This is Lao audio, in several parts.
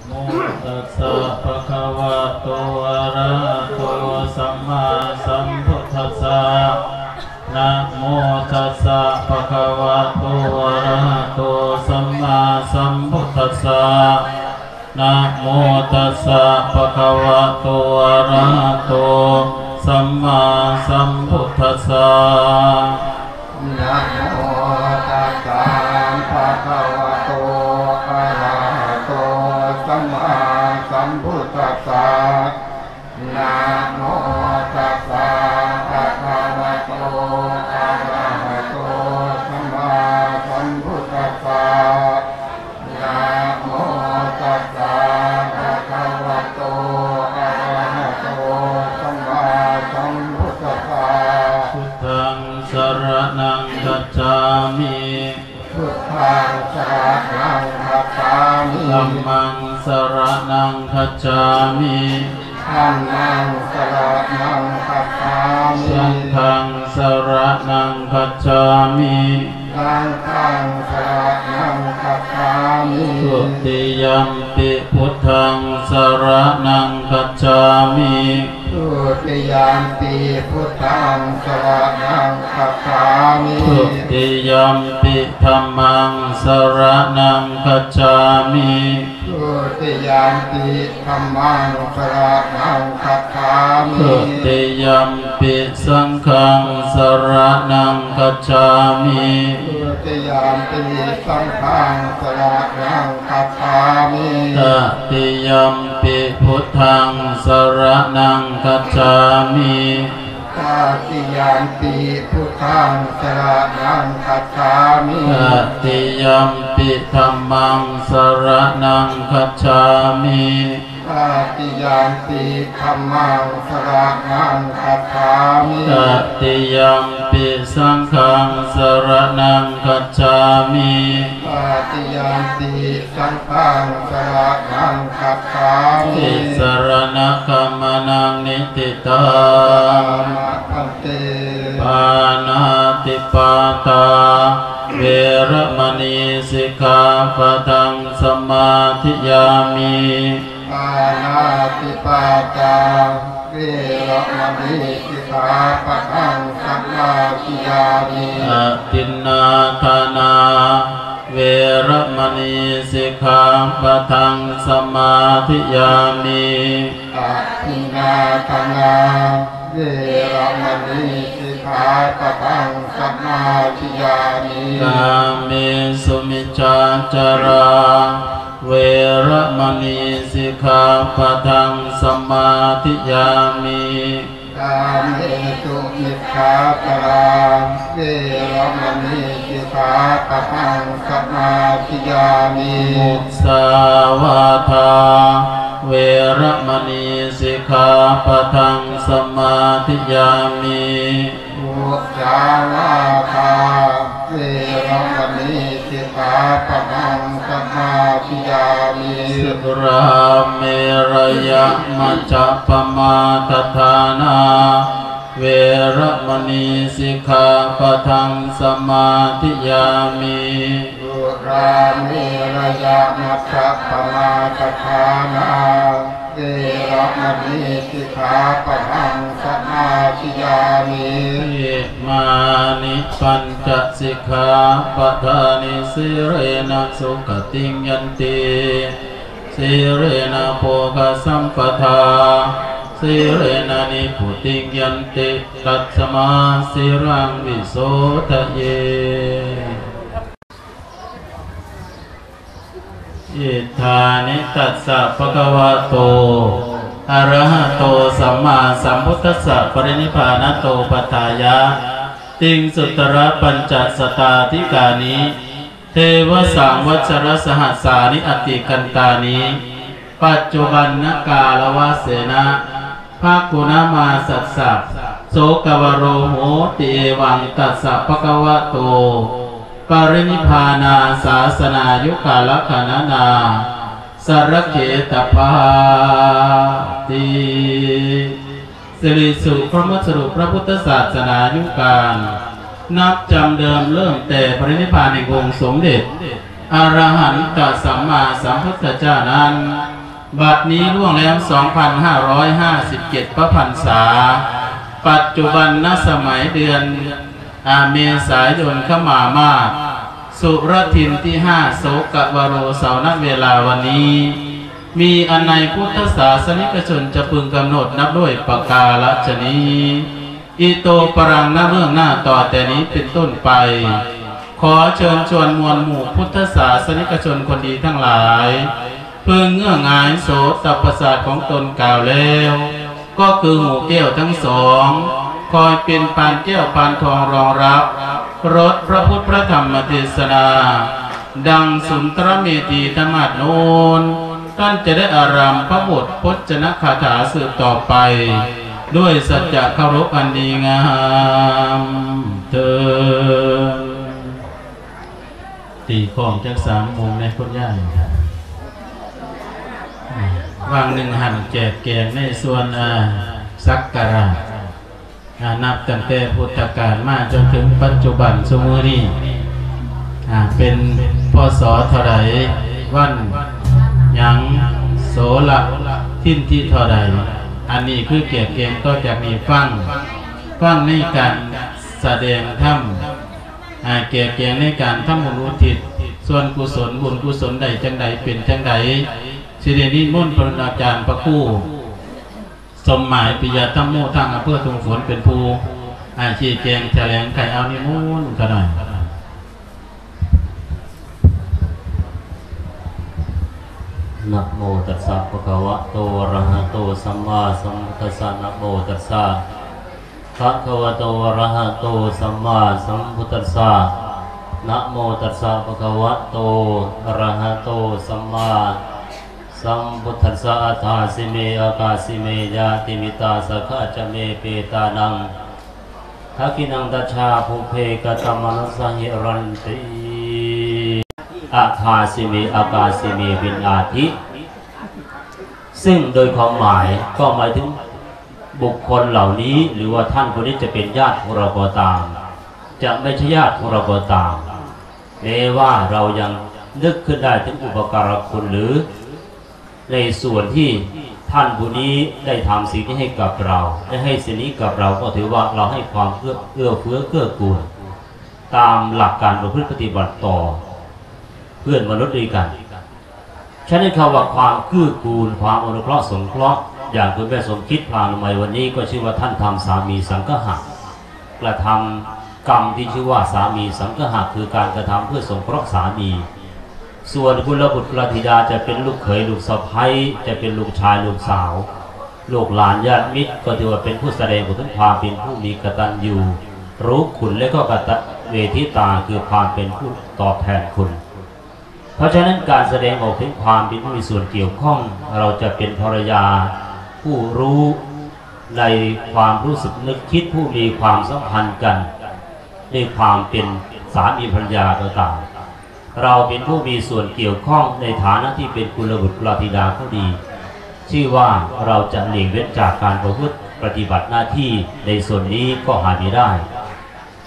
โมตัสสะภะคะวะโต อะระหะโต สัมมาสัมพุทธัสสะ นะโมตัสสะภะคะวะโต อะระหะโต สัมมาสัมพุทธัสสะ นะโมตัสสะภะคะวะโต อะระหะโต สัมมาสัมพุทธัสสะ นะโมตัสสะภะคะวะโต อะระหะโต สัมมาสัมพุทธัสสะ นะโมตัสสะภะคะวะโต อะระหะโต สัมมาสัมพุทธัสสะ นะโมตัสสะภะคะวะโต อะระหะโต สัมมาสัมพุทธัสสะ พุทธังสะระณังคัจฉามิ พุทธังสะระณังคัจฉามิ ธัมมังสะระณังคัจฉามิ ธัมมังสะระณังคัจฉามิ สังฆังสะระณังคัจฉามิ สังฆังสะระณังคัจฉามิ ทุติยัมปิพุทธังสะระณังคัจฉามิ ทุติยัมปิพุทธังสะระณังคัจฉามิ ทุติยัมปิธัมมังสะระณังคัจฉามิ ทุติยัมปิธัมมังสะระณังคัจฉามิ ทุติยัมปิสังฆังสะระณังคัจฉามิ ทุติยัมปิสังฆังสะระณังคัจฉามิ ตติยัมปิพุทธังสะระณังคัจฉามิ ตติยัมปิพุทธังสะระณังคัจฉามิ ตติยัมปิธัมมังสะระณังคัจฉามิ ตติยัมปิธัมมังสะระณังคัจฉามิ ตติยัมปิสังฆังสะระณังคัจฉามิ ตติยัมปิสังฆังสะระณังคัจฉามิ ติสะระณะขะมะนัง นิฏฐิตัง สะมາທິยາມິ ปาณາติปาตา เวระมะນີ สิกขาปะทัง สะມາທິยາມິ ปาณาติปาตา เวระมะນີ สิกขาปะทัง สะมາธิยามิ อะทินນາທານາ ເວລະມະນີ ສິກຂາປະທັງ ສະມາທິຍາມິ ອະທິນນາທານາ ເວລະມະນີ ສິກຂາປະທັງ ສະມາທິຍາມິ ກາເມສຸມິດສາຈາລາ ເວລະມະນີ ສິກຂາປະທັງ ສະມາທິຍາມິ ກາເມສຸມິດສາຈາລາ ເວລະມະນີ ສິກຂາປະທັງ ສະມາທິຍາມິ ມຸສາວາທາ ເວລະມະນີ ສິກຂາປະທັງ ສະມາທິຍາມິ ມຸສາວາທາ ເວລະມະນີ ສິກຂາປະທັງ ສະມາທິຍາມິ ສຸລາເມລະຍະມັດຈະປະມາທະຖານາ ເວລະມະນີ ສິກຂາປະທັງ ສະມາທິຍາມິ ສຸລາເມລະຍະມັດຈະປະມາທະຖານາ ເວລະມະນີ ສິກຂາປະທັງ ສະມາທິຍາມິ ອິມານິປັນຈະສິກຂາປະທານິ ສີເລນະສຸຂະຕິງຍັນຕິ ສີເລນະໂພຄະສຳປະທາ ສີເລນະນິບພຸຕິງຍັນຕິ ຕັດສະມາສີລັງວິໂສທະເຍ ອິດຖານິ ຕັດສະ ພະຄະວະໂຕ ອະລະຫະໂຕ ສຳມາສຳພຸດທັດສະ ປະລິນິບພານະໂຕ ປັດຖາຍະ ຕິງສຸດຕະລະປັນຈະສະຕາທິການິ ເທວະສັງວັດສະລະສະຫັດສານິ ອະຕິກັນຕານິ ປັດຈຸບັນນະກາລະວະເສນະ ພະກຸນະມາສັດສະ ໂສກະວະໂລໂຫຕິ ເອວັງ ຕັດສະ ພະຄະວະໂຕ ປະລິນິບພານາ ສາສະນາຍຸກາລະຄະນະນາ ສະລະເຂຕະພາຕິ ສິລິສຸ ພະມະສະລຸ ພະພຸດທະສາສະໜາຍຸການ ນັບຈຳເດີມເລີ່ມແຕ່ປະລິນິບພານແຫ່ງອົງສົມເດັດ ອະລະຫັນຕະສຳມາສຳພຸດທະເຈົ້ານັ້ນ ບັດນີ້ລ່ວງແລ້ວສອງພັນຫ້າຮ້ອຍຫ້າສິບເຈັດພະພັນສາ, ປັດຈຸບັນນະສະໄໝເດືອນ ອາ ເມສາຍົນ ຂະມາມາດ ສຸລະທິນທີຫ້າ ໂສກະວະໂຣ ເສົາ ນະເວລາວັນນີ້ ມີອັນໃນພຸດທະສາສະນິກະຊົນຈະເພິ່ງກຳນົດນັບດ້ວຍປະກາລະຊະນີ ອິໂຕປະລັງ ນະເບື້ອງໜ້າຕໍ່ແຕ່ນີ້ເປັນຕົ້ນໄປ ຂໍເຊີນຊວນມວນໝູ່ພຸດທະສາສະນິກະຊົນຄົນດີທັງຫຼາຍ ເພິ່ງເງື້ອງາຍໂສຕະປະສາດຂອງຕົນກ່າວແລ້ວ ກໍຄືຫູແກ້ວທັງສອງ ຄອຍເປັນປານແກ້ວປານທອງຮອງຮັບ ລົດພະພຸດພະທຳມະເທດສະນາ ດັ່ງສຸນທະລະເມທີທຳມາດໂນນ ທ່ານຈະໄດ້ອາຣາມພະບົດພົດຈະນະຄາຖາສືບຕໍ່ໄປ ດ້ວຍສັດຈະເຄົາລົບອັນດີງາມເທີ້ນ. ຕີຂອງຈັກສາມໂມງແດ່ຄຸນຍາຍ. ຫວ່າງໜຶ່ງຫັ້ນແຈກແຈງໃນສ່ວນ ອາ ສັກກາລະ ອາ ນັບຕັ້ງແຕ່ພຸດທະການມາຈົນເຖິງປັດຈຸບັນຊຸມື້ນີ້ ອາ ເປັນ ພ.ສ. ເທົ່າໃດ ວັນຫຍັງ ໂສລະທິນທີເທົ່າໃດ ອັນນີ້ຄືແຈກແຈງຕໍ່ຈາກນີ້ຟັງ ຟັງໃນການສະແດງທຳ ອາ ແຈກແຈງໃນການທຳບຸນອຸທິດສ່ວນກຸສົນ ບຸນກຸສົນໄດ້ຈັ່ງໃດ ເປັນຈັ່ງໃດ ຊິໄດ້ນິມົນພະອາຈານພະຄູ ສົມໝາຍ ປິຍະທຳໂມ ທາງອຳເພີທົ່ງຝົນ ເປັນຜູ້ ອາ ຊີ້ແຈງຖະແຫຼງໄຂ ເອົານິມົນຂະໜ່ອຍ. ນະໂມຕັດສະ ພະຄະວະໂຕ ອະລະຫະໂຕ ສຳມາສຳພຸດທັດສະ ນະໂມຕັດສະ ພະຄະວະໂຕ ອະລະຫະໂຕ ສຳມາສຳພຸດທັດສະ ນະໂມຕັດສະ ພະຄະວະໂຕ ອະລະຫະໂຕ ສຳມາ ສຳພຸດທັດສະ ອັດຖາຊິເມ ອາກາຊິເມ ຍາຕິມິດຕາ ສະຂະຈະເມ ເປຕານັງ ທັກຂິນັງ ຕະຊາ ປຸບເພ ກະຕະມະນຸດສະຫິລັນຕິ ອັດຖາຊິເມ ອາກາຊິເມ ເປັນອາທິ ຊຶ່ງໂດຍຄວາມໝາຍກໍໝາຍເຖິງບຸກຄົນເຫຼົ່ານີ້ ຫຼືວ່າທ່ານຜູ້ນີ້ຈະເປັນຍາດຂອງເຮົາກໍຕາມ ຈະໄມ່ໃຊ່ຍາດຂອງເຮົາກໍຕາມ ແມ້ວ່າເຮົາຍັງນຶກຂຶ້ນໄດ້ເຖິງອຸປະກາລະຄຸນ ຫຼື ໃນສ່ວນທີ່ທ່ານຜູ້ນີ້ໄດ້ທຳສິ່ງນີ້ໃຫ້ກັບເຮົາ ໄດ້ໃຫ້ສິ່ງນີ້ກັບເຮົາ ກໍຖືວ່າເຮົາໃຫ້ຄວາມເອື້ອ ເອື້ອເຟື້ອເກື້ອກູນ ຕາມຫຼັກການປະພຶດປະຕິບັດຕໍ່ເພື່ອນມະນຸດດ້ວຍກັນ. ສະນັ້ນ ຄຳວ່າຄວາມເກື້ອກູນ ຄວາມອະນຸເຄາະສົງເຄາະ ຢ່າງຄຸນແມ່ສົມຄິດ ພານຸໄມ ວັນນີ້ກໍຊື່ວ່າທ່ານທຳສາມີສັງຄະຫະ ກະທຳກຳທີ່ຊື່ວ່າສາມີສັງຄະຫະ ຄືການກະທຳເພື່ອສົງເຄາະສາມີ. ສ່ວນກຸລະບຸດກຸລະທິດາ ຈະເປັນລູກເຂີຍລູກສະໃພ້ ຈະເປັນລູກຊາຍລູກສາວ ລູກຫຼານຍາດມິດ ກໍຖືວ່າເປັນຜູ້ສະແດງອອກເຖິງຄວາມເປັນຜູ້ມີກະຕັນຍູຮູ້ຄຸນ ແລະ ກໍກະຕະເວທິຕາ ຄືຄວາມເປັນຜູ້ຕອບແທນຄຸນ. ເພາະສະນັ້ນ ການສະແດງອອກເຖິງຄວາມເປັນຜູ້ມີສ່ວນກ່ຽວຂ້ອງ ເຮົາຈະເປັນພັນລະຍາຜູ້ຮູ້ໃນຄວາມຮູ້ສຶກນຶກຄິດ ຜູ້ມີຄວາມສຳພັນກັນ ໃນຄວາມເປັນສາມີພັນລະຍາກໍຕາມ ເຮົາເປັນຜູ້ມີສ່ວນກ່ຽວຂ້ອງໃນຖານະທີ່ເປັນກຸລະບຸດກຸລະທິດາກໍດີ ຊື່ວ່າເຮົາຈະຫຼີກເວັ້ນຈາກການປະພຶດປະຕິບັດໜ້າທີ່ໃນສ່ວນນີ້ກໍຫາໄມ່ໄດ້.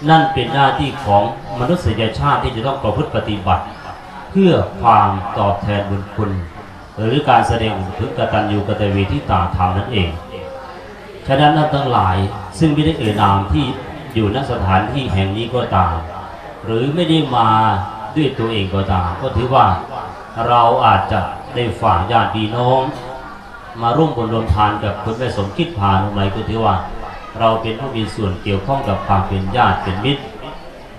ນັ້ນເປັນໜ້າທີ່ຂອງມະນຸດສະຍະຊາດທີ່ຈະຕ້ອງປະພຶດປະຕິບັດ ເພື່ອຄວາມຕອບແທນບຸນຄຸນ ຫຼື ການສະແດງເຖິງກະຕັນຍູກະຕະເວທິຕາທຳນັ້ນເອງ. ສະນັ້ນ ທ່ານທັງຫຼາຍ ຊຶ່ງໄມ່ໄດ້ເອີ່ຍນາມທີ່ຢູ່ ນະ ສະຖານທີ່ແຫ່ງນີ້ກໍຕາມ ຫຼື ໄມ່ໄດ້ມາດ້ວຍຕົວເອງກໍຕາມ ກໍຖືວ່າເຮົາອາດຈະໄດ້ຝາກຍາດພີ່ນ້ອງ ມາຮ່ວມບຸນຮ່ວມທານກັບຄຸນແມ່ສົມຄິດ ພານຸໄມ ກໍຖືວ່າເຮົາເປັນຜູ້ມີສ່ວນກ່ຽວຂ້ອງກັບຄວາມເປັນຍາດເປັນມິດ.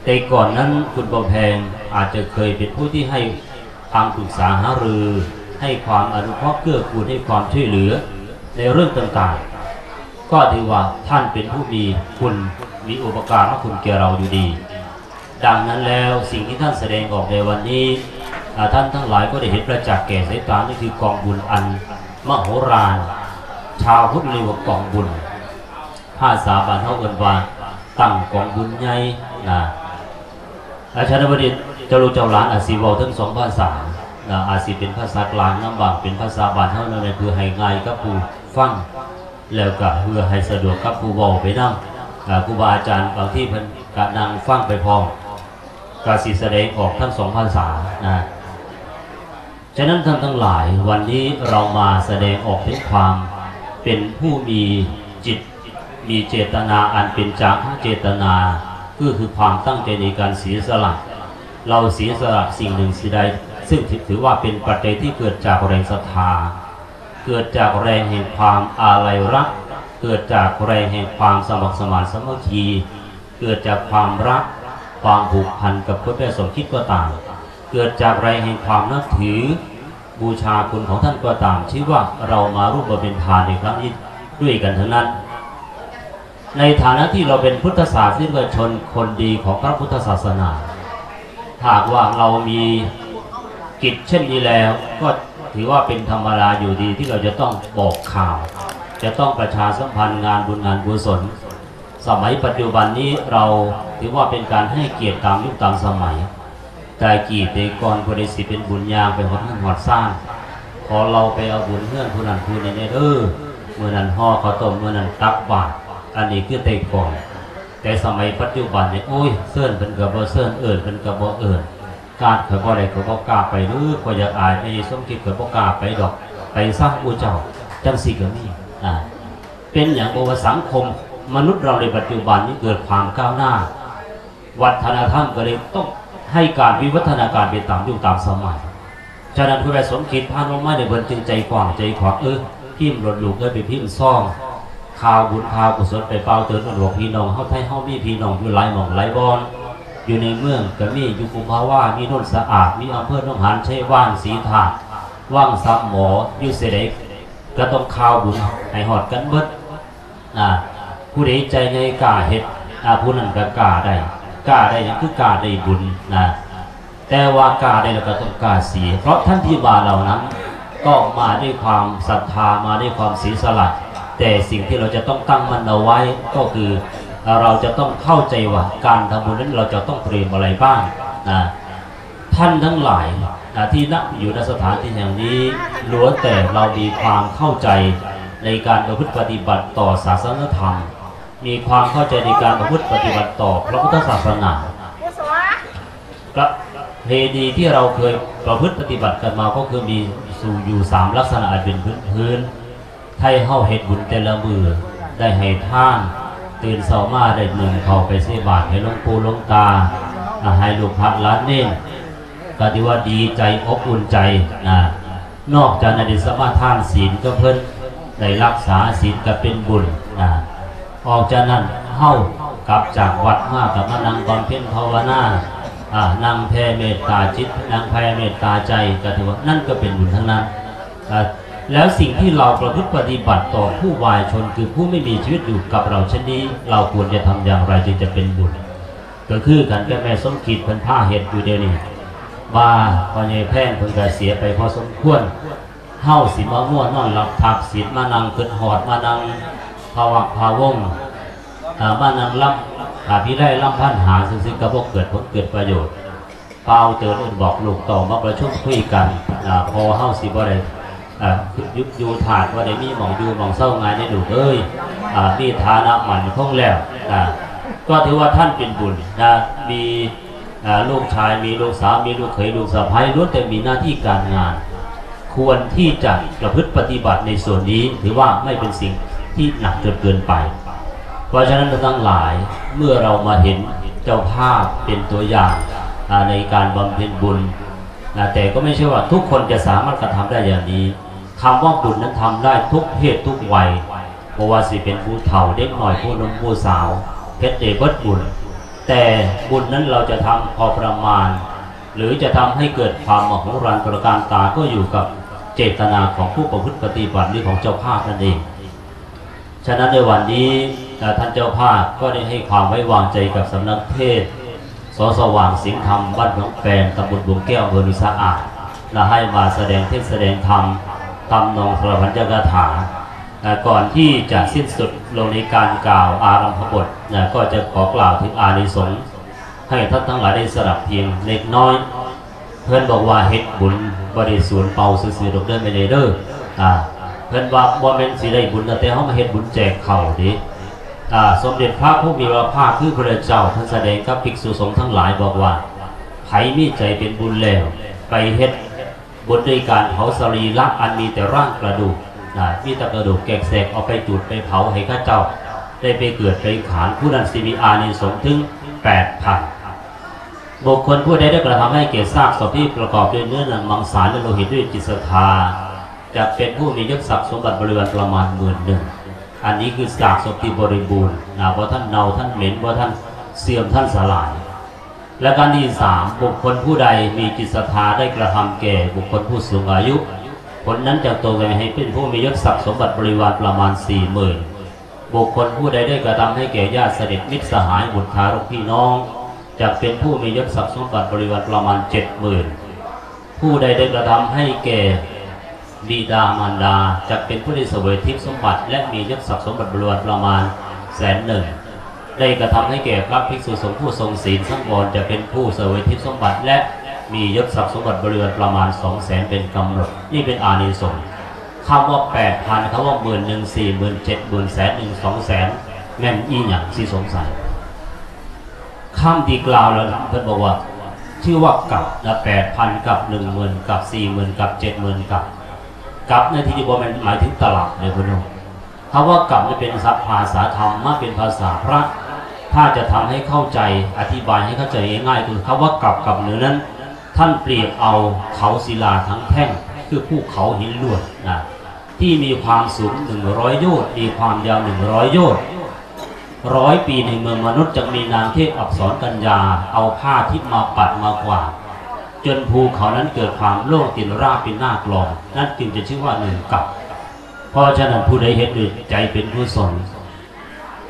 ແຕ່ກ່ອນນັ້ນ ຄຸນບຳແພງອາດຈະເຄີຍເປັນຜູ້ທີ່ໃຫ້ຄຳປຶກສາຫາລື ໃຫ້ຄວາມອະນຸເຄາະເກື້ອກູນ ໃຫ້ຄວາມຊ່ວຍເຫຼືອໃນເລື່ອງຕ່າງໆ ກໍຖືວ່າທ່ານເປັນຜູ້ມີຄຸນ ມີອຸປະກາລະຄຸນແກ່ເຮົາຢູ່ດີ. ດັ່ງນັ້ນແລ້ວ ສິ່ງທີ່ທ່ານສະແດງອອກໃນວັນນີ້ ອາ ທ່ານທັງຫຼາຍກໍໄດ້ເຫັນປະຈັກແກ່ສາຍຕາ ນີ້ຄືກອງບຸນອັນມະໂຫລານ ຊາວພຸດເອີ້ນວ່າກອງບຸນ ພາສາບ້ານເຮົາເອີ້ນວ່າຕັ້ງກອງບຸນໃຫຍ່ນະ. ອາ ສະນັ້ນ ວັນນີ້ເຈົ້າລູກເຈົ້າຫຼານອາດຊິເວົ້າເຖິງສອງພາສານະ ອາດຊິເປັນພາສາກາງນຳ ບາງເປັນພາສາບ້ານເຮົານຳ ເພື່ອໃຫ້ງ່າຍກັບຜູ້ຟັງ ແລ້ວກະເພື່ອໃຫ້ສະດວກກັບຜູ້ເວົ້າໄປນຳ. ອາ ຄູບາອາຈານບາງທີເພິ່ນກະນັ່ງຟັງໄປພ້ອມ. ກໍสิแสดงออกทั้งสองภาษานะ ฉะนั้นท่านทั้งหลาย วันนี้เรามาแสดงออกถึงความเป็นผู้มีจิต มีเจตนาอันเป็นจาคะเจตนา ก็คือความตั้งใจในการเสียสละ เราเสียสละสิ่งหนึ่งสิ่งใด ซึ่งถือว่าเป็นปัจจัยที่เกิดจากแรงศรัทธา เกิดจากแรงแห่งความอาลัยรัก เกิดจากแรงแห่งความสมัครสมานสามัคคี เกิดจากความรัก ความผูกพันกับคุณแม่สมคิดก็ตาม เกิดจากแรงแห่งความนับถือ บูชาคุณของท่านก็ตาม ชื่อว่าเรามาร่วมบำเพ็ญทานในครั้งนี้ด้วยกันทั้งนั้น ในฐานะที่เราเป็นพุทธศาสนิกชนคนดีของพระพุทธศาสนา หากว่าเรามีกิจเช่นนี้แล้ว ก็ถือว่าเป็นธรรมดาอยู่ดีที่เราจะต้องบอกข่าว จะต้องประชาสัมพันธ์งานบุญงานกุศล สมัยปัจจุบันนี้เราถือว่าเป็นการให้เกียรติตามยุคตามสมัย แต่กี้แต่ก่อนผู้ใดสิเป็นบุญย่างไปฮอดเฮือนฮอดซาน ขอเราไปเอาบุญเฮือนผู้นั้นผู้นี้แหน่เด้อ มื้อนั้นห่อข้าวต้ม มื้อนั้นตักบาตร อันนี้คือแต่ก่อน แต่สมัยปัจจุบันนี่ โอ๊ย เชิญเพิ่นก็บ่เชิญ เอิ้นเพิ่นก็บ่เอิ้น กาดข้อยบ่ได้ ข้อยบ่กล้าไปเด้อ ข้อยอยากอายแม่ใหญ่สมคิด ข้อยบ่กล้าไปดอก ไปซะหมู่เจ้า จั่งซี้ก็มี อ่า เป็นหยัง เพราะว่าสังคมมนุษย์เราในปัจจุบันนี้เกิดความก้าวหน้า วัฒนธรรมก็เลยต้องให้การวิวัฒนาการไปตามยุคตามสมัย ฉะนั้นคุณแม่สมคิดพาน้องมาเนี่ย เพิ่นจึงใจกว้างใจขวาง เออ พิมพ์โลดลูกเอ้ย ไปพิมพ์ซอง ข่าวบุญข่าวกุศล ไปเป่าเตือนกันว่าพี่น้องเฮาไทยเฮามีพี่น้องอยู่หลายหม่องหลายบ่อน อยู่ในเมืองก็มี อยู่กุมภาวา มีโนนสะอาด มีอำเภอหนองหาน ชัยวาน ศรีธาตุ วังสามหมอ อยู่ไสใด ก็ต้องข่าวบุญให้ฮอดกันเบิด อ่า ผู้ใดใจใหญ่กล้าเฮ็ด อ่า ผู้นั้นก็กล้าได้ กล้าได้หยัง คือกล้าได้บุญนะ แต่ว่ากล้าได้แล้วก็ต้องกล้าเสีย เพราะท่านที่มาเหล่านั้นก็มาด้วยความศรัทธา มาด้วยความเสียสละ แต่สิ่งที่เราจะต้องตั้งมั่นเอาไว้ก็คือ เราจะต้องเข้าใจว่าการทำบุญนั้นเราจะต้องเตรียมอะไรบ้างนะ ท่านทั้งหลายนะ ที่ณ อยู่ ณ สถานที่แห่งนี้ ล้วนแต่เรามีความเข้าใจในการประพฤติปฏิบัติต่อศาสนธรรม มีความเข้าใจในการประพฤติปฏิบัติต่อพระพุทธศาสนา ประเพณีที่เราเคยประพฤติปฏิบัติกันมาก็คือมีอยู่สามลักษณะอันเป็นพื้นๆ ไทเฮาเฮ็ดบุญแต่ละมื้อ ได้ให้ทาน ตื่นเช้ามาได้นึ่งข้าวไปใส่บาตรให้หลวงปู่หลวงตา อ่า ให้ลูกพระหลานเณร ก็ถือว่าดีใจอบอุ่นใจนะ นอกจากนั้นได้สมาทานศีลกับเพิ่น ได้รักษาศีลก็เป็นบุญนะ ออกจากนั้นเฮากลับจากวัดมาก็มานั่งบำเพ็ญภาวนา อ่า นั่งแผ่เมตตาจิต นั่งแผ่เมตตาใจ ก็ถือว่านั่นก็เป็นบุญทั้งนั้น อ่า แล้วสิ่งที่เราประพฤติปฏิบัติต่อผู้วายชน คือผู้ไม่มีชีวิตอยู่กับเราเช่นนี้ เราควรจะทำอย่างไรจึงจะเป็นบุญ ก็คือกันกับแม่สมคิดเพิ่นพาเฮ็ดอยู่เดี๋ยวนี้ ว่าพ่อใหญ่แพงเพิ่นก็เสียไปพอสมควร เฮาสิมามัวนอนหลับทับสิทธิ์ มานั่งคิดฮอด มานั่งพะวะพะวง อ่า มานั่งลำ อ่า พิไลลำพันหาซื่อๆ ก็บ่เกิดผลเกิดประโยชน์ เป่าเตือนเอิ้นบอกลูกเต้ามาประชุมคุยกัน อ่า พ่อเฮาสิบ่ได้ อ่า อยู่ อยู่ธาตุบ่ได้มีหม่องอยู่หม่องเซาง่ายเด้ลูกเอ้ย อ่า มีฐานะมั่นคงแล้ว อ่า ก็ถือว่าท่านเป็นบุญนะ มี อ่า ลูกชาย มีลูกสาว มีลูกเขย ลูกสะใภ้ ล้วนแต่มีหน้าที่การงาน ควรที่จะประพฤติปฏิบัติในส่วนนี้ ถือว่าไม่เป็นสิ่งที่หนักจนเกินไป เพราะฉะนั้นท่านทั้งหลาย เมื่อเรามาเห็นเจ้าภาพเป็นตัวอย่าง อ่า ในการบำเพ็ญบุญ นะ แต่ก็ไม่ใช่ว่าทุกคนจะสามารถกระทำได้อย่างนี้ คำว่าบุญนั้นทำได้ทุกเพศทุกวัย บ่ว่าสิเป็นผู้เฒ่า เด็กน้อย ผู้หนุ่ม ผู้สาว เฮ็ดได้เบิดบุญ แต่บุญนั้นเราจะทำพอประมาณ หรือจะทำให้เกิดความมโหฬารตระการตา ก็อยู่กับเจตนาของผู้ประพฤติปฏิบัติ หรือของเจ้าภาพนั่นเอง ฉะนั้นในวันนี้ เอ่อ ท่านเจ้าภาพก็ได้ให้ความไว้วางใจกับสำนักเทศน์ ส.สว่าง สิงห์ธรรม บ้านหนองแปน ตำบลบุงแก้ว อำเภอหนองสะอาด และให้มาแสดงเทศน์แสดงธรรม ทำนองสวรรคคาถา เอ่อ ก่อนที่จะสิ้นสุดลงในการกล่าวอารัมภบท นะ ก็จะขอกล่าวถึงอานิสงส์ ให้ท่านทั้งหลายได้สดับเพียงเล็กน้อย เพิ่นบอกว่าเฮ็ดบุญบ่ได้สูญเปล่าซื่อๆ ดอกเด้อแม่ใหญ่เด้อ อ่า เพิ่นว่าบ่แม่นสิได้บุญตั้งแต่เฮามาเฮ็ดบุญแจกข้าวเด้ อ่า สมเด็จพระผู้มีพระภาคคือพระเจ้า เพิ่นแสดงกับภิกษุสงฆ์ทั้งหลายบอกว่า ໃຜມີໃຈເປັນບຸນແລ້ວ ໄປເຮັດບຸນດ້ວຍການເຜົາສະລີລະອັນມີແຕ່ຮ່າງກະດູກນະ ມີແຕ່ກະດູກແກກແສກ ເອົາໄປຈູດໄປເຜົາໃຫ້ເຂົາເຈົ້າໄດ້ໄປເກີດໄປຂານ ຜູ້ນັ້ນຊິມີອານິສົງເຖິງແປດພັນ. ບຸກຄົນຜູ້ໃດໄດ້ກະທຳໃຫ້ແກ່ຊາກສົບທີ່ປະກອບດ້ວຍເນື້ອໜັງມັງສາ ແລະ ໂລຫິດດ້ວຍຈິດສັດທາ ຈະເປັນຜູ້ມີຍົດສັກສົມບັດບໍລິວານປະມານໝື່ນໜຶ່ງ. ອັນນີ້ຄືຊາກສົບທີ່ບໍລິບູນນະ ບໍ່ທັນເນົ່າທັນເໝັນ ບໍ່ທັນເສື່ອມທັນສະຫຼາຍ. ແລະ ການທີສາມ ບຸກຄົນຜູ້ໃດມີຈິດສັດທາໄດ້ກະທຳແກ່ບຸກຄົນຜູ້ສູງອາຍຸ ຄົນນັ້ນຈະຕົກແຕ່ງໃຫ້ເປັນຜູ້ມີຍົດສັກສົມບັດບໍລິວານປະມານສີ່ໝື່ນ. ບຸກຄົນຜູ້ໃດໄດ້ກະທຳໃຫ້ແກ່ຍາດສະໜິດມິດສະຫາຍບຸດທາລົກພີ່ນ້ອງ ຈະເປັນຜູ້ມີຍົດສັກສົມບັດບໍລິວານປະມານເຈັດໝື່ນ. ຜູ້ໃດໄດ້ກະທຳໃຫ້ແກ່ ບິດາມານດາ ຈັກເປັນຜູ້ໄດ້ສະເຫວີຍທິບສົມບັດ ແລະ ມີຍົດສັກສົມບັດບໍລິວານປະມານແສນໜຶ່ງ. ໄດ້ກະທຳໃຫ້ແກ່ພະພິກສຸສົງຜູ້ຊົງສິນສັງວອນ ຈະເປັນຜູ້ສະເຫວີຍທິບສົມບັດ ແລະ ມີຍົດສັກສົມບັດບໍລິວານປະມານສອງແສນເປັນກຳນົດ. ນີ້ເປັນອານິສົງ. ຄຳວ່າແປດພັນ ຄຳວ່າໝື່ນໜຶ່ງ ສີ່ໝື່ນ ເຈັດໝື່ນ ແສນໜຶ່ງ ສອງແສນ ແມ່ນອີ່ຫຍັງ ຊິສົງໄສ? ຄຳທີ່ກ່າວແລ້ວເພິ່ນບອກວ່າ ຊື່ວ່າກັບນະ ແປດພັນກັບ ໜຶ່ງໝື່ນກັບ ສີ່ໝື່ນກັບ ເຈັດໝື່ນກັບ. ກັບໃນທີ່ນີ້ບໍ່ແມ່ນໝາຍເຖິງຕະລັບເດີເພິ່ນເນາະ. ຄຳວ່າກັບນີ້ເປັນສັບພາສາທຳມະ ເປັນພາສາພຣະ. ຖ້າຈະທຳໃຫ້ເຂົ້າໃຈ ອະທິບາຍໃຫ້ເຂົ້າໃຈງ່າຍໆ ຄືຄຳວ່າກັບກັບໜຶ່ງນັ້ນ ທ່ານປຽບເອົາເຂົາສິລາທັງແທ່ງ ຄືພູເຂົາຫີນລວດນະ ທີ່ມີຄວາມສູງໜຶ່ງຮ້ອຍໂຍດ ມີຄວາມຍາວໜຶ່ງຮ້ອຍໂຍດ. ຮ້ອຍປີໃນເມືອງມະນຸດ ຈະມີນາງເທບອັບສອນກັນຍາ ເອົາຜ້າທິບມາປັດມາກວາດ ຈົນພູເຂົານັ້ນເກີດຄວາມໂລ່ງ ເປັນລາບເປັນໜ້າກລອງ ນັ້ນຈຶ່ງຈະຊື່ວ່າໜຶ່ງກັບ. ເພາະສະນັ້ນ ຜູ້ໃດເຮັດດ້ວຍໃຈເປັນກຸສົນ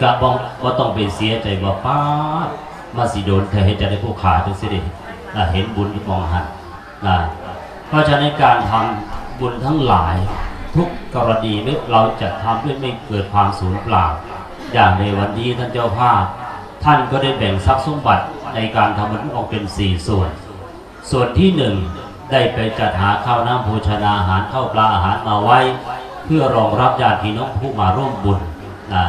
ກະບໍ່ ບໍ່ຕ້ອງໄປເສຍໃຈວ່າ ປາດ ມາຊິໂດນແທ້ ເຮັດຈັ່ງໃດຜູ້ຂ້າຈຶ່ງຊິໄດ້ ອາ ເຫັນບຸນຢູ່ໝ່ອງຫັ້ນ ນະ. ເພາະສະນັ້ນ ໃນການທຳບຸນທັງຫຼາຍ ທຸກກໍລະນີ ເຮົາຈະທຳດ້ວຍໄມ່ເກີດຄວາມສູນເປົ່າ. ຢ່າງໃນວັນນີ້ ທ່ານເຈົ້າພາບ ທ່ານກໍໄດ້ແບ່ງຊັບສົມບັດໃນການທຳບຸນອອກເປັນສີ່ສ່ວນ. ສ່ວນທີໜຶ່ງ ໄດ້ໄປຈັດຫາຂ້າວນ້ຳໂພຊະນາຫານ ເຂົ້າປາອາຫານມາໄວ້ ເພື່ອຮອງຮັບຍາດພີ່ນ້ອງຜູ້ມາຮ່ວມບຸນນະ.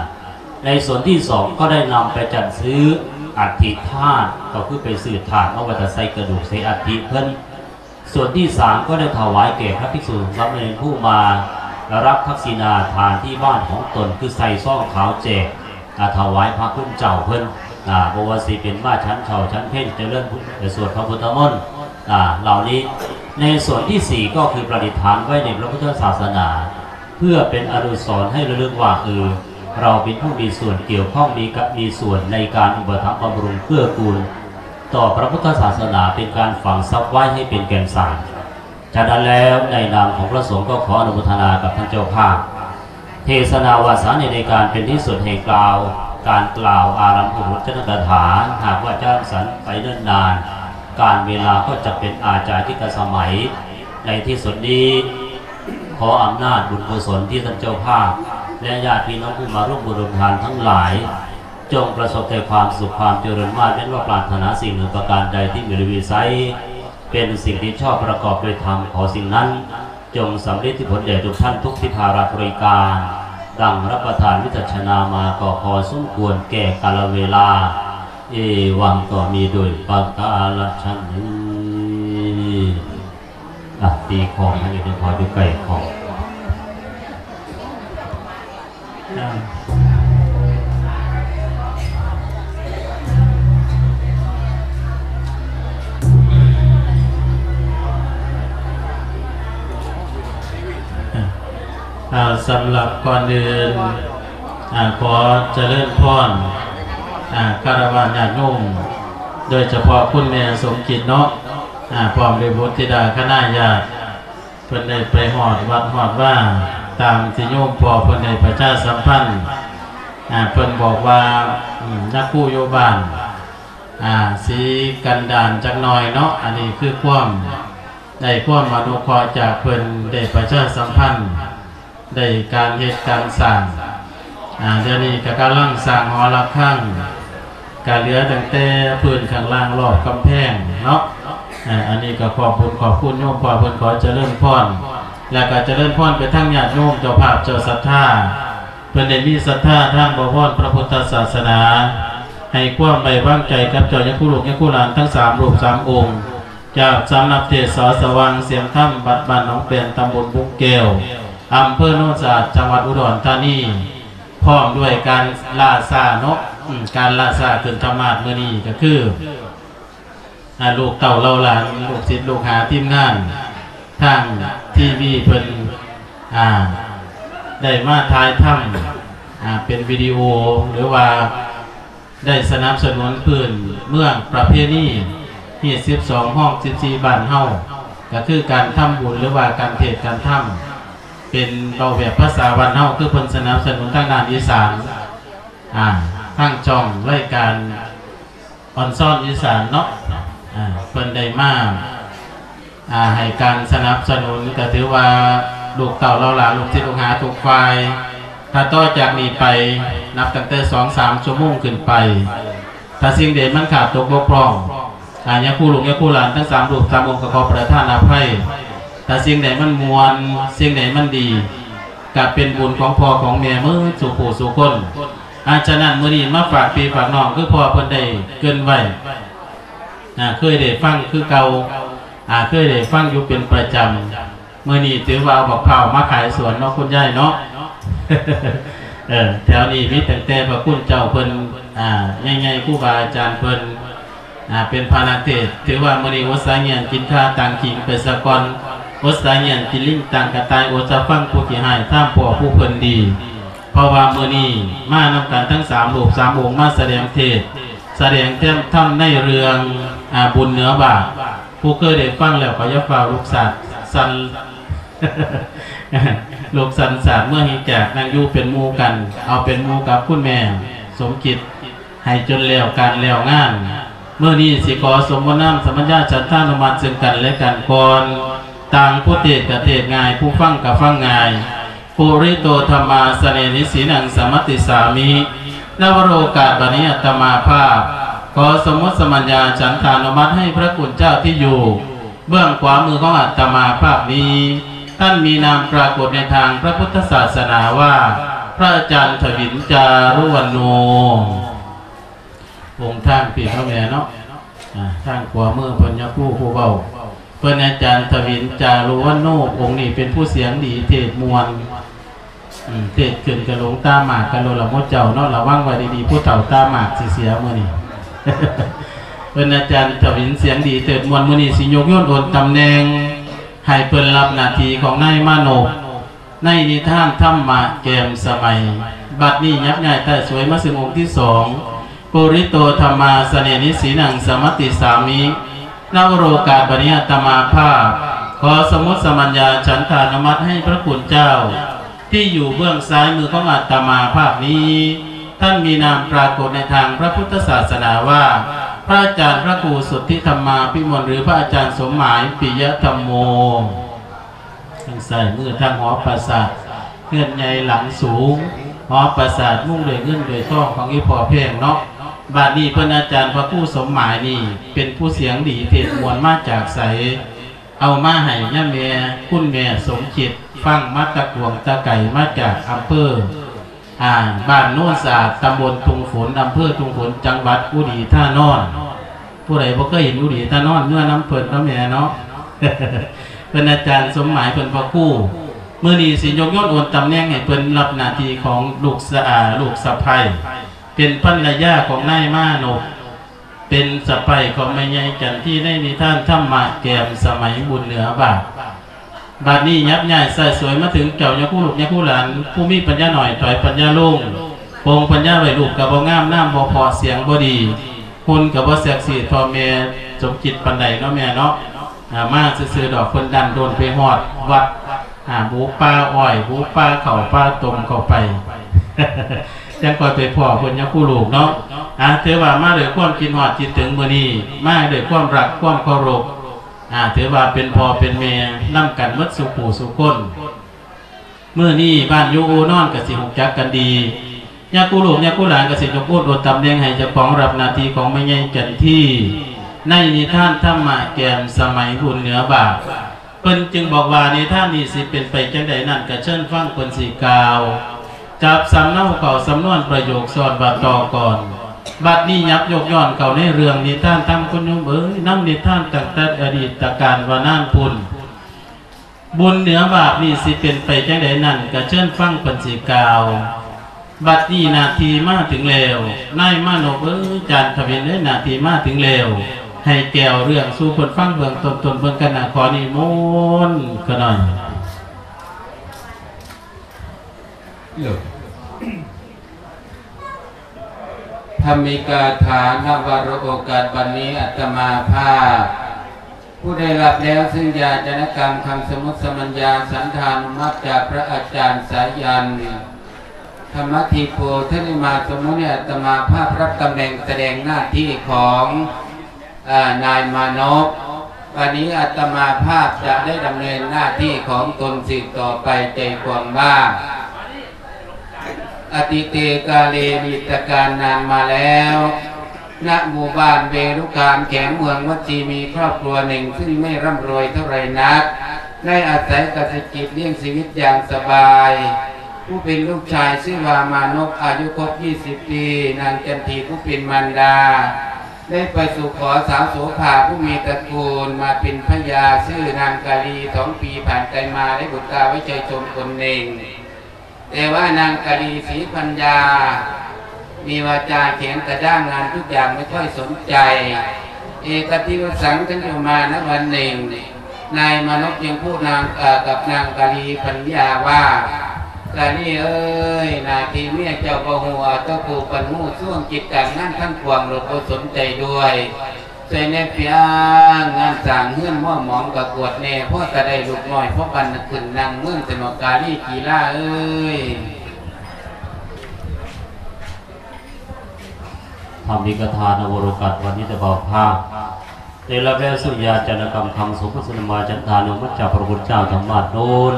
ໃນສ່ວນທີສອງ ກໍໄດ້ນຳໄປຈັດຊື້ອັດຖິທາດ ກໍຄືໄປຊື້ທາດມາໄວ້ຖ້າໃສ່ກະດູກໃສ່ອັດຖິເພິ່ນ. ສ່ວນທີສາມ ກໍໄດ້ຖວາຍແກ່ພະພິກສຸສາມະເນນຜູ້ມາຮັບທັກສິນາທານທີ່ບ້ານຂອງຕົນ ຄືໃສ່ຊອງຂາວແຈກ ອາ ຖວາຍພະຄຸນເຈົ້າເພິ່ນ ອາ ບໍ່ວ່າຊິເປັນມາສັນເຊົ້າສັນເພັນ ຈະເລີນພຸດ ສວດພະພຸດທະມົນ ອາ ເຫຼົ່ານີ້. ໃນສ່ວນທີສີ່ ກໍຄືປະດິດຖານໄວ້ໃນພະພຸດທະສາສະໜາ ເພື່ອເປັນອະນຸສອນໃຫ້ລະລຶກວ່າ ເອີ ເຮົາເປັນຜູ້ມີສ່ວນກ່ຽວຂ້ອງ ມີກະ ມີສ່ວນໃນການອຸປະຖຳບຳລຸງເກື້ອກູນຕໍ່ພະພຸດທະສາສະໜາ ເປັນການຝັງຊັບໄວ້ໃຫ້ເປັນແກ່ນສານ. ສະນັ້ນແລ້ວ ໃນນາມຂອງພະສົງ ກໍຂໍອະນຸໂມທະນາກັບທ່ານເຈົ້າພາບ ເທສະນາວາສານີ້ ໃນການເປັນທີ່ສຸດແຫ່ງການ ການກ່າວອາລັມພະບົດຈັນທະກະຖາ. ຫາກວ່າຈະສັນໄປເນີນນານ ການເວລາກໍຈະເປັນອາຈາທິກະສະໄໝ. ໃນທີ່ສຸດນີ້ ຂໍອຳນາດບຸນກຸສົນທີ່ທ່ານເຈົ້າພາບ ແລະ ຍາດພີ່ນ້ອງຜູ້ມາຮ່ວມບຸນຮ່ວມທານທັງຫຼາຍ ຈົ່ງປະສົບແຕ່ຄວາມສຸກຄວາມຈະເລີນ ໝາດແມ່ນວ່າປາດຖະໜາສິ່ງໜຶ່ງປະການໃດທີ່ມີໃນວິໄສ ເປັນສິ່ງທີ່ຊອບປະກອບດ້ວຍທຳ ຂໍສິ່ງນັ້ນຈົ່ງສຳເລັດທີ່ຜົນແດ່ທຸກທ່ານທຸກທີ່ພາລະບໍລິການ ດັ່ງຮັບປະທານວິຈັດຊະນາມາກໍພໍສົມຄວນແກ່ກາລະເວລາ. ເອວັງ ກໍມີໂດຍປະກາລະຊະນີ. ອ່ະ ຕີຂອງໃຫ້ຢູ່ໃນຄອ ຢູ່ໃກ້ຂອງ. ອ່າ ສຳລັບກ່ອນອື່ນ ອ່າ ຂໍຈະເລີນພອນ ອ່າ ຄາລະວານຍາດໂຍມ ໂດຍສະເພາະຄຸນແມ່ສົມຈິດເນາະ ອ່າ ພ້ອມດ້ວຍບຸດທິດາຄະນະຍາດ ເພິ່ນໄດ້ໄປຮອດວັດຮອດວາ ຕາມທີ່ໂຍມພໍ່ເພິ່ນໄດ້ປະຊາສຳພັນ ອ່າ ເພິ່ນບອກວ່າ ອືມ ນະຄູຢູ່ບ້ານ ອ່າ ຊິກັນດານຈັກໜ່ອຍເນາະ ອັນນີ້ຄືຄວາມ ໄດ້ຄວາມອະນຸເຄາະຈາກເພິ່ນ ໄດ້ປະຊາສຳພັນ ໄດ້ການເຮັດການສ້າງ ອ່າ ດຽວນີ້ກໍກຳລັງສ້າງຫໍລະຄັງ ກະເຫຼືອຕັ້ງແຕ່ພື້ນຂ້າງລ່າງລອບກຳແພງເນາະ. ເອີ ອັນນີ້ກໍຂອບບຸນຂອບຄຸນໂຍມພໍ່ເພິ່ນ ຂໍຈະເລີນພອນ ແລ້ວກໍຈະເລີນພອນໄປທາງຍາດໂຍມເຈົ້າພາບເຈົ້າສັດທາ ເພິ່ນໄດ້ມີສັດທາທາງບໍວອນພະພຸດທະສາສະໜາ ໃຫ້ຄວາມໄວ້ວາງໃຈກັບເຈົ້າຍາຄູລູກຍາຄູຫຼານທັງສາມຮູບສາມອົງ ຈາກສຳນັກເທດສອງສະຫວ່າງສຽງທຳ ວັດບ້ານໜອງແປນ ຕຳບົນບຸງແກ້ວ ອຳເພີໂນນສະອາດ ຈັງຫວັດອຸດອນທານີ ພ້ອມດ້ວຍການລ່າຊ້າເນາະ ອາ ການລ່າຊ້າຂຶ້ນທຳມາດມື້ນີ້ກໍຄື ອາ ລູກເຕົ້າເຫຼົ່າຫຼານ ລູກສິດລູກຫາທີມງານ ທາງທີວີເພິ່ນ ອາ ໄດ້ມາຖ່າຍທຳ ອາ ເປັນວິດີໂອ ຫຼືວ່າໄດ້ສະໜັບສະໜູນພື້ນເມືອງປະເພນີຮີດສິບສອງ ຮອງສິບສີ່ ບ້ານເຮົາ ກໍຄືການທຳບຸນ ຫຼືວ່າການເທດການທຳ ເປັນເວົ້າແບບພາສາບ້ານເຮົາ ຄືເພິ່ນສະໜັບສະໜູນທາງດ້ານອີສານ ອາ ທາງຊ່ອງລາຍການ ອອນຊອນອີສານເນາະ ອາ ເພິ່ນໄດ້ມາ ອາ ໃຫ້ການສະໜັບສະໜູນ ກໍຖືວ່າລູກເຕົ້າເຫຼົ່າຫຼານ ລູກສິດລູກຫາທຸກຝ່າຍ ຖ້າຕໍ່ຈາກນີ້ໄປ ນັບຕັ້ງແຕ່ສອງສາມຊົ່ວໂມງຂຶ້ນໄປ ຖ້າສິ່ງໃດມັນຂາດຕົກບົກຜ່ອງ ອາ ຍາຄູລູກຍາຄູຫຼານທັງສາມຮູບສາມອົງ ກໍຂໍປະທານອະໄພ ຖ້າສິ່ງໃດມັນມ່ວນ ສິ່ງໃດມັນດີ ກໍເປັນບຸນຂອງພໍ່ຂອງແມ່ເໝິດສູ່ຜູ້ສູ່ຄົນ. ອາ ສະນັ້ນ ມື້ນີ້ມາຝາກພີ່ຝາກນ້ອງ ຄືພໍ່ເພິ່ນໄດ້ເກີ່ນໄວ້ ອາ ເຄີຍໄດ້ຟັງຄືເກົ່າ ອາ ເຄີຍໄດ້ຟັງຢູ່ເປັນປະຈຳ. ມື້ນີ້ຖືວ່າເອົາບັກພ້າວມາຂາຍສວນເນາະ ຄຸນຍາຍເນາະ. ເອີ ແຖວນີ້ມີຕັ້ງແຕ່ພະຄຸນເຈົ້າເພິ່ນ ອາ ໃຫຍ່ໆ ຄູບາອາຈານເພິ່ນ ອາ ເປັນພະນັກເທດ. ຖືວ່າມື້ນີ້ອົດສາຍງຽນກິນຂ່າຕ່າງຂີງໄປສາກ່ອນ, ອົດສາຍງຽນກິນລິງຕ່າງກະຕ່າຍ, ອົດສາຟັງຜູ້ຂີ້ຮ້າຍຖາມພໍ່ຜູ້ເພິ່ນດີ. ເພາະວ່າມື້ນີ້ມານຳກັນທັງສາມຮູບສາມອົງ ມາສະແດງເທດ ສະແດງທຳໃນເລື່ອງ ອາ ບຸນເໜືອບາບ. ຜູ້ເຄີຍໄດ້ຟັງແລ້ວກໍຢ່າຟ້າວລຸກສາດສັ່ນ ລຸກສັ່ນສາດເມືອແຫ່ງຈາກ ນັ່ງຢູ່ເປັນໝູ່ກັນ ເອົາເປັນໝູ່ກັບຄຸນແມ່ສົມຄິດ ໃຫ້ຈົນແລ້ວການແລ້ວງານ. ມື້ນີ້ຊິຂໍສົມມຸດນາມສະມັນຍາສັດທານຸມັດເຊິ່ງກັນແລະກັນກ່ອນ. ຕ່າງຜູ້ເທດກະເທດງ່າຍ ຜູ້ຟັງກະຟັງງ່າຍ. ປຸລິໂຕທຳມາສະເນນິສີນັງສະມັດຕິສາມິ. ນະວະໂລກາດບັດນີ້ອາດຕະມາພາບ ຂໍສົມມຸດສະມັນຍາສັດທານຸມັດໃຫ້ພະຄຸນເຈົ້າທີ່ຢູ່ເບື້ອງຂວາມືຂອງອາດຕະມາພາບນີ້ ທ່ານມີນາມປາກົດໃນທາງພະພຸດທະສາສະໜາວ່າ ພະອາຈານທະວິນ ຈາລຸວັນໂນ. ອົງທາງພີ້ເນາະແມ່ເນາະ ອາ ທາງຂວາມືເພິ່ນຍາຄູຜູ້ເວົ້າ ເພິ່ນອາຈານທະວິນ ຈາລຸວັນໂນ. ອົງນີ້ເປັນຜູ້ສຽງດີ ເທດມ່ວນ ອືມ ເທດຂຶ້ນກະຫຼົງຕາໝາກກັນໂລດລະໝູ່ເຈົ້າເນາະ ລະວັງໄວ້ດີໆ ຜູ້ເຖົ້າຕາໝາກຊິເສຍມື້ນີ້. ເພິ່ນອາຈານທະວິນສຽງດີເທີດມ່ວນ ມື້ນີ້ຊິຍົກໂຍນໂອນຕຳແໜ່ງໃຫ້ເພິ່ນຮັບໜ້າທີ່ຂອງນາຍມານົບ ໃນນິທານທຳມະແກມສະໄໝ. ບັດນີ້ຍັບຍ້າຍໃຕ້ສວຍມາເຊິ່ງອົງທີສອງ ປຸລິໂຕທຳມາສະເນນິສີນັງສະມັດຕິສາມິ. ນະວະໂລກາດບັດນີ້ອາດຕະມາພາບ ຂໍສົມມຸດສະມັນຍາສັດທານຸມັດໃຫ້ພະຄຸນເຈົ້າ ທີ່ຢູ່ເບື້ອງຊ້າຍມືຂອງອາດຕະມາພາບນີ້ ທ່ານມີນາມປາກົດໃນທາງພະພຸດທະສາສະໜາວ່າ ພະອາຈານພະຄູສຸດທິທຳມາພິມົນ ຫຼື ພະອາຈານສົມໝາຍ ປິຍະທຳໂມ. ທາງຊ້າຍມືທາງຫໍປາສາດ ເຮືອນໃຫຍ່ຫຼັງສູງ ຫໍປາສາດມຸງດ້ວຍເງິນດ້ວຍທອງຂອງອີ່ພໍ່ແພງເນາະ. ບາດນີ້ເພິ່ນອາຈານພະຄູສົມໝາຍນີ້ ເປັນຜູ້ສຽງດີເທດມ່ວນມາຈາກໃສ? ເອົາມາໃຫ້ຍາແມ່ ຄຸນແມ່ສົມຄິດ ຟັງມາແຕ່ກວາງແຕ່ໄກ ມາຈາກອຳເພີ ອາ ບ້ານໂນນສະອາດ ຕຳບົນທຸ່ງຝົນ ອຳເພີທຸ່ງຝົນ ຈັງຫວັດອຸດີທານອນ. ຜູ້ໃດບໍ່ເຄີຍເຫັນອຸດີທານອນ ເມືອນຳເພິ່ນເນາະແມ່ເນາະ. ເພິ່ນອາຈານສົມໝາຍ ເພິ່ນພະຄູ ມື້ນີ້ຊິຍົກໂຍນໂອນຕຳແໜ່ງໃຫ້ເພິ່ນຮັບໜ້າທີ່ຂອງລູກສະອາ ລູກສະໃພ້ ເປັນພັນລະຍາຂອງນາຍມານົບ ເປັນສະໃພ້ຂອງແມ່ໃຫຍ່ຈັນທີ ໃນນິທານທຳມະແກມສະໄໝບຸນເໜືອບາດ. ບາດນີ້ຍັບຍ້າຍສາຍສວຍມາເຖິງເຈົ້າຍາຄູລູກຍາຄູຫຼານ ຜູ້ມີປັນຍາໜ້ອຍຖອຍປັນຍາລົງ ປົງປັນຍາໄວ້ ຮູບກະບໍ່ງາມ ນາມບໍ່ເພາະ ສຽງບໍ່ດີ ຫຸ່ນກະບໍ່ເຊັກຊີທໍ່ແມ່ສົມຄິດປານໃດເນາະແມ່ເນາະ. ອາ ມາຊື່ໆດອກ ເພິ່ນດັນໂດນໄປຮອດວັດ ອາ ບຸປ່າອ້ອຍ ບຸປ່າເຂົ້າປ່າຕົມເຂົ້າໄປ ຈັ່ງຄ່ອຍໄປພໍ້ເພິ່ນຍາຄູລູກເນາະ. ອາ ຖືວ່າມາດ້ວຍຄວາມຄິດຮອດຄິດເຖິງມື້ນີ້ ມາດ້ວຍຄວາມຮັກຄວາມເຄົາລົບ ອາ ຖືວ່າເປັນພໍ່ເປັນແມ່ນຳກັນໝົດສູ່ຜູ້ສູ່ຄົນ. ມື້ນີ້ບ້ານຢູ່ອູ່ນອນກະຊິຮູ້ຈັກກັນດີ ຍາຄູລູກຍາຄູຫຼານກະຊິຍົກໂອນໂອນຕຳແໜ່ງໃຫ້ເຈົ້າຂອງຮັບໜ້າທີ່ຂອງແມ່ໃຫຍ່ຈັນທີ ໃນນິທານທຳມະແກມສະໄໝບຸນເໜືອບາດ. ເພິ່ນຈຶ່ງບອກວ່າ ນິທານນີ້ຊິເປັນໄປຈັ່ງໃດນັ້ນ ກະເຊີນຟັງເພິ່ນຊິກ່າວ ຈັບສຳເນົາເຂົ້າສຳນວນປະໂຫຍກຊ້ອນວ່າຕໍ່ກ່ອນ ບັດນີ້ຫຍັບຍົກຍ້ອນເຂົ້າໃນເລື່ອງນິທານທຳ ຄຸນໂຍມເອີຍ, ນຳນິທານຕັ້ງແຕ່ອະດີດຕະການວ່ານານພຸ້ນ. ບຸນເໜືອບາບນີ້ຊິເປັນໄປຈັ່ງໃດນັ້ນ ກະເຊີນຟັງເພິ່ນຊິກ່າວ. ບັດນີ້ໜ້າທີ່ມາເຖິງແລ້ວ, ນາຍມານົບເອີຍ, ຈານທະວິນເອີຍ, ໜ້າທີ່ມາເຖິງແລ້ວ, ໃຫ້ແກ່ວເລື່ອງສູ່ເພິ່ນຟັງເບື້ອງຕົ້ນໆເບິ່ງກັນນະ. ຂໍນິມົນຂະໜ້ອຍ. ທຳມີກາຖານະວະໂລກາດ ບັດນີ້ອາດຕະມາພາບ ຜູ້ໄດ້ຮັບແລ້ວຊຶ່ງຍາຈະນະກຳຄຳສະໝຸດສະມັນຍາສັນທານຸມັດຈາກພະອາຈານສາຍັນ ທຳມະທິໂພ ທະນິມາສົມມຸດ ໃຫ້ອາດຕະມາພາບຮັບຕຳແໜ່ງສະແດງໜ້າທີ່ຂອງ ອາ ນາຍມານົບ. ບັດນີ້ອາດຕະມາພາບຈະໄດ້ດຳເນີນໜ້າທີ່ຂອງຕົນສືບຕໍ່ໄປ ໃຈຄວາມວ່າ ອະຕິເຕກາເລ ອະດີດຕະການນານມາແລ້ວ ນະໝູ່ບ້ານເວລຸຄາມ ແຂວງເມືອງວັດຊີ ມີຄອບຄົວໜຶ່ງ ຊຶ່ງໄມ່ຮ່ຳລວຍເທົ່າໃດນັກ ໄດ້ອາໄສກະສິດຈະລ້ຽງຊີວິດຢ່າງສະບາຍ. ຜູ້ເປັນລູກຊາຍຊື່ວ່າມານົບ ອາຍຸຄົບຊາວປີ, ນາງຈັນທີຜູ້ເປັນມານດາ ໄດ້ໄປສູ່ຂໍສາວໂສພາຜູ້ມີຕະກູນມາເປັນພະຍາ, ຊື່ນາງກາລີ ສອງປີຜ່ານໄປມາໄດ້ບຸດຕາໄວ້ໃຈຊົມຄົນໜຶ່ງ. ແຕ່ວ່ານາງກາລີສີພັນຍາ ມີວາຈາແຂງກະດ້າງ, ງານທຸກຢ່າງໄມ່ຄ່ອຍສົນໃຈ. ເອກະທິວະສັງ ຄັນຢູ່ມານະວັນໜຶ່ງ, ນາຍມານົບຈຶ່ງພູດນາງ ເອີ ກັບນາງກາລີພັນຍາວ່າ, ກາລີເອີຍ, ໜ້າທີ່ເມຍເຈົ້າບໍ່ຮູ້ ເອົາແຕ່ຜູ້ປັນຮູ້, ຊ່ວງກິດການງານທັງປວງໂລດບໍ່ສົນໃຈດ້ວຍ. ຊ່ວຍແດ່ເປີຍງານສ້າງເຮືອນ ໝໍ່ໝອງກະກວດແດ່, ພໍຈະໄດ້ລູກນ້ອຍພໍປັນຂຶ້ນນັ່ງເມືອງ ຊະເນາະ ກາລີກີລາເອີຍ. ທຳມີກາຖານະໂວໂລກັດ ວັນນີ້ແຕ່ບ່າວພາບ ໄດ້ຮັບແລ້ວຊຸລິຍາຈານະກຳຄຳສົມມຸດສະມາຈັນທານຸມັດຈາກພະພຸດທະເຈົ້າທຳມາດໂນນ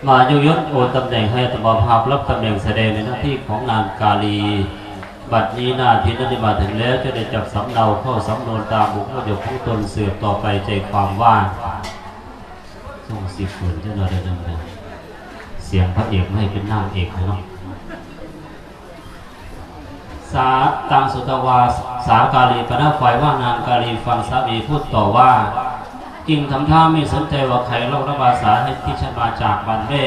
ມາຍຸຍົດໂອນຕຳແໜ່ງໃຫ້ອາດຕະມາພາບຮັບຕຳແໜ່ງສະແດງໃນໜ້າທີ່ຂອງນາງກາລີ. ບັດນີ້ໜ້າທີ່ນັ້ນໄດ້ມາເຖິງແລ້ວ, ຈະໄດ້ຈັບສຳເນົາເຂົ້າສຳນວນຕາມບຸກມະຍົກຂອງຕົນສືບຕໍ່ໄປ ໃຈຄວາມວ່າ ສົ່ງສິບເພິ່ນຈັກໜ້ອຍເດີ ສຽງພະເອກໃຫ້ເປັນນາງເອກເນາະ. ສາຕັງສຸດຕະວາ ສາກາລີປະນະໄຟວ່ານາງກາລີຟັງສາມີພູດຕໍ່ວ່າ, ຈຶ່ງທຳທ່າມີສົນໃຈວ່າໃຄເລົ່າລະພາສາໃຫ້ທີ່ສັນມາຈາກບ້ານແວ່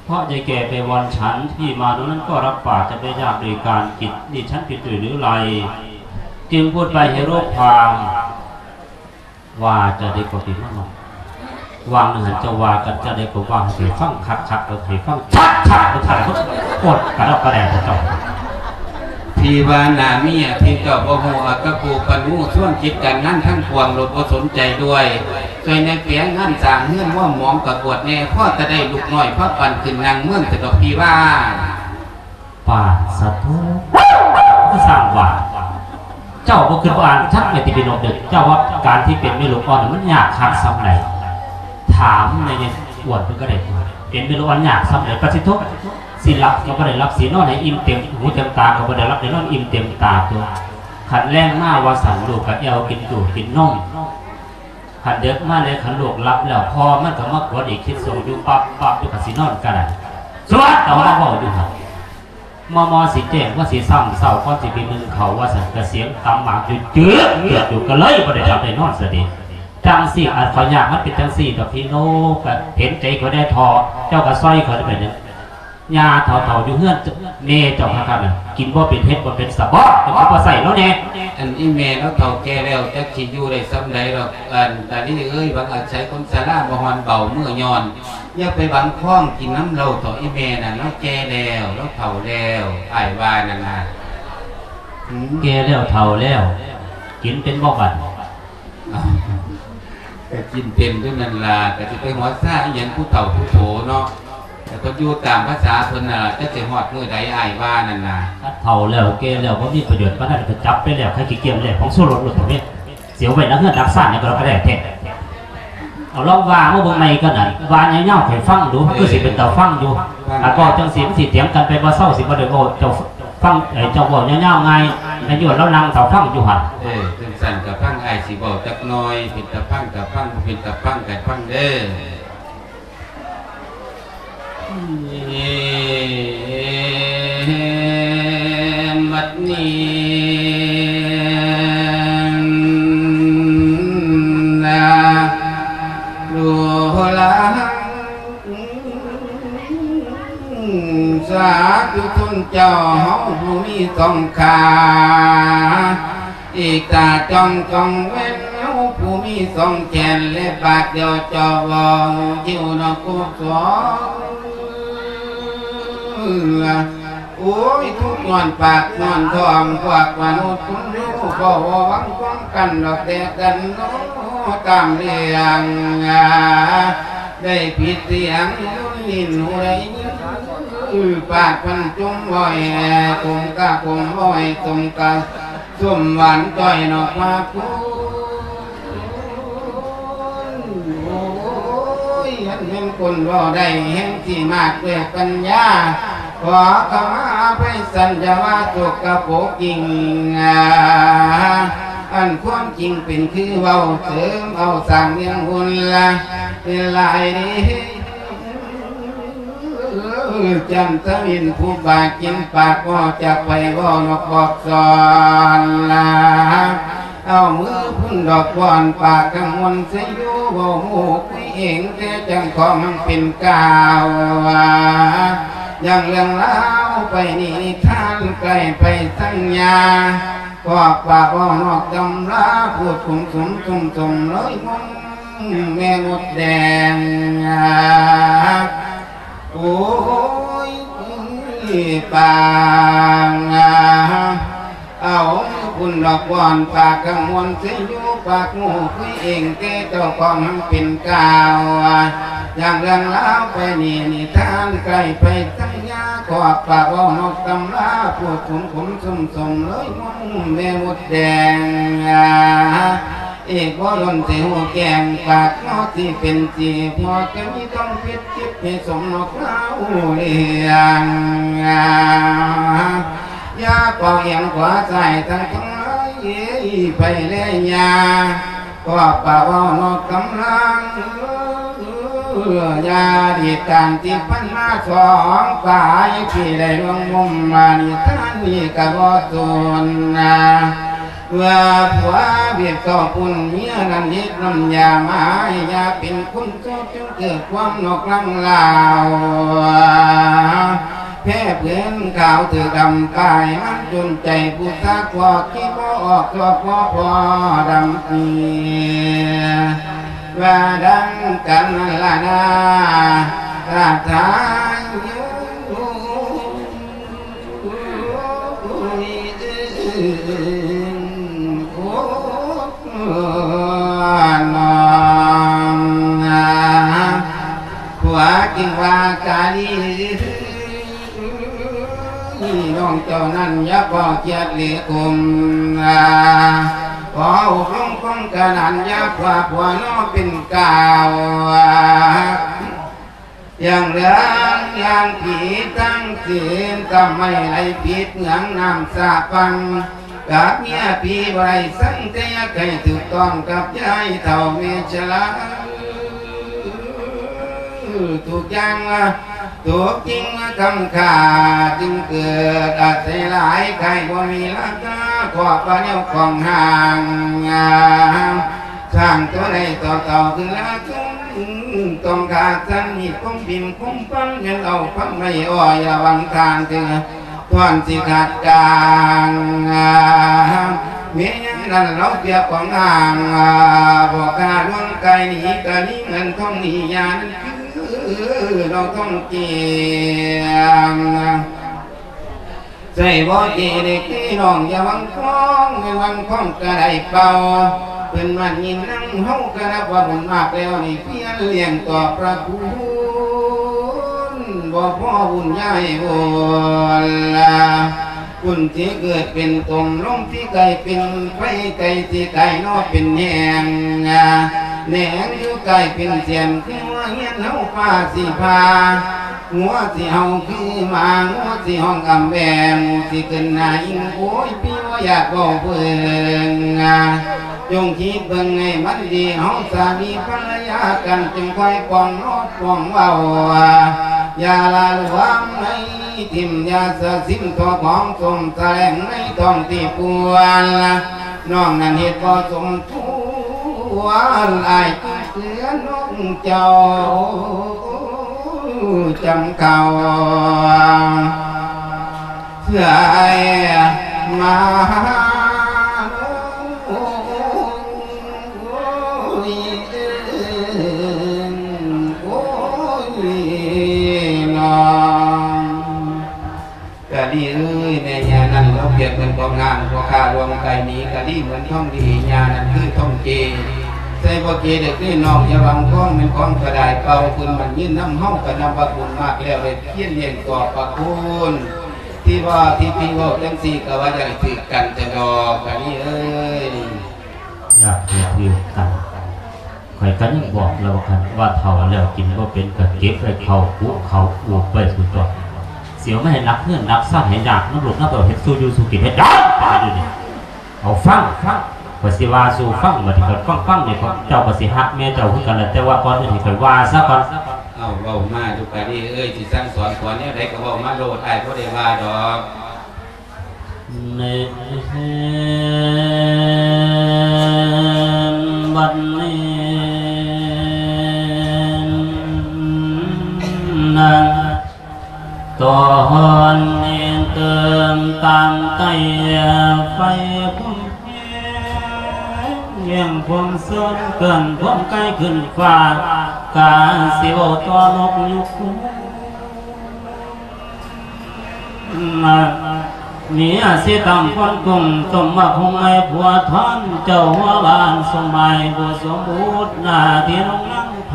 ເພາະຍາຍແກ່ໄປວອນສັນທີ່ມາໂນນັ້ນກໍຮັບປາກຈະໄປຢາກໂດຍການກິນນີ້ ສັນເປັນໂດຍຫຼືໄລ ຈຶ່ງພູດໄປໃຫ້ໂລກຟັງ. ວ່າຈະໄດ້ກໍດີມາກເນາະ. ວ່າງໜຶ່ງຫັ້ນເຈົ້າວ່າກັນຈະໄດ້ກໍວ່າໃຫ້ໄປຟັງຄັກໆ ແລ້ວໃຫ້ຟັງຊັດໆ ແລ້ວທ່ານກໍກົດກະດອກກະແດກເຈົ້າ. ທີ່ວ່າໜ້າເມຍທີ່ເຈົ້າບໍ່ຮູ້ ເອົາແຕ່ຜູ້ປັນຮູ້ ຊວນຄິດການງານທັງປວງໂລດບໍ່ສົນໃຈດ້ວຍ. ຊ່ວຍແດ່ເປຍງານສ້າງເຮືອນ ໝໍ່ໝອງກະກວດແດ່ ພໍຈະໄດ້ລູກນ້ອຍພາປັນຂຶ້ນນັ່ງເມືອງຊະດອກ ທີ່ວ່າ ປາດສະໂທ ຄືສ້າງວ່າ ເຈົ້າບໍ່ຄິດບໍ່ອ່ານ ທັງແມ່ນທີ່ເປັນນົກເດີ ເຈົ້າວ່າການທີ່ເປັນແມ່ລູກອ່ອນມັນຍາກຄັກສ່ຳໃດ? ຖາມໃນຍາຍອ້ວນເພິ່ນກໍໄດ້ ເປັນແມ່ລູກອ່ອນຍາກສ່ຳໃດ? ປາດສະໂທ ຊິຫຼັບກໍບໍ່ໄດ້ຫຼັບ ຊິນອນໃຫ້ອີ່ມເຕັມຫູເຕັມຕາກໍບໍ່ໄດ້ຫຼັບ ໄດ້ນອນອີ່ມເຕັມຕາຕົວະ. ຄັນແລງມາວ່າຊັ້ນ ລູກກໍແອວກິນດູ່ກິນນົມ. ຄັນເດິກມາແລ້ວ ຄັນລູກຫຼັບແລ້ວ ພໍ່ມັນກໍມາກວນອີກ ຄິດສົ່ງຢູ່ປັບໆ ຢູ່ ຄັນຊິນອນກໍໄດ້ ສວດເອົາມາເວົ້າຢູ່ຫັ້ນ. ມໍ່ໆ ຊິແຈ້ງວ່າຊິຊ້ຳເຊົ້າ ກ່ອນຊິໄປໜຶ້ງເຂົ້າວ່າຊັ້ນ ກະສຽງຕຳໝາກຢູ່ ຈຶກໆ ຢູ່ ກໍເລີຍບໍ່ໄດ້ຫຼັບໄດ້ນອນສະເດ. ຈັ່ງຊີ້ ອັນຂ້ອຍຍາກມັນເປັນຈັ່ງຊີ້ດອກ ພີ່ໂນ ກະເຫັນໃຈຂ້ອຍແດ່ເຖາະ ເຈົ້າກະຊ່ອຍຂ້ອຍໄດ້ໄປເດີ. ຍ່າເຖົ້າໆ ຢູ່ເຮືອນແມ່ເຈົ້າຄັກໆ ນັ້ນ ກິນບໍ່ເປັນ ເຮັດບໍ່ເປັນ ສະບອກ ເຈົ້າຄືບໍ່ໃສ່ລາວແດ່. ອັນອີ່ແມ່ລາວເຖົ້າແກ່ແລ້ວ ຈັກຊິຢູ່ໄດ້ສ່ຳໃດດອກ ອັນຕາລີເອີຍ. ຫວັງອາໄສຄົນຊະລາ ບໍ່ຮ້ອນເບົາມືຍ້ອນ. ຢ່າໄປຫວັງຄອງກິນນຳລາວເຖາະ ອີ່ແມ່ນັ້ນ ລາວແກ່ແລ້ວ ລາວເຖົ້າແລ້ວ ອ້າຍວ່ານັ້ນນະ. ຫືມ ແກ່ແລ້ວເຖົ້າແລ້ວ ກິນເປັນບໍ່ບັດ? ອ້າວ ກະກິນເປັນຢູ່ນັ້ນລະ ກະຊິໄປຫົວຊາອີ່ຫຍັງ ຜູ້ເຖົ້າຜູ້ໂຖເນາະ. ແຕ່ເພິ່ນຢູ່ຕາມພາສາເພິ່ນນະ ຈັກຊິຮອດມື້ໃດ ອ້າຍວ່ານັ້ນນະ. ຄັນເຖົ້າແລ້ວແກ່ແລ້ວ ບໍ່ມີປະໂຫຍດປານນັ້ນ ກະຈັບໄປແລ້ວ ໃຫ້ຂີ້ກຽມແລ້ວ ຂອງໂຊລົດໂລດເຖາະແມ່ ຊິເອົາໄວ້ນະເຮືອນນະຊານຫຍັງກະແລ້ວແທ້. ເອົາລອງວ່າມາເບິ່ງໃໝ່ກ່ອນນະ ວ່າຍາວໆ ໃຫ້ຟັງດູ ມັນຄືຊິເປັນຕາຟັງຢູ່ ເອີ ຄັນເວົ້າຈັ່ງຊີ້ ມັນຊິຖຽງກັນໄປບໍ່ເຊົາ ຊິບໍ່ໄດ້ເວົ້າ ເຈົ້າ ຟັງ ເອີ ເຈົ້າເວົ້າຍາວໆ ງ່າຍ ແມ່ນຢູ່ລາວນັ່ງຖ້າຟັງຢູ່ຫັ້ນ. ເອີ ຈັ່ງຊັ້ນກະຟັງອ້າຍຊິເວົ້າຈັກໜ່ອຍ ເປັນຕາຟັງກະຟັງ ບໍ່ເປັນຕາຟັງກະຟັງເດີ. ບັດນີ້ ສາທຸຊົນເຈົ້າເຮົາຜູ້ມີສອງຂາ ອີກຕາຈ້ອງສອງແວ່ນເຮົາຜູ້ມີສອງແຂນ ແລະປາກດຽວເຈົ້າເວົ້າຄິວນະໂກສອງ ໂອ້ຍ ທຸກຍ້ອນປາກຍ້ອນທ້ອງ ພວກມະນຸດຄົນເຮົາ ບໍ່ຫວັງຄວາມກັນດອກແຕ່ກັນເນາະ ຕາມເລື່ອງ ໄດ້ຜິດສຽງ ຍິນຫູໄດ້ຍິນ ປາກພັນຈົ່ງເວົ້າໃຫ້ກົມກະກົມ ເວົ້າໃຫ້ສົມກະສົມ ຫວານຈ້ອຍເນາະພາຄຸນ. ໂອ້ຍ ອັນແມ່ນຄົນເວົ້າໄດ້ແຮງຊິມາກດ້ວຍປັນຍາ ຂໍຂະມາອະໄພສັນຢາວາສົກກະປົກຈິງ ອັນຄວາມຈິງເປັນຄືເວົ້າ ເສີມເອົາສ້າງວຽນວຸນລະ ເປັນຫຼາຍເດ້ ຈັນທະວິນຜູ້ບາກິນປາກ ບໍ່ຈັກໄປເວົ້ານອກບອກສອນລະ ເອົາມືພຸ້ນດອກບອນປາກກັງວົນໃສ່ຢູ່ ເວົ້າໂມກຸຍເອງແຕ່ຈັ່ງຂອງມັນເປັນກ່າວ ຢ່າງເລື່ອງລາວໄປນີ້ນິທານໃກ້ໄປສັນຍາ ພວກປາກເວົ້ານອກຕຳລາ ພູດຂຸມສຸມຊຸ່ມສົມເລີຍມຸມແມ່ມົດແດງ ໂອ້ຍ ປາງ ເອົາບຸນດອກບອນປາກກັງວົນໃສ່ຢູ່ ປາກໝູ່ຄຸຍເອງແຕ່ເຈົ້າຂອງມັນເປັນກ່າວ ຢ່າງເລື່ອງລາວໄປນີ້ນິທານໃກ້ໄປສັນຍາ ຂອກປາກເວົ້ານອກຕຳລາ ພູດຂຸມຂຸມຊຸ່ມສົມເລີຍມຸມແມ່ມົດແດງ ອີກບໍ່ດົນຊິຮູ້ແຈ້ງ ປາກເຮົາຊິເປັນສີ ພໍຈະມີຄວາມຜິດຈິດໃຫ້ສົມນອກລາວລ້ຽງ ຢ່າເປົ່າອຽງຂວາຊ້າຍທັງຫຼາຍໄປແລຍາ ຄອບປາກເວົ້ານອກກຳລັງ ຢ່າດີດການທີ່ຜ່ານມາສອງປາຍ ທີ່ໄດ້ລ່ວງມຸມມານິທານນີ້ກະບໍ່ສູນນາ ເມື່ອຜົວບຽບເຂົ້າປຸ້ນເມຍນັ້ນເຮັດນ້ຳຢາມາໃຫ້ ຢ່າເປັນຄົນໂສດຈົນເກີດຄວາມນອກລັງລາວ ແພ້ເຜືນຂາວຖືກດຳປ້າຍ ມັນຈົນໃຈຜູ້ຊາກ ພວກທີ່ບໍ່ອອກ ພວກບໍ່ພໍດຳປີ ວ່າດັ່ງກັນນັ້ນລະນາ ລາດທາຍ ໂອ້ ນ້ອງ ຜົວຈຶ່ງວ່າກາລີ ນ້ອງເຈົ້ານັ້ນຢ່າພໍຄຽດເລກົມ ຂໍອົບລົມຄວາມກະໜັນ ຢ່າຂວາຜົວນອເປັນກ່າວ ຢ່າງເລື່ອງຢ່າງຜີທັງສິ້ນ ທຳໄມໄຫຼຜິດເຫືອງນ້ຳສາພັງ ກັບເມຍຜີບໍ່ໄດ້ສັງ ແຕ່ຢາກໃຫ້ຖືກຕ້ອງກັບຍາຍເຖົ້າແມ່ຊະລາ ທຸກຢ່າງ ຕົກຈິງຄຳຂ້າຈຶ່ງເກີດ ອາໄສຫຼາຍຂາຍບໍ່ມີລາຄາ ຄອບວ່າແນວຂອງຫ່າງ ສ້າງຕົວໃດຕໍ່ເຕົາຄືລາທຸງ ຕ້ອງຂາດສັນມີຄົມພິມຄົມພັນ ຍັງເອົາພັນໄວ້ອ້ອຍລະວັງທາງເທື່ອ ທ່ອນຊິຂາດກາງ ແມ່ນນັ້ນລາວເປຍບຂອງອ່າງ ບໍ່ກ້າລ່ວງໄກໜີກະໜີເງິນທອງໜີຍານັ້ນຄືລາວທອງເກງ ໃສ່ບໍ່ເກເດັກພີ່ນ້ອງຢ່າຫວັງຄອງ ແມ່ນຫວັງຄອງກະໄດ້ເປົ່າ ເພິ່ນມາຍິນນຳເຮົາກະນັບວ່າບຸນມາກແລ້ວນີ້ ພຽນລ້ຽງຕອບພະຄຸນ ບໍ່ພໍບຸນຍາຍບຸນລະ ບຸນທີ່ເກີດເປັນຕົມ ລົງທີ່ໄກເປັນໄຟ ໄກທີ່ໄກນອກເປັນແຫງ ແໜງຢູ່ໄກເປັນສຽນ ຄືວ່າຮຽນເຮົາຟ້າຊິຜ່າ ຫົວຊິເຫົ່າຄືໝາ ງົວຊິຮ້ອງອຳແບ ໝູຊິຂຶ້ນໜ້າອີງ ໂອ້ຍ ພີ່ບໍ່ຢາກເວົ້າເບິ່ງ ຈົ່ງຄິດເບິ່ງໃຫ້ມັນດີ ເຮົາສາມີພັນລະຍາກັນ ຈຶ່ງຄ່ອຍປ້ອງນອກປ້ອງເວົ້າ ຢ່າລະລວມໃນຖິ້ມ ຢ່າສະສິມທໍ່ຂອງສົມສະແຫຼງໃນທ້ອງທີ່ປວນ ນ້ອງນັ້ນເຮັດບໍ່ສົມຄວນ ອ້າຍຈຶ່ງເຕືອນນ້ອງເຈົ້າ ຈັ່ງເກົ່າ ເອື້ອຍມາ ໂອ້ຍ ໂອ້ຍ ນ້ອງ ກະດີເອີຍ ແມ່ຍ່ານັ້ນລາວປຽບເໝືອນຂອງຫ້າງ ພໍ່ຄ້າລວງໄກໜີ ກະດີເໝືອນທອງດີ ຍ່ານັ້ນຄືທອງເກ ໃສ່ບໍ່ເກເດັກນ້ອຍນ້ອງ ຢ່າຫວັງຂອງແມ່ນຂອງກະດາຍເກົ່າ ຄືນມັນຍືນນຳເຮົາ ກະນັບວ່າບຸນມາກແລ້ວ ໄດ້ພຽນລ້ຽງກອບພະຄຸນ ທີ່ວ່າທີ່ພີ່ເວົ້າຈັ່ງຊີ້ ກະວ່າຢາກໃຫ້ຖືກກັນແຕ່ດອກ ກະດີເອີຍ. ຢາກໃຫ້ຖືກກັນ ຂ້ອຍກະຍັງບອກລາວວ່າ ຄັນວ່າເຖົ້າແລ້ວກິນບໍ່ເປັນ ກະເກັບໄວ້ເຂົ້າກຸເຂົ້າອູບໄວ້ພຸ້ນຕົວະ ຊິເອົາມາໃຫ້ໜັກເຮືອນໜັກຊານ ໃຫ້ຍາກນຳລູກນຳເຕົ້າ ເຮັດສູ່ຢູ່ສູ່ກິນ ເຮັດຫຍັງປານຢູ່ນີ້ ເອົາຟັງ ຂ້ອຍຊິວ່າສູ່ຟັງ ບາດນີ້ຂ້ອຍຟັງໆ ນີ້ ເຈົ້າກະຊິຮັກແມ່ເຈົ້າຄືກັນແຫຼະ ແຕ່ວ່າກ່ອນອື່ນໃຫ້ຂ້ອຍວ່າຊະກ່ອນ. ເອົາ ເວົ້າມາດູກະດີເອີຍ ຊິສັ່ງສອນສອນແນວໃດກະເວົ້າມາໂລດ ອ້າຍບໍ່ໄດ້ວ່າດອກ. ໃນວັນນີ້ນັ້ນ ຕອນນີ້ເຕີມຕາມໄຕ້ໄຟ ຄວາມແຮງ ແຮງຄວາມເຊີນ ເກີນຄວາມໄກຂຶ້ນຟ້າ ກາຊິເວົ້າຕໍ່ນົກຍຸງ ເມຍຊິຕຳຄົນກຸງ ຕົ້ມໝາກຫຸ່ງໃຫ້ຜົວທອນ ເຈົ້າຫົວບ້ານສົມໝາຍ ຜູ້ສົມບູດໜ້າທີ່ນ້ອງນາງໄພ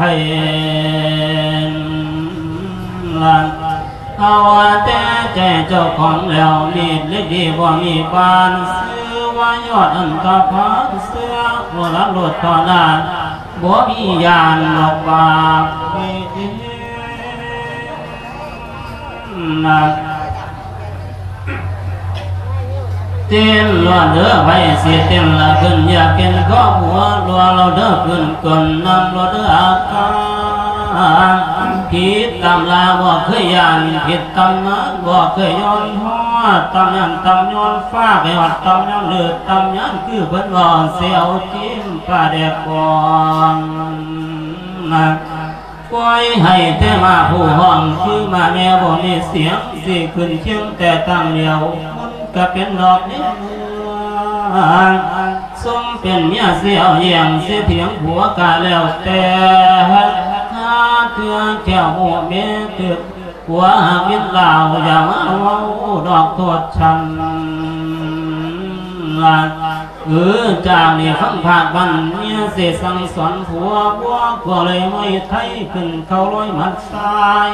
ເອົາແຕ່ໃຈເຈົ້າຂອງແລ້ວ ມີດເລັກດີບໍ່ມີບານ ຊື່ວ່າຍອດອັນຕະພານ ເສື້ອໂບລານໂລດຕໍ່ໜ້າ ບໍ່ມີຢ້ານດອກບາບ ເຕັ້ນລວດເດີ ໃຜຊິເຕັ້ນລະຂຶ້ນ ຢາກເຫັນຄອບຫົວລັວລາວເດີ ຂຶ້ນກົ້ນນ້ຳລວດເດີ ອາການ ຜິດຕຳລາບໍ່ເຄີຍຢ້ານ ຜິດຕຳນານບໍ່ເຄີຍຍ້ອນຮອດ ຕຳນານຕຳຍ້ອນຟ້າ ໄປຮອດຕຳຍ້ອນເລືອດຕຳຍານ ຄືເພິ່ນເວົ້າ ຊິເອົາຈິ້ມປາແດກບອງ ປ່ອຍໃຫ້ແຕ່ມາຜູ້ຮ້ອງ ຄືມາແມ່ບໍ່ມີສຽງ ຊິຂຶ້ນຄຽງແຕ່ຕາງດຽວ ມັນກະເປັນດອກເນ ສົມເປັນເມຍຊິເອົາແຍ່ງ ຊິຖຽງຜົວກະແລ້ວແຕ່ ຫາເທື່ອແກ້ວໝູເມຕຶກ ຜົວຫາກເປັນລາວ ຢ່າມາເວົ້າດອກໂທດຊັ້ນ ເອີ ຈາກນີ້ຟັງພາກບ້ານເມຍຊິສັ່ງສອນຜົວ ບົວກົວເລີຍມວຍໄທ ຂຶ້ນເຂົ້າລອຍໝັດຊາຍ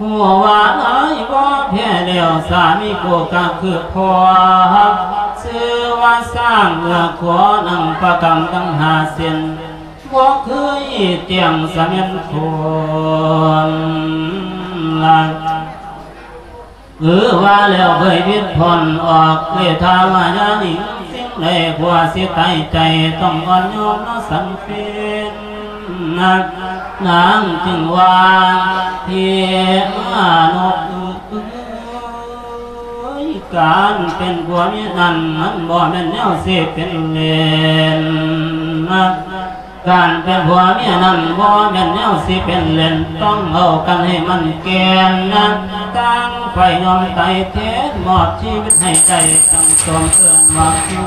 ຮູ້ວ່າອາຍບໍ່ແພ້ແລ້ວ ສາມີໂກກະຄືພໍ່ ຊື່ວ່າຊ້າງເມືອຂົວ ນັ່ງປະກຳຕັ້ງຫ້າເສັ້ນ ບໍ່ເຄີຍຕຽງສະແມ່ນຄົນ ເອີ ວ່າແລ້ວເຄີຍວິດຜ່ອນອອກ ເລີຍຖ້າວ່າຢ່າໜີ ສິ່ງໃດຜົວຊິຕາຍໃຈ ຕ້ອງອ່ອນຍອມເນາະສັນເປັນ ນາງຈຶ່ງວ່າ ພີ່ມານົກເອີຍ ການເປັນຜົວເມຍນັ້ນ ມັນບໍ່ແມ່ນແນວຊິເປັນເລ່ນ ການເປັນຜົວເມຍນັ້ນ ບໍ່ແມ່ນແນວຊິເປັນເລ່ນ ຕ້ອງເອົາກັນໃຫ້ມັນແກ່ນນະ ຕ່າງຝ່າຍຍອມຕາຍແທນ ມອບຊີວິດໃຫ້ໄດ້ ຕັ້ງຕົວເອີ້ນວ່າຄູ່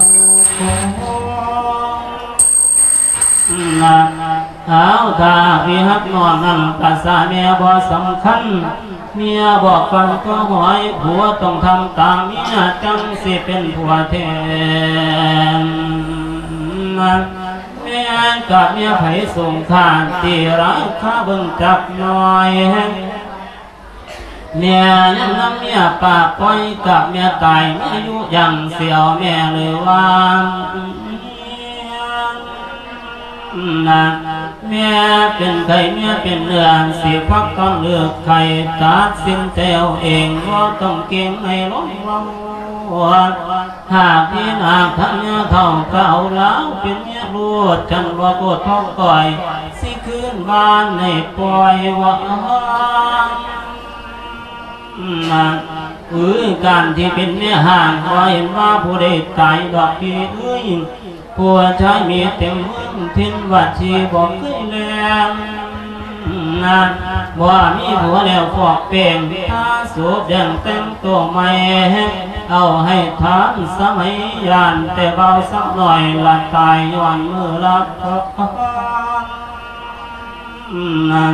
ຄົງນະ ເອົາ ຖ້າພີ່ຮັກນ້ອງນັ້ນ ພາສາແມ່ບໍ່ສຳຄັນ ເມຍບອກຟັງກໍຫວຍ ຜົວຕ້ອງທຳຕາມເມຍ ຈັ່ງຊິເປັນຜົວແທ້ ແມ່ນກັບເມຍໃຜສູງຄ່າ ຕີລາຄາເບິ່ງຈັກໜ້ອຍ ແມ່ຍັງນຳເມຍປາກປ່ອຍ ກັບເມຍຕາຍເມຍຢູ່ຍັງ ຊິເອົາແມ່ຫຼືວ່າ ນະ ແມ່ເປັນໄຂ້ເມຍເປັນເນື້ອ ຊິພັກຕ້ອນເລືອກໄຂ້ ຕັດສິນໃຈເອົາເອງ ບໍ່ຕ້ອງເກງໃນລອງເວົ້າ ຫາກມີໜາກທັງຍາເຖົ້າ ກະເອົາລາວເປັນເມຍໂລດ ຄັນບໍ່ໂກດທ້ອງກ້ອຍ ຊິຄືນບ້ານໃຫ້ປ່ອຍວ່າ ນະ ເອີ ການທີ່ເປັນແມ່ຮ້າງ ບໍ່ເຫັນວ່າຜູ້ໃດຕາຍດອກພີ່ເອີຍ ຜູ້ຊາຍມີເຕັມເມືອງ ຖິ່ນວັດທີ່ບໍ່ເຄີຍແລງ ນະ ບໍ່ມີຜົວແລ້ວຟອກແປ້ງ ທາສູບແດງແຕ່ງໂຕໃໝ່ ເອົາໃຫ້ທານສະໄໝ ຢ້ານແຕ່ບ່າວສາວນ້ອຍ ລະຕາຍຍ້ອນມືລັບທອນນະ.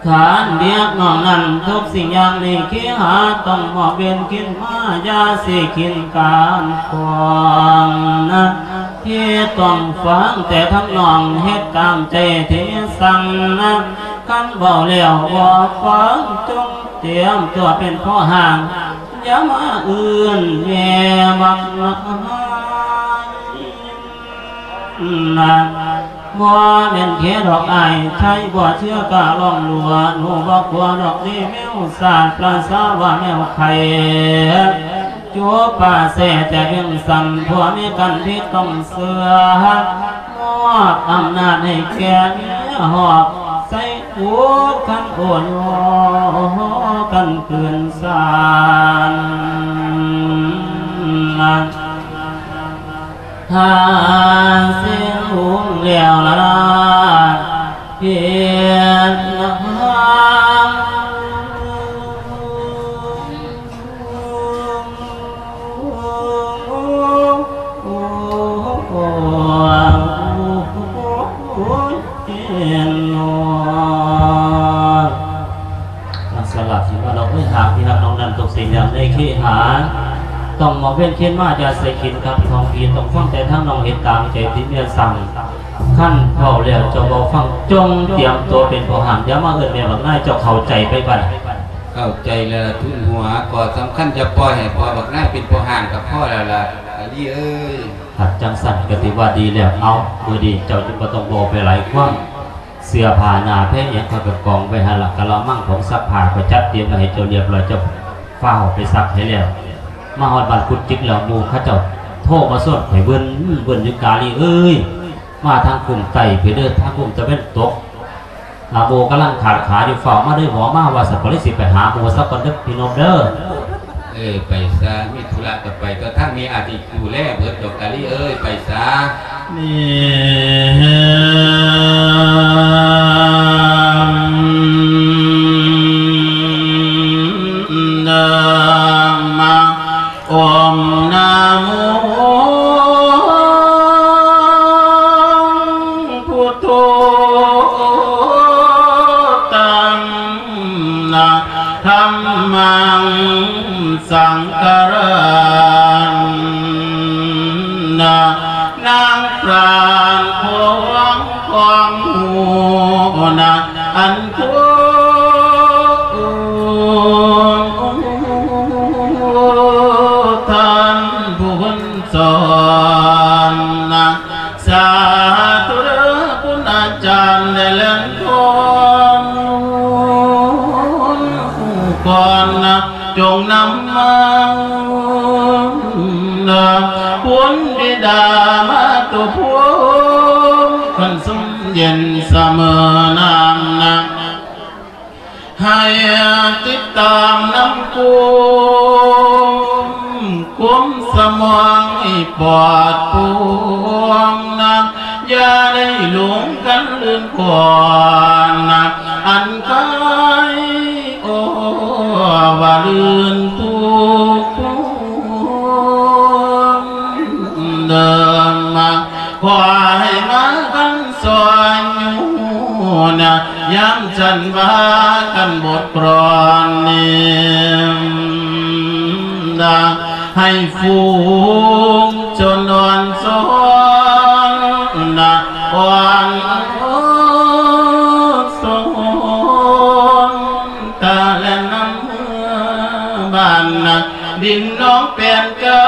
ທ່ານເດດນ້ອງນັ້ນ ທຸກສິ່ງຢ່າງນີ້ເຄຫາ ຕ້ອງມອບເວນຄືນມາ ຢ່າຊິຂິນການຂວາງນະ ທີ່ຕ້ອງຟັງແຕ່ທຳນອງ ເຮັດຕາມໃຈທີ່ສັ່ງນະ ຄັນເວົ້າແລ້ວບໍ່ຟັງ ຈົ່ງຕຽມຕົວເປັນພໍ່ຮ້າງ ຢ່າມາເອີ້ນແມ່ບັກນາຍນະ. ບໍ່ແມ່ນແຄ່ດອກອ້າຍ ໄທບໍ່ເຊື່ອກະລອງດູ ໜູບໍ່ກົວດອກເດ້ແມວສາດ ປະສາວ່າແມວໄຂ່ ຈູປາແຊແຕ່ວຽງຈັນ ຜົວເມຍກັນທີ່ຕ້ອງເຊື່ອ ມອບອຳນາດໃຫ້ແກ່ເມຍ ຫອບໃສ່ ໂອ້ ຄັນໂອ້ໂຍ ຄັນຄືນສານ ຖ້າເສຍລຸງແລ້ວລະເປັນ ສະຫຼາດທີ່ວ່າເຮົາເອີຍ ຫາກທີ່ຮັກນ້ອງນັ້ນຕົກເສຍຢ່າງໃດເຄຫາ ຕ້ອງມອບເວນຄືນມາ ຢ່າໃສ່ຂິນກັບທ້ອງທີ່ ຕ້ອງຟັງແຕ່ທາງນ້ອງ ເຮັດຕາມໃຈທີ່ເມຍສັ່ງ. ຄັນເວົ້າແລ້ວເຈົ້າບໍ່ຟັງ ຈົ່ງຕຽມຕົວເປັນພໍ່ຮ້າງ ຢ່າມາເອີ້ນແມ່ບັກນາຍ ເຈົ້າເຂົ້າໃຈໄປບັດ. ເຂົ້າໃຈແລ້ວ ທຸນຫົວ ຂໍ້ສຳຄັນຈະປ່ອຍໃຫ້ພໍ່ບັກນາຍເປັນພໍ່ຮ້າງກໍພໍແລ້ວລະ ອາລີເອີຍ. ຄັນຈັ່ງຊັ້ນກໍຖືວ່າດີແລ້ວ. ເອົາ ມື້ນີ້ເຈົ້າຈຶ່ງບໍ່ຕ້ອງເວົ້າໄປຫຼາຍຄວາມ ເສື້ອຜ້າໜ້າແພຫຍັງຂ້ອຍກໍກອງໄວ້ຫັ້ນລະ ກະລະມັງ ຜົງຊັກຜ້າຂ້ອຍຈັດຕຽມໄວ້ໃຫ້ເຈົ້າລຽບລ້ອຍ ເຈົ້າຟ້າວໄປຊັກໃຫ້ແລ້ວ. ມາຮອດບ້ານກຸດຈິກແລ້ວ ໝູ່ເຂົາເຈົ້າໂທມາຊວນຂ້ອຍເວີນ ເວີນຢູ່ກາລີເອີຍ. ມາທາງຄຸ້ມໃຕ້ພີ້ເດີ ທາງຄຸ້ມຕາເວັນຕົກ ອາ ໝູ່ກຳລັງຂາດຂາຢູ່ ຟ້າວມາເດີ ໝໍມາວ່າຊັ້ນ ກໍເລີຍຊິໄປຫາໝູ່ຊະກ່ອນເດີພີ່ນົມເດີ. ເອີ ໄປຊະ ມີທຸລະກໍໄປ ແຕ່ທາງນີ້ອາດຊິດູແລເບິດດອກກາລີເອີຍ ໄປຊະ. ນີ້ ນາມະ ໂອມນະໂມພຸດໂທ ຕັງນະ ທຳມັງ ສັງຄະລັງນະ ນາງປານຂອງຂອງຮູ້ນະ ອັນໂຄ ທ່ານຜູ້ເພິ່ນສອນນະ ສາທຸເດີ ຄຸນອາຈານໄດ້ແລ່ນກ່ອນ ກ່ອນນະ ຈົ່ງນຳມານະ ຄຸນບິດາມາຕຸພູມ ຄັນຊຸ່ມເຢັນສະເໝີນ້ຳນະ ໃຫ້ຕິດຕາມນຳກຸມ ກຸມສະໝອງໃຫ້ປອດໂປ່ງນະ ຢ່າໄດ້ຫຼົງກັນລື່ນຄວນນະ ອັນກາຍໂອວ່າລື່ນທຸກເດີມາ ຂໍໃຫ້ມາຄັນຊ່ອຍຢູ່ນະ ຍາມສັນວ່າກັນບົດກລອນນີ້ນະ ໃຫ້ຝູງຊົນອ່ອນຊອນນະ ອ່ອນຊອນຕາແລນນຳເມືອບ້ານນະ ດິນໜອງແປນກຳ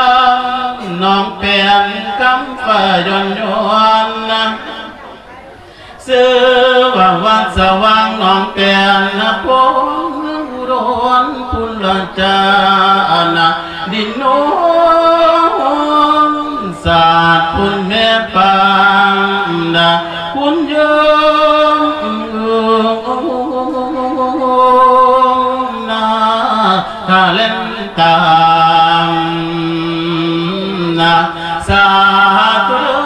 ໜອງແປນກຳຟ້າຍ້ອນໆນະ ຊື່ວ່າວັດສະຫວ່າງໜອງແປນນະ ພົມອຸດົນພຸນລະຈານະ ດິນໂນນສາດພຸນແມ່ປານນະ ຄຸນເຢິມນາ ກະເລັນຕາມນະ ສາທຸເດີ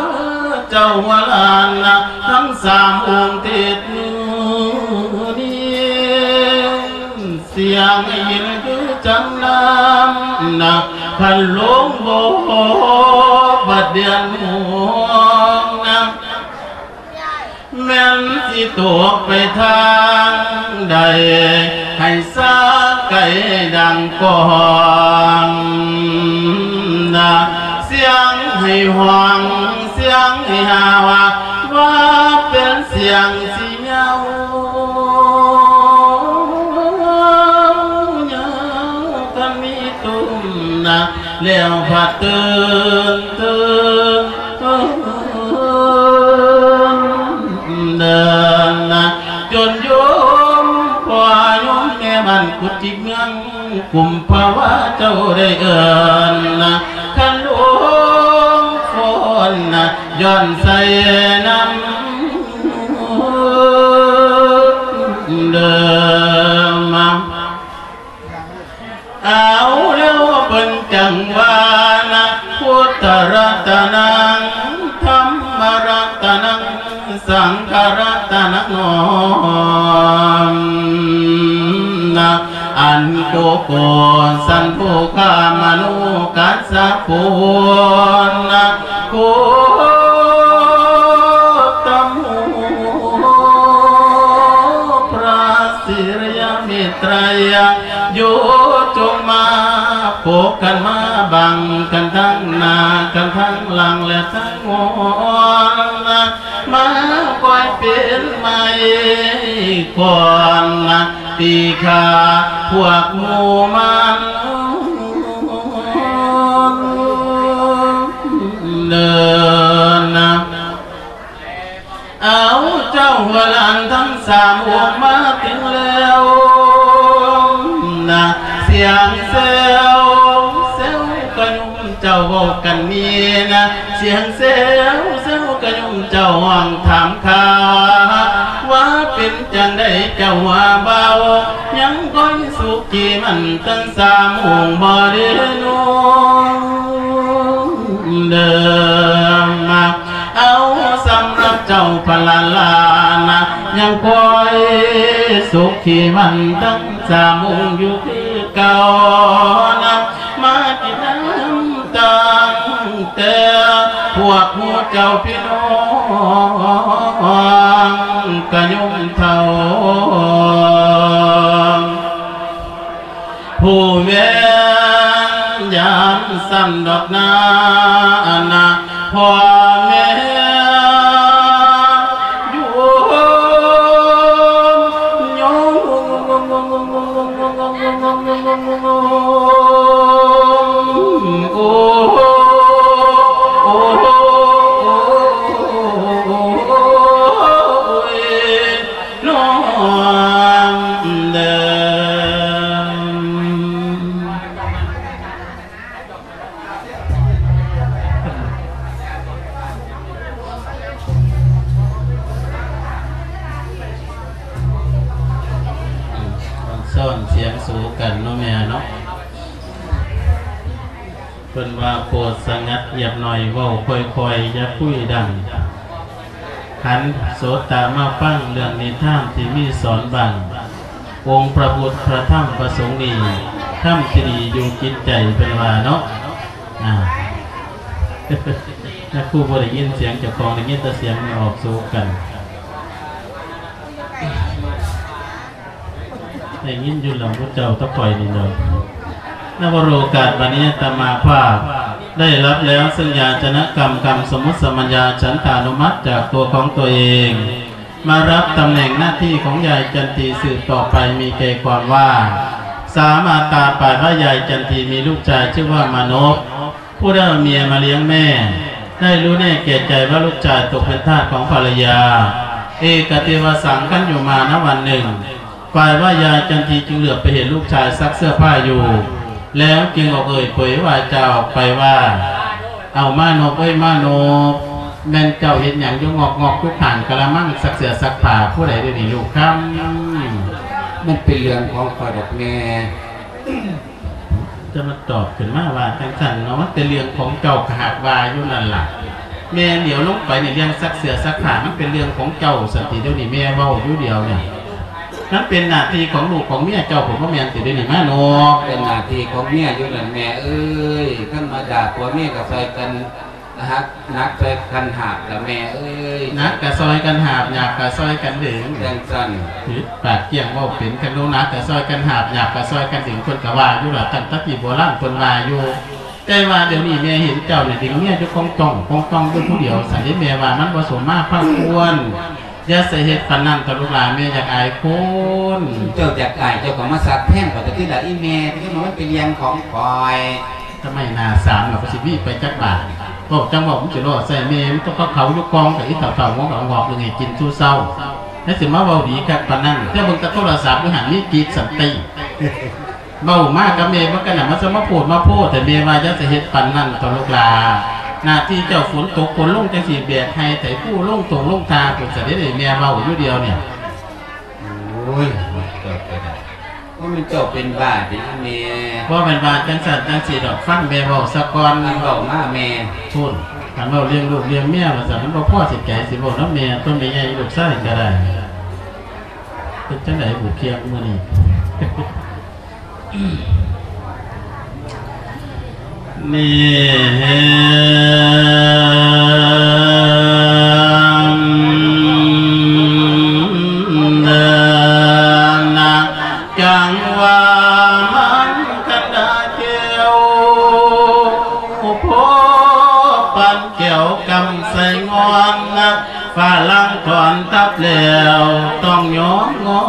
ເຈົ້າວະລານະ ທັງສາມອົງທິດ ສຽງຍິນຄືຈັງນ້ຳນະ ຄັນລົງບໍ່ບັດດຽນໂມງນະ ແມ່ນຊິຕົກໄປທາງໃດ ໃຫ້ສາໄກດັງກອງນະ ສຽງໃຫ້ຮ້ອງ ສຽງໃຫ້ຫາວ ວ່າເປັນສຽງ ເຫງົາຍາວ ຄັນມີຕຸ້ມນະ ແລ້ວພັດຕື່ນ ຕື່ນ ເດີນນະ ຈົນໂຍມພໍ່ໂຍມແມ່ບ້ານກຸດຈິກເມືອງ ກຸມພະວາເຈົ້າໄດ້ເອີ້ນນະ ຄັນຫຼວງຝົນນະ ຍ້ອນໃສ່ນຳເດີມ ເອົາແລ້ວເພິ່ນຈັ່ງວ່ານະ ພຸດທະລັດຕະນັງ ທຳມະລັດຕະນັງ ສັງຄະລັດຕະນັງ ນ້ອມນະ ອັນໂກໂກສັນໂທຄາມະໂນກັດສະໂພນນະ ໂຄດຕະໂມ ພະສິລິຍະມິດໄຕຣຍະ ໂຍ ຈົ່ງມາປົກກັນມາບັງກັນທັງໜ້າກັນທັງຫຼັງ ແລະທັງ ມາກອຍເປັນໄມ້ກອນນະ ຕີຂ້າພວກໝູ່ມັນເດີນນະ ເອົາເຈົ້າຫົວຫຼານທັງສາມອົງມາເຖິງແລ້ວນະ ສຽງແຊວແຊວກະຍຸ່ມ ເຈົ້າເວົ້າກັນນີ້ນະ ສຽງແຊວແຊວກະຍຸ່ມ ເຈົ້າຮ້ອງຖາມຂ່າວ ວ່າເປັນຈັ່ງໃດເຈົ້າວ່າເບົາ ຍັງຄົງສຸຂີມັນທັງສາມອົງບໍ່ເດໂນ ເດີມາ ເອົາ ສຳລັບເຈົ້າພະລາລານະ ຍັງຄ່ອຍສຸຂີມັນທັງສາມອົງຢູ່ຄືເກົ່ານະ ມາກິນນ້ຳຕັ້ງແຕ່ພວກໝູ່ເຈົ້າພີ່ນ້ອງກະຍົມເຖົ້າ ຜູ້ແມ່ນຍາມຊັ້ນດອກນາ ອັນນະ ພໍ່ແມ່ໂຍມ ໂຍມ ໂອ້ ໂອ້ ໂອ້ ໂອ້ຍ ນ້ອງເດີມ ອືມ ຊ້ອນສຽງສູ່ກັນເນາະແມ່ເນາະ. ເພິ່ນວ່າ ໂປດສະຫງັດງຽບໜ້ອຍ ເວົ້າຄ່ອຍໆ ຢ່າຄຸຍດັງ ຫັນໂສດຕາມາຟັງເລື່ອງນິທານທີ່ມີສອນບ້າງ ອົງພະພຸດ ພະທຳ ພະສົງນີ້ ທຳທີ່ດີຢູ່ຈິດໃຈ ເພິ່ນວ່າເນາະ. ອ່າ ແມ່ຄູບໍ່ໄດ້ຍິນສຽງເຈົ້າຂອງ ໄດ້ຍິນແຕ່ສຽງແມ່ອອກໂສກັນ. ໄດ້ຍິນຢູ່ລຳໝູ່ເຈົ້າຕະຂ້ອຍນີ້ເນາະ. ນະ ວະໂລກາດບັດນີ້ອາດຕະມາພາບໄດ້ຮັບແລ້ວ ເຊິ່ງຢາຈະນະກຳ ກຳສະມຸດສະມັນຍາ ສັນຕານຸມັດຈາກຕົວຂອງຕົວເອງ ມາຮັບຕຳແໜ່ງໜ້າທີ່ຂອງຍາຍຈັນຕີສືບຕໍ່ໄປ ມີໃຈຄວາມວ່າ ສາມາດຕາປາຍວ່າ ຍາຍຈັນຕີມີລູກຊາຍຊື່ວ່າມານົບ. ຜູ້ໃດເອົາເມຍມາລ້ຽງແມ່ ໄດ້ຮູ້ແນ່ແກ່ໃຈວ່າລູກຊາຍຕົກເປັນທາດຂອງພັນລະຍາ. ເອກະເຕວະສັງ ຄັນຢູ່ມານະວັນໜຶ່ງ ປາຍວ່າຍາຍຈັນຕີຈຶ່ງເຫຼືອບໄປເຫັນລູກຊາຍຊັກເສື້ອຜ້າຢູ່ ແລ້ວຈຶ່ງອອກເອີ່ຍເຜີຍວາຈາອອກໄປວ່າ ເອົາມານົບເອີຍມານົບ ແມ່ນເຈົ້າເຮັດຫຍັງຢູ່ງອກໆ ຢູ່ຂ້າງກະລະມັງຊັກເສື້ອຊັກຜ້າ ຜູ້ໃດດຽວນີ້ລູກຄຳ? ມັນເປັນເລື່ອງຂອງຂ້ອຍດອກແມ່. ຈະມາຕອບຂຶ້ນມາວ່າຈັ່ງຊັ້ນເນາະ ມັນເປັນເລື່ອງຂອງເຈົ້າ ກະຫາກວ່າຢູ່ນັ້ນລະ ແມ່ຫຼຽວລົງໄປນີ້ ເລື່ອງຊັກເສື້ອຊັກຜ້າ ມັນເປັນເລື່ອງຂອງເຈົ້າຊັ້ນຕິ ດຽວນີ້ແມ່ເວົ້າຢູ່ດຽວນີ້. ມັນເປັນໜ້າທີ່ຂອງລູກຂອງເມຍເຈົ້າພຸ້ນ ບໍ່ແມ່ນຕິ ດຽວນີ້ມານົກ? ເປັນໜ້າທີ່ຂອງເມຍຢູ່ນັ້ນແມ່ເອີຍ. ທຳມະດາຜົວເມຍກໍຊ່ອຍກັນ ຫາກໜັກຊ່ອຍກັນຫາບລະແມ່ເອີຍ. ໜັກກະຊ່ອຍກັນຫາບ ຫຍາບກະຊ່ອຍກັນດຶງ. ຈັ່ງຊັ້ນ. ປາກກ້ຽງເວົ້າເປັນ. ຄັນລູກໜັກກະຊ່ອຍກັນຫາບ ຫຍາບກະຊ່ອຍກັນດຶງ ເພິ່ນກະວ່າຢູ່ລະ. ຕັ້ງແຕ່ແຕ່ໂບລານເພິ່ນວ່າຢູ່. ແຕ່ວ່າດຽວນີ້ແມ່ເຫັນເຈົ້ານີ້ດຶງເມຍຢູ່ກອງຕ້ອງກອງຕ້ອງຢູ່ຜູ້ດຽວຊັ້ນເດ. ແມ່ວ່າມັນບໍ່ສົມມາພາຄວນ. ຢ່າໃສ່ເຮັດປານນັ້ນເຖາະລູກຫຼານ ແມ່ຢາກອາຍຄົນ. ເຈົ້າຢາກອາຍ ເຈົ້າກໍມາສັກແທນຂ້ອຍຕົວະຕິລະອີ່ແມ່. ຄືວ່າມັນເປັນເລື່ອງຂອງຂ້ອຍ. ທຳໄມໜ້າສາມລະ ກໍຊິມີໄປຈັກບາດ. ເວົ້າຈັ່ງເວົ້າ ມັນຊິລໍ້ໃສ່ແມ່ ມັນຕ້ອງເຂົາຢູ່ກອງ ກະອີ່ເຖົ້າໆ ງອກໆ ງອກໆ ເບິ່ງໃຫ້ກິນສູ່ເຊົ້າ. ແລ້ວຊິມາເວົ້າດີຄັກປານນັ້ນ. ແຕ່ເບິ່ງແຕ່ໂທລະສັບຢູ່ຫັ້ນ ມີກີດສັນຕິ. ເວົ້າມາກັບແມ່ເບິ່ງກັນນະ ມັນຈະມາໂພດມາໂພດ ແຕ່ແມ່ວ່າຢ່າຊິເຮັດປານນັ້ນເຖາະລູກຫຼານ. ໜ້າທີ່ເຈົ້າຝົນຕົກຝົນລົງຈັ່ງຊີ້ ແບກໄຮ່ໄຖພູ ລົງທົ່ງລົງທ່າພຸ້ນ ສະເດັດໃຫ້ແມ່ເວົ້າຢູ່ດຽວນີ້. ໂອ້ຍ ເຈົ້າເປັນ ບໍ່ແມ່ນເຈົ້າເປັນບ້າຕິແມ່? ບໍ່ແມ່ນວ່າຈັ່ງຊັ້ນຈັ່ງຊີ້ດອກ ຟັງແມ່ເວົ້າສາກ່ອນ. ອັນເວົ້າມາແມ່. ພຸ້ນ ຄັນເວົ້າເລື່ອງລູກເລື່ອງເມຍວ່າຊັ້ນ ມັນບໍ່ພໍຊິໃຈ ຊິເວົ້ານຳແມ່ຕົວະ ແມ່ໃຫຍ່ລູກຊາຍກໍໄດ້. ເປັນຈັ່ງໃດບຸກຽງມື້ນີ້? ນີ້ເນາະ ຈັ່ງວ່າມັນຄັນດາແກ້ວ ພໍປານແກ້ວກຳໃສ່ງ່ອນນະ ຝຣັ່ງຖອນທັບແລ້ວ ຕ້ອງຍອມງໍ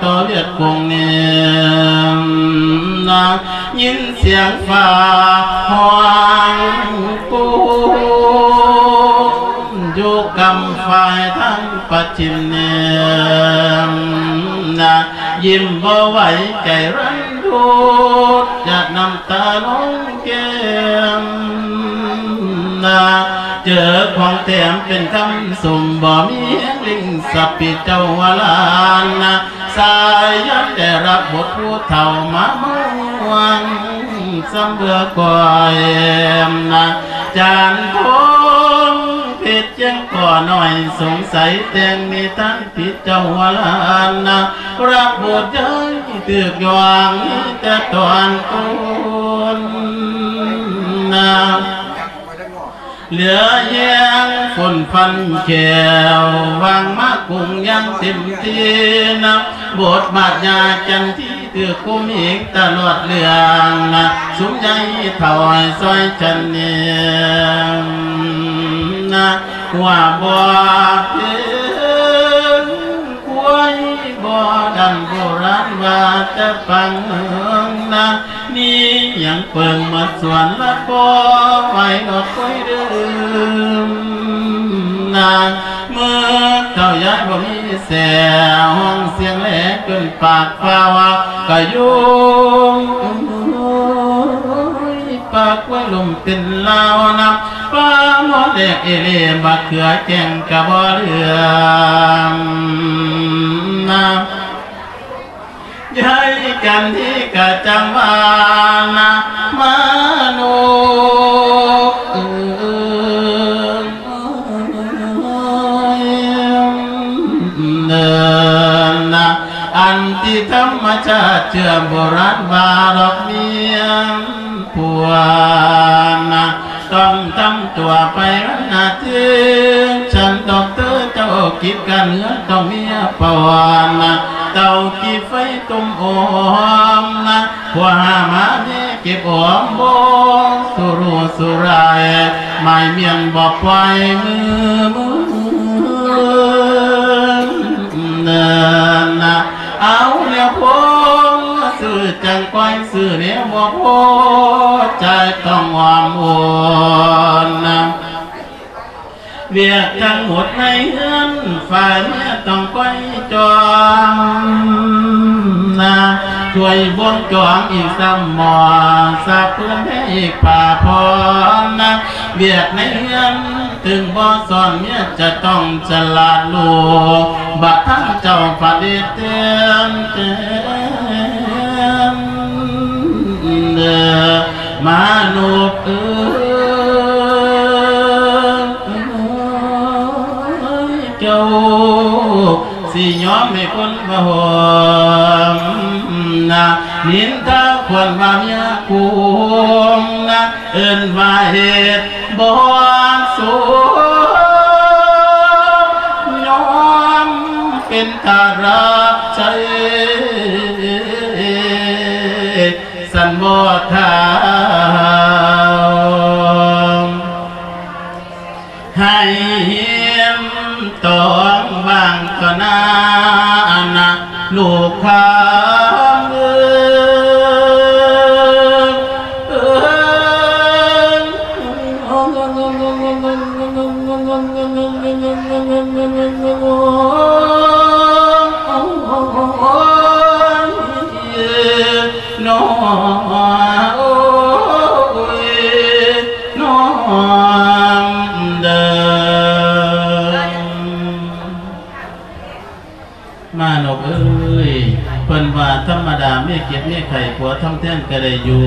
ຕໍ່ຫວຽດກົງນີ້ນະ. ຍິນສຽງຟ້າຮ້ອງປູມ ຢູ່ກຳຝ່າຍທາງປະຈິມນີ້ນະ ຍິ້ມບໍ່ໄຫວໃຈລັນທອນ ຢາດນ້ຳຕາລົງ ແກ້ມນະ ເຈີຂອງແຖມເປັນຄຳຊົມ ບໍ່ມີແຮງລິງສະປີເຈົ້າວາລານະ ສາຍຍາມໄດ້ຮັບບົດຜູ້ເຖົ້າມາເມືອງ ສຳເບືອກ້ອຍນະ ຈານທອງເພັດ ຈຽງກໍນ້ອຍສົງໄສ ແຕ່ງນິທານຕິດເຈົ້າວາລານະ ຮັບບຸດໃຫຍ່ຖືກຢ່ວງ ມີແຕ່ຕອນຕົ້ນນະ ເຫຼືອແຮງຝົນຟັນແຂ້ວ ຫວ່າງມາກຸງຢ່າງເຕັມທີ່ນະ ບົດບາດຍາຈັນທີ ຖືກຄຸມເອງຕະຫຼອດເລື່ອງນະ ຊຸມໃຫຍ່ເຖົ້າຊ່ອຍກັນເນງນະ ວ່າບໍ່ເປັນຄວາຍບໍ່ດັນ ໂບລານວ່າແຕ່ປາງເມືອງນະ ມີຫຍັງເປິງໝົດສວນລະບໍ່ໄຫວດອກຄວາຍດື່ມນະ ເມື່ອເຖົ້າຍາຍບໍ່ມີແສ ຮ້ອງສຽງແຫຼຈົນປາກຟ້າວ ກະຍຸງປາກໄວ້ລົມເປັນລາວນຳ ປາໝໍແດກເອເລ ບັກເຂືອແກງກະບໍ່ເຫຼືອນຳ ຍາຍຈັນທີກະຈັ່ງວ່ານະ ມະນຸດເອີຍ ເດີນນະ ອັນທີ່ທຳມະຊາດເຊື່ອໂບລານວ່າດອກເມຍຜົວນະ ຕ້ອງທຳຕົວໄປວັນອາທິດ ຊັ້ນດອກເຕີເຈົ້າ ກິດການເຮືອນຕ້ອງເມຍປະວານະ ເຕົາກີ່ໄຟ ຕົ້ມໂອມນະ ຜົວຫາມາເມເກັບໂອມບໍ່ສຸຣູສຸຣາຍ ໝາຍມ້ຽນບໍ່ປ່ອຍມືເມີນນະ ເອົາແນວພົງ ຊື້ຈັ່ງກ້ອຍ ຊື້ແນວບໍ່ພໍ ຈ່າຍຕ້ອງອ້ອມໂອນນະ ວຽກທັງໝົດໃນເຮືອນ ຝ່າຍເມຍຕ້ອງກ້ອຍຈອມນະ ຊ່ວຍບ່ວງຈອມອີກຊ້ຳໝໍ້ ສາບພື້ນໃຫ້ອີກຜ້າຜ່ອນນະ ວຽກໃນເຮືອນ ເຖິງບໍ່ສອນເມຍຈະຕ້ອງສະຫຼາດລູກ ບັດທັງເຈົ້າປະດິດແຕ່ນແຕ່ນ ເດີ ມະນຸດເອີຍ ເຈົ້າ ຍອມໃຫ້ຄົນວ່າຫອມນະ ນິນທາຄວນວ່າເມຍກຸງນະ ເອີ້ນວ່າເຮັດບໍ່ສຸກ ຍອມເປັນຕາລາບໃຈ ສັນບໍ່ທ້າວ ໃຫ້ເຫັນຕອງບາງຕໍ່ໜ້ານະ ລູກຄຳເອີຍ ເອີຍ ນ້ອງ ໂອ້ຍ ນ້ອງເດີ. ມານົບເອີຍ ເພິ່ນວ່າທຳມະດາເມຍເຈັບເມຍໄຂ້ ຜົວທຳແທນກໍໄດ້ຢູ່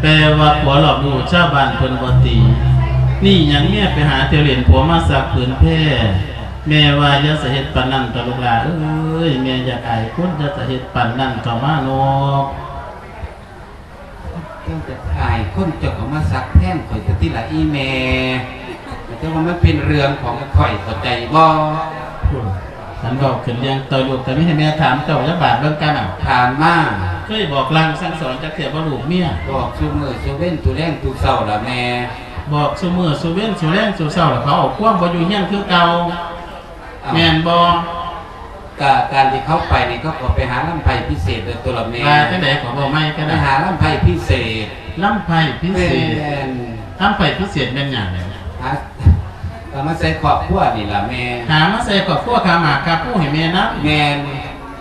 ແຕ່ວ່າຜົວລອບຮູ້ຊາວບ້ານເພິ່ນບໍ່ຕີ ນີ້ຫຍັງເມຍໄປຫາທ່ຽວຫຼິ້ນ ຜົວມາຊັກຜືນແພ. ແມ່ວ່າຢ່າສະເຮັດປານນັ້ນເຖາະລູກຫຼ້າເອີຍ ແມ່ຢາກອາຍຄົນ ຢ່າສະເຮັດປານນັ້ນເຖາະມານົບ. ເຈົ້າຈະອາຍຄົນ ເຈົ້າກໍມາຊັກແທນຂ້ອຍເຖາະຕິລະອີ່ແມ່ ແຕ່ວ່າມັນເປັນເລື່ອງຂອງຂ້ອຍ ເຂົ້າໃຈບໍ່? ພຸ້ນ ຄັນເວົ້າຂຶ້ນເລື່ອງຕໍ່ລູກ ກໍມີໃຫ້ແມ່ຖາມເຈົ້າຈັກບາດເບິ່ງກັນນະ. ຖາມມາ. ເຄີຍບອກລາງສັ່ງສອນຈັກເທື່ອບໍ່ລູກເມຍ? ບອກຊຸມື້ຊຸເວັນ ຊຸແລງຊຸເຊົ້າລະແມ່. ບອກຊຸມື້ຊຸເວັນ ຊຸແລງຊຸເຊົ້າລະ ເຂົາເອົາຄວາມບໍ່ຢູ່ເຮືອນຄືເກົ່າ. ອ້າວ ແມ່ນບໍ່? ກະການທີ່ເຂົາໄປນີ້ ເຂົາກໍໄປຫາລຳໄພພິເສດໂດຍຕົວລະແມ່. ວ່າຈັ່ງໃດກໍເວົ້າໃໝ່ກໍໄດ້. ໄປຫາລຳໄພພິເສດ. ລຳໄພພິເສດ. ແມ່ນ. ລຳໄພພິເສດແມ່ນຫຍັງ? ຫາ ກໍມາໃສ່ຄອບຄົວນີ້ລະແມ່. ຫາມາໃສ່ຄອບຄົວ ຄ່າໝາກຄ່າພູໃຫ້ແມ່ນຳ. ແມ່ນ.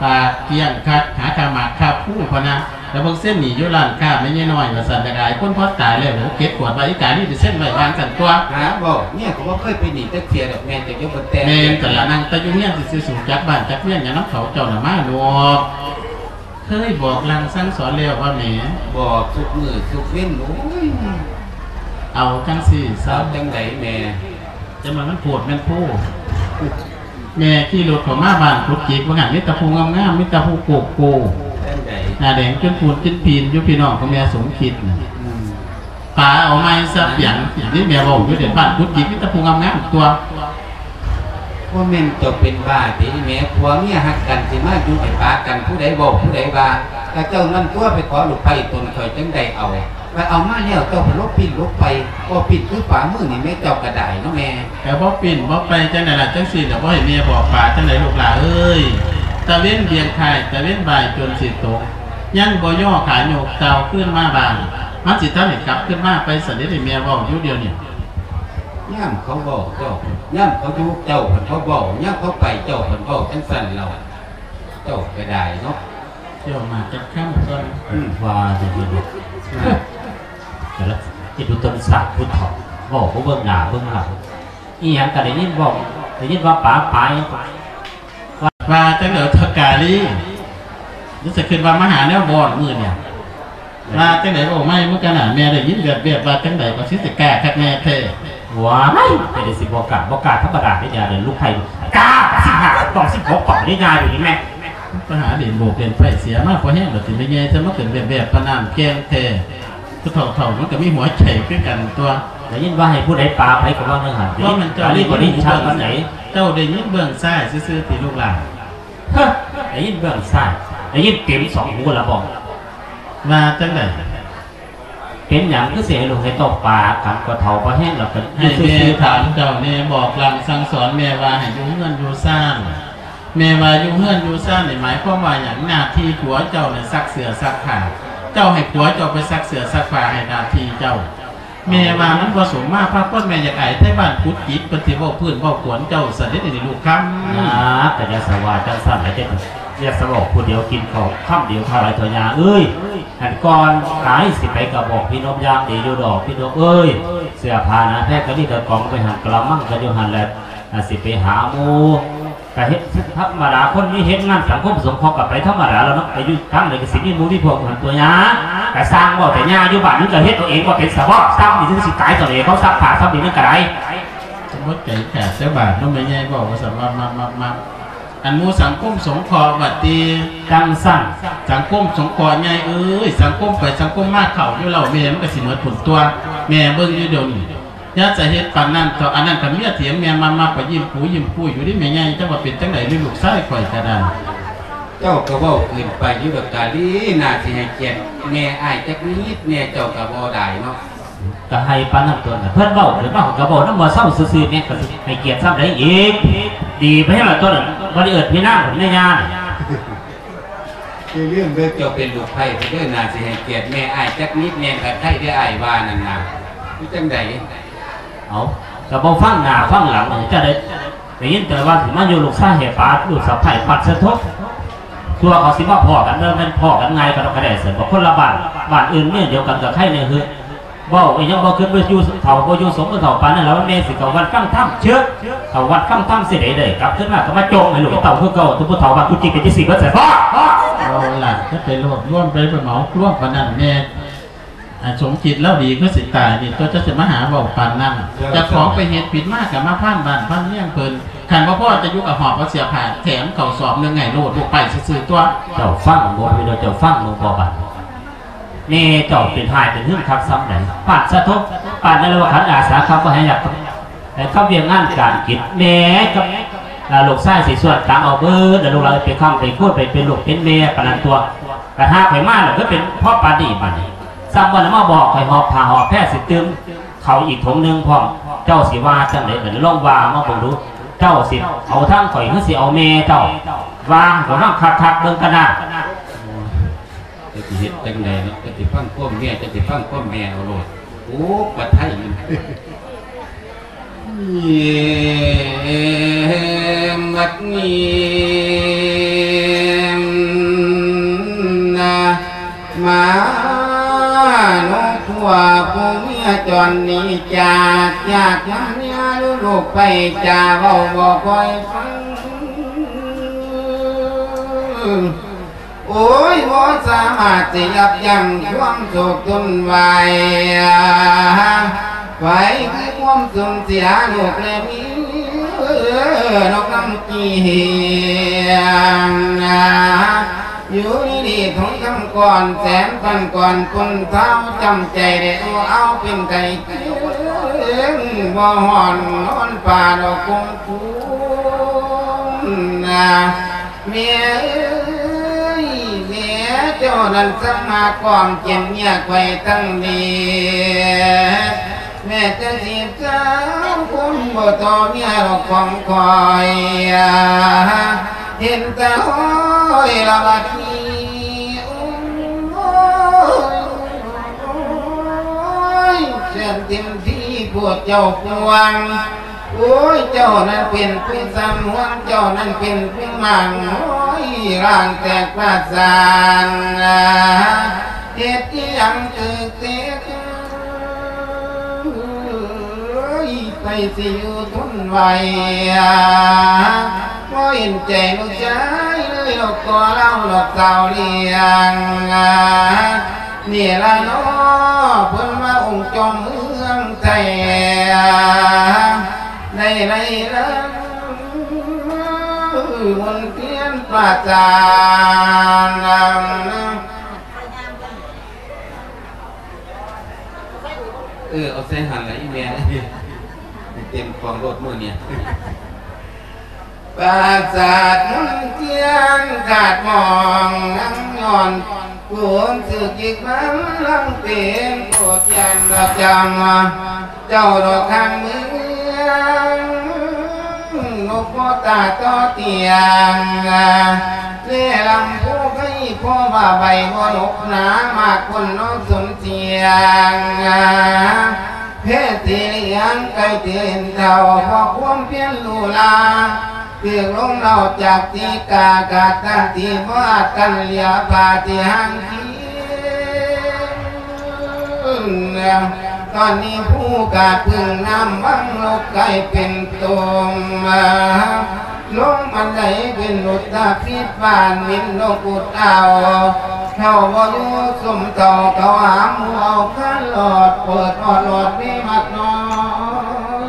ປາກກ້ຽງຄັກ ຫາຄ່າໝາກຄ່າພູພຸ້ນນະ. ແລ້ວເບິ່ງເຊັນໜີ້ຢູ່ຮ້ານຄ້າແມ່ໃຫຍ່ນ້ອຍວ່າຊັ້ນ ຢາກອາຍຄົນ ພໍຕາຍແລ້ວ ເກັບກວາດວ່າອີການີ້ໄປເຊັນໄວ້ວ່າຊັ້ນຕົວະ. ຫາເວົ້າ ເມຍກໍບໍ່ເຄີຍເປັນໜີ້ຈັກເທື່ອດອກແມ່ ເຈົ້າຢ່າເບິ່ງແຕ່. ແມ່ນ ກະລະນັ່ງແຕ່ຢູ່ເຮືອນຊື່ໆ ສູຈັກບ້ານຈັກເມືອງຫຍັງນຳເຂົາເຈົ້ານະມາໂລດ. ເຄີຍບອກລາງສັ່ງສອນແລ້ວວ່າແມ່? ບອກທຸກມື້ທຸກເວັນ. ໂອ້ຍ ເອົາຈັ່ງຊີ້ຊະ. ເອົາຈັ່ງໃດແມ່? ຈັ່ງວ່າມັນໂພດແມ່ນໂພ. ແມ່ຂີ່ລົດເຂົ້າມາບ້ານກຸດກິກ ວ່າຫັ້ນ ມີແຕ່ຜູ້ງາມໆ ມີແຕ່ຜູ້ໂກໂກ້ ຈັ່ງໃດ ໜ້າແດງຈົນປູນຈົນປີນຢູ່ ພີ່ນ້ອງຂອງແມ່ສົມຄິດນະ. ອືມ ປາເອົາໃໝ່ຊະປຽງ ນີ້ແມ່ເວົ້າຢູ່ເດ ບ້ານກຸດກິກ ມີແຕ່ຜູ້ງາມໆ ຕົວະ. ບໍ່ແມ່ນເຈົ້າເປັນບ້າຕິແມ່? ຜົວເມຍຮັກກັນ ຊິມາຢູ່ໃຫ້ປາກັນ ຜູ້ໃດເວົ້າ ຜູ້ໃດວ່າ? ກະເຈົ້ານັ້ນຕົວະ ໄປຂໍລູກໃພ້ຕົນ ຂ້ອຍຈຶ່ງໄດ້ເອົາ. ໄປເອົາມາແລ້ວ ເຈົ້າໄປຫຼົບປີ້ນຫຼົບໄປ ບໍ່ປີ້ນຄືຝາມືນີ້ແມ່ ເຈົ້າກໍໄດ້ເນາະແມ່. ແຕ່ບໍ່ປີ້ນບໍ່ໄປຈັ່ງໃດລະ ຈັ່ງຊີ້ລະ ບໍ່ໃຫ້ແມ່ບອກປາຈັ່ງໃດລູກຫຼ້າເອີຍ. ຕາເວັນບ່ຽງຄ້າຍ ຕາເວັນບ່າຍຈົນຊິຕົກ ຍັງບໍ່ຍໍຂາຍົກເຕົ່າຄືນມາບ້ານ ມັນຊິທັນໄດ້ກັບຄືນມາໄປຊັ້ນເດ ແມ່ເວົ້າຢູ່ດຽວນີ້. ຍາມເຂົາເວົ້າເຈົ້າ ຍາມເຂົາຢູ່ເຈົ້າເພິ່ນເວົ້າ ຍາມເຂົາໄປເຈົ້າເພິ່ນເວົ້າ ຈັ່ງຊັ້ນແລ້ວ ເຈົ້າກໍໄດ້ເນາະ. ເຈົ້າມາຈັກຄຳກ່ອນ. ອືມ ວ່າຢູ່ ແຕ່ລະ ເຮັດຜູ້ຕົນສັດຜູ້ເຖົ້າ ເວົ້າບໍ່ເບິ່ງໜ້າເບິ່ງຫຼັງ ອີ່ຫຍັງກໍໄດ້ຍິນເວົ້າ ໄດ້ຍິນວ່າປາປາຫຍັງ ວ່າ ວ່າຈັ່ງໃດເຖົ້າກາລີ ຮູ້ສຶກຂຶ້ນວ່າມາຫາແນວບ່ອນມື້ນີ້ ວ່າຈັ່ງໃດເວົ້າໃໝ່ ມື້ກັນນະ ແມ່ໄດ້ຍິນແວບໆ ວ່າຈັ່ງໃດ ກໍຊິໄດ້ກ້າຄັກແນ່ແທ້. ວ້າຍ ແຕ່ໄດ້ຊິບໍ່ກ້າ ບໍ່ກ້າທຳມະດາເດ້ ຢ່າເດີ ລູກໃຜກ້າ ສິບຫ້າກະປ໋ອງ ສິບຫົກກະປ໋ອງເດ້ ຍ່າຢູ່ນີ້ແມ່. ໄປຫາຫຼິ້ນໂບກຫຼິ້ນໄຟເສຍມາພໍແຮງແລ້ວຕິ ແມ່ໃຫຍ່ ຈະມາເປັນແວບໆ ປານນັ້ນແກ່ງແທ້. ຜູ້ເຖົ້າໆ ມັນກໍມີຫົວໃຈຄືກັນຕົວະ. ໄດ້ຍິນວ່າໃຫ້ຜູ້ໃດປາໃຜກໍວ່າແນວຫັ້ນ ບໍ່ແມ່ນເຈົ້າໄດ້ຍິນຫູເບື້ອງຊ້າຍປານໃດ? ເຈົ້າໄດ້ຍິນເບື້ອງຊ້າຍຊື່ໆ ຕິລູກຫຼ້ານ? ຮະ ໄດ້ຍິນເບື້ອງຊ້າຍ ໄດ້ຍິນເຕັມສອງຫູລະບໍ? ວ່າຈັ່ງໃດ? ເປັນຫຍັງຄືຊິໃຫ້ລູກໃຫ້ເຕົ້າປາກັນ ກໍເຖົ້າກໍແຮງແລ້ວ ກໍຢູ່ຊື່ໆ. ໃຫ້ແມ່ຖາມເຈົ້າແດ່ ບອກລາງສັ່ງສອນແມ່ວ່າໃຫ້ຢູ່ເຮືອນຢູ່ຊານ ແມ່ວ່າຢູ່ເຮືອນຢູ່ຊານນີ້ໝາຍຄວາມວ່າຫຍັງ? ໜ້າທີ່ຜົວເຈົ້ານີ້ຊັກເສື້ອຊັກຜ້າ ເຈົ້າໃຫ້ຜົວເຈົ້າໄປຊັກເສື້ອຊັກຜ້າໃຫ້ໜ້າທີ່ເຈົ້າ. ແມ່ວ່າມັນບໍ່ສົມມາພາຄວນ ແມ່ຢາກອາຍໄທບ້ານກຸດກິກ ເພິ່ນຊິເວົ້າພື້ນເວົ້າກວນເຈົ້າຊັ້ນເດ ນີ້ລູກຄຳ. ນາ ກໍຢ່າສະວ່າຈັ່ງຊັ້ນລະ ຢ່າສະເວົ້າຜູ້ດຽວກິນເຂົ້າຄຳດຽວເທົ່າໃດເຖົ້າຍ່າເອີຍ. ອັນກ່ອນຕາຍຊິໄປກໍບອກພີ່ນົບຢ່າງດີຢູ່ດອກ ພີ່ນົບເອີຍ ເສື້ອຜ້າໜາແພກະມີກະກອງໄປຫັ້ນ ກະລະມັງກະຢູ່ຫັ້ນແຫຼະ ອາ ຊິໄປຫາໝູ່ ກະເຮັດທຳມະດາ ຄົນມີເຮັດງານສັງຄົມສົງເຄາະກະໄປທຳມະດາແລ້ວເນາະ ໄປຢູ່ທາງໃດກະຊິມີໝູ່ມີພວກຢູ່ຫັ້ນຕົວະຍາ ກະຊ່າງເວົ້າແຕ່ຍາ ຢູ່ບ້ານມຶງກະເຮັດເອົາເອງບໍ່ເປັນຊະບໍ ຊ່ຳນີ້ຊິຕາຍຕອນເອງ ເຂົາຊັກຜ້າຊ່ຳນີ້ມັນກະໄດ້. ສົມມຸດໃຈກະແຕ່ບາດເນາະ ແມ່ໃຫຍ່ເວົ້າວ່າຊັ້ນ ມັກໆ. ອັນໝູ່ສັງຄົມສົງເຄາະວ່າຕິ ຈັ່ງຊັ້ນ ສັງຄົມສົງເຄາະໃຫຍ່ເອີຍ ສັງຄົມໄປສັງຄົມມາ ເຂົ້າຢູ່ເຫຼົ້າແມ່ມັນກໍຊິໝົດພຸ້ນຕົວະ ແມ່ເບິ່ງຢູ່ດຽວນີ້ ຢ່າຈະເຮັດປານນັ້ນເຖາະ ອັນນັ້ນຄັນເມຍຖຽງແມ່ມາໆ ກໍຍິ້ມປູຍິ້ມປູຢູ່ເດແມ່ໃຫຍ່ ຈັກວ່າເປັນຈັ່ງໃດເລີຍ ລູກຊາຍຂ້ອຍກໍໄດ້. ເຈົ້າກໍເວົ້າເກີນໄປຢູ່ດອກ ກາລີ ໜ້າຊິໃຫ້ກຽດແມ່ອ້າຍຈັກນິດແດ່ ເຈົ້າກໍບໍ່ໄດ້ເນາະ. ກໍໃຫ້ປານນັ້ນຕົວະ ເພິ່ນເວົ້າຂຶ້ນມາ ຂ້ອຍກໍເວົ້ານຳບໍ່ເຊົາຊື່ໆ ແມ່ນກໍໃຫ້ກຽດສ່ຳໃດອີກ ດີໄປແຮງລະຕົວະ ບໍ່ໄດ້ເອີ້ນພີ່ນາງ ແມ່ຍ່າ. ຢ່າລືມເດີ ເຈົ້າເປັນລູກໃພ້ເດີ ໜ້າຊິໃຫ້ກຽດແມ່ອ້າຍຈັກນິດແດ່ ຄັນໃຜເດີອ້າຍວ່ານັ້ນນະ ຄືຈັ່ງໃດ? ເອົ້າ ກໍບໍ່ຟັງໜ້າຟັງຫຼັງ ຈັ່ງໃດ ໄດ້ຍິນແຕ່ວ່າຊິມາຢູ່ລູກຊາຍໃຫ້ປາ ລູກສະໃພ້ປັດສະທົບ ຕົວະເຂົາຊິມາພໍ້ກັນ ແມ່ນພໍ້ກັນງ່າຍກໍດອກກະແດ່ ຊັ້ນບໍ່ ຄົນລະບ້ານ ບ້ານອື່ນເມືອງດຽວກັນກໍໃຄແດ່ເຮີ. ເວົ້າອີ່ຫຍັງບໍ່ຄິດວ່າຢູ່ເຖົ້າ ບໍ່ຢູ່ສົມກັບເຖົ້າປານນັ້ນ ແລ້ວແມ່ຊິເຂົ້າວັດຟັງທຳ ເຊີກ ເຂົ້າວັດຟັງທຳຊິໄດ້ ໄດ້ກັບຄືນມາກໍມາໂຈະໃຫ້ລູກເຕົ້າຄືເກົ່າ ທຸກຜູ້ເຖົ້າບ້ານກຸຈິກເປັນຈັ່ງຊີ້ເບິດໃສ່ພໍ່. ເອົາລະ ຈະໄປລວບລວມ ໄປເໝົາລວມປານນັ້ນແມ່ ອ່າ ສົມຄິດລາວດີຄືຊິຕາຍນີ້ ຕົວະຈະຊິມາຫາເວົ້າປານນັ້ນ ເຈົ້າຂອງໄປເຮັດຜິດມາກໍມາພານບ້ານພານເມືອງເພິ່ນ ຄັນບໍ່ພໍຈະຢູ່ກໍຫອບເອົາເສື້ອຜ້າແຖມເຂົ້າສອບໜຶ່ງໃຫ້ໂລດ ລູກໄປຊື່ໆຕົວະ. ເຈົ້າຟັງບໍ່ ພີ່ນ້ອງ ເຈົ້າຟັງບໍ່ ບໍ່ບາດ ແມ່ເຈົ້າເປັນຮ້າຍເປັນຫຶງຄັກສ່ຳໃດ ປານສະທົບ ປານນັ້ນລະວ່າ ຄັນອາສາຄັກບໍ່ໃຫ້ຢາກ ໃຫ້ຄຳວຽກງານການກິດ ແມ່ກັບ ອ່າ ລູກຊາຍຊິຊວນກັນເອົາເບິດ ແລ້ວລູກຫຼານໄປຄ້ຳໄປຄູນໄປເປັນລູກເປັນແມ່ປານນັ້ນຕົວະ. ກະຫາກຂ້ອຍມາແລ້ວຄືເປັນພໍປານນີ້ບາດນີ້ ຊ້ຳບໍ່ໄດ້ມາບອກຂ້ອຍ ຫອບຜ້າຫອບແພຊິຕື່ມເຂົ້າອີກຖົງໜຶ່ງພ້ອມ ເຈົ້າຊິວ່າຈັ່ງໃດບາດນີ້ ລອງວ່າມາເບິ່ງດູ ເຈົ້າຊິເອົາທາງຂ້ອຍ ຫຼືຊິເອົາແມ່ເຈົ້າ ວ່າໃຫ້ຂ້ອຍຟັງຄັກໆເບິ່ງກັນນາ. ເຈົ້າຊິເຮັດຈັ່ງໃດເນາະ ເຈົ້າຊິຟັງຄວາມແມ່ ເຈົ້າຊິຟັງຄວາມແມ່ເອົາໂລດ ໂອ້ ປະໄທຢູ່ ບັດນີ້ນະ ມານກພວກຜູ້ເມຍຈອນໜີຈາກ ຈາກນຳເມຍລູກໄປ ຈາເວົ້າບໍ່ຄ່ອຍຟັງ. ໂອ້ຍ ບໍ່ສາມາດຊິຢັບຢັ້ງຄວາມໂສກທົນໄຫວ ໄຫວຄືຄວາມສູນເສຍລູກແລະເມຍ ນອກນຳກີງ ຢູ່ດີໆ ທອງຄຳກ້ອນແສນພັນກ້ອນ ຄົນເຖົ້າຈຳໃຈໄດ້ ໂອ້ ເອົາເປັນໄຂ້ເຄິ່ງ ບໍ່ຮ້ອນນອນປ່າດອກຄົງຄຸນນະ. ແມ່ເອີຍ ແມ່ເຈົ້ານັ້ນຊ່າງມາກອງເຈັບເມຍຂ້ອຍທັງເດ ແມ່ເຈົ້າຊິເຈົ້າຄົນບໍ່ຕໍ່ເມຍດອກຂອງຂ້ອຍ ເຫັນແຕ່ຫ້ອຍລະບັດນີ້ ໂອ້ຍ ແສນເຕັມທີ່ໂພດເຈົ້າພວງ ໂອ້ຍ ເຈົ້ານັ້ນເປັນຜູ້ສຳຮວນ ເຈົ້ານັ້ນເປັນຜູ້ໝັ້ນ ໂອ້ຍ ຮ່າງແຕກປະສານ ເຮັດອີ່ຫຍັງຖືກເຕະ ເອີຍ ໃຜຊິຢູ່ທົນໄຫວ ບໍ່ເຫັນໃຈລູກຊາຍເລີຍ ດອກກໍລາວດອກສາວລ້ຽງ ນີ້ລະເນາະ ເພິ່ນວ່າອົງຈອມເມືອງໄທ ໄດ້ໄລ່ລຳມົນທຽນປາຈານ ເອີ ເອົາໃສ່ຫັ້ນລະອີ່ແມ່ ເຕັມຂອງໂລດມື້ນີ້. ປາສາດມົນທຽນຂາດໝອງ ຍັງຍ້ອນໂກນສຶກອີກມາ ລັງເປັນໂກດຢັນລະຈຳ ເຈົ້າດອກຂ້າງເມືອງ ນົກບໍ່ຕາຕໍ່ຕຽງ ແລລຳຜູ້ໄພ ເພາະວ່າໃບບໍ່ນົກໜາ ມາກຄົນນອກສົນສຽງ ແພສີຫຼຽງໄກ່ເຕີນເທົ່າ ເພາະຄວາມພຽນຫຼູຫຼາ ຖືກລົມເລົ່າຈາກຕີກາ ກາດຕັນຕີບໍ່ອາດກັນເຫຼືອຜ້າທີ່ຫ່າງທີ່ ຕອນນີ້ຜູ້ກາດເພິ່ງນ້ຳວັງລົກກາຍເປັນຕົມ ລົງອັນໃດເປັນຫຼຸດຕາພິດບານ ເປັນນົກອຸດເອົາ ເຂົ້າບໍ່ຢູ່ສົມເທົ່າ ເຂົາຫາໝູ່ເອົາຄານຫຼອດ ເປີດອອດຫຼອດມີມັກນ້ອຍ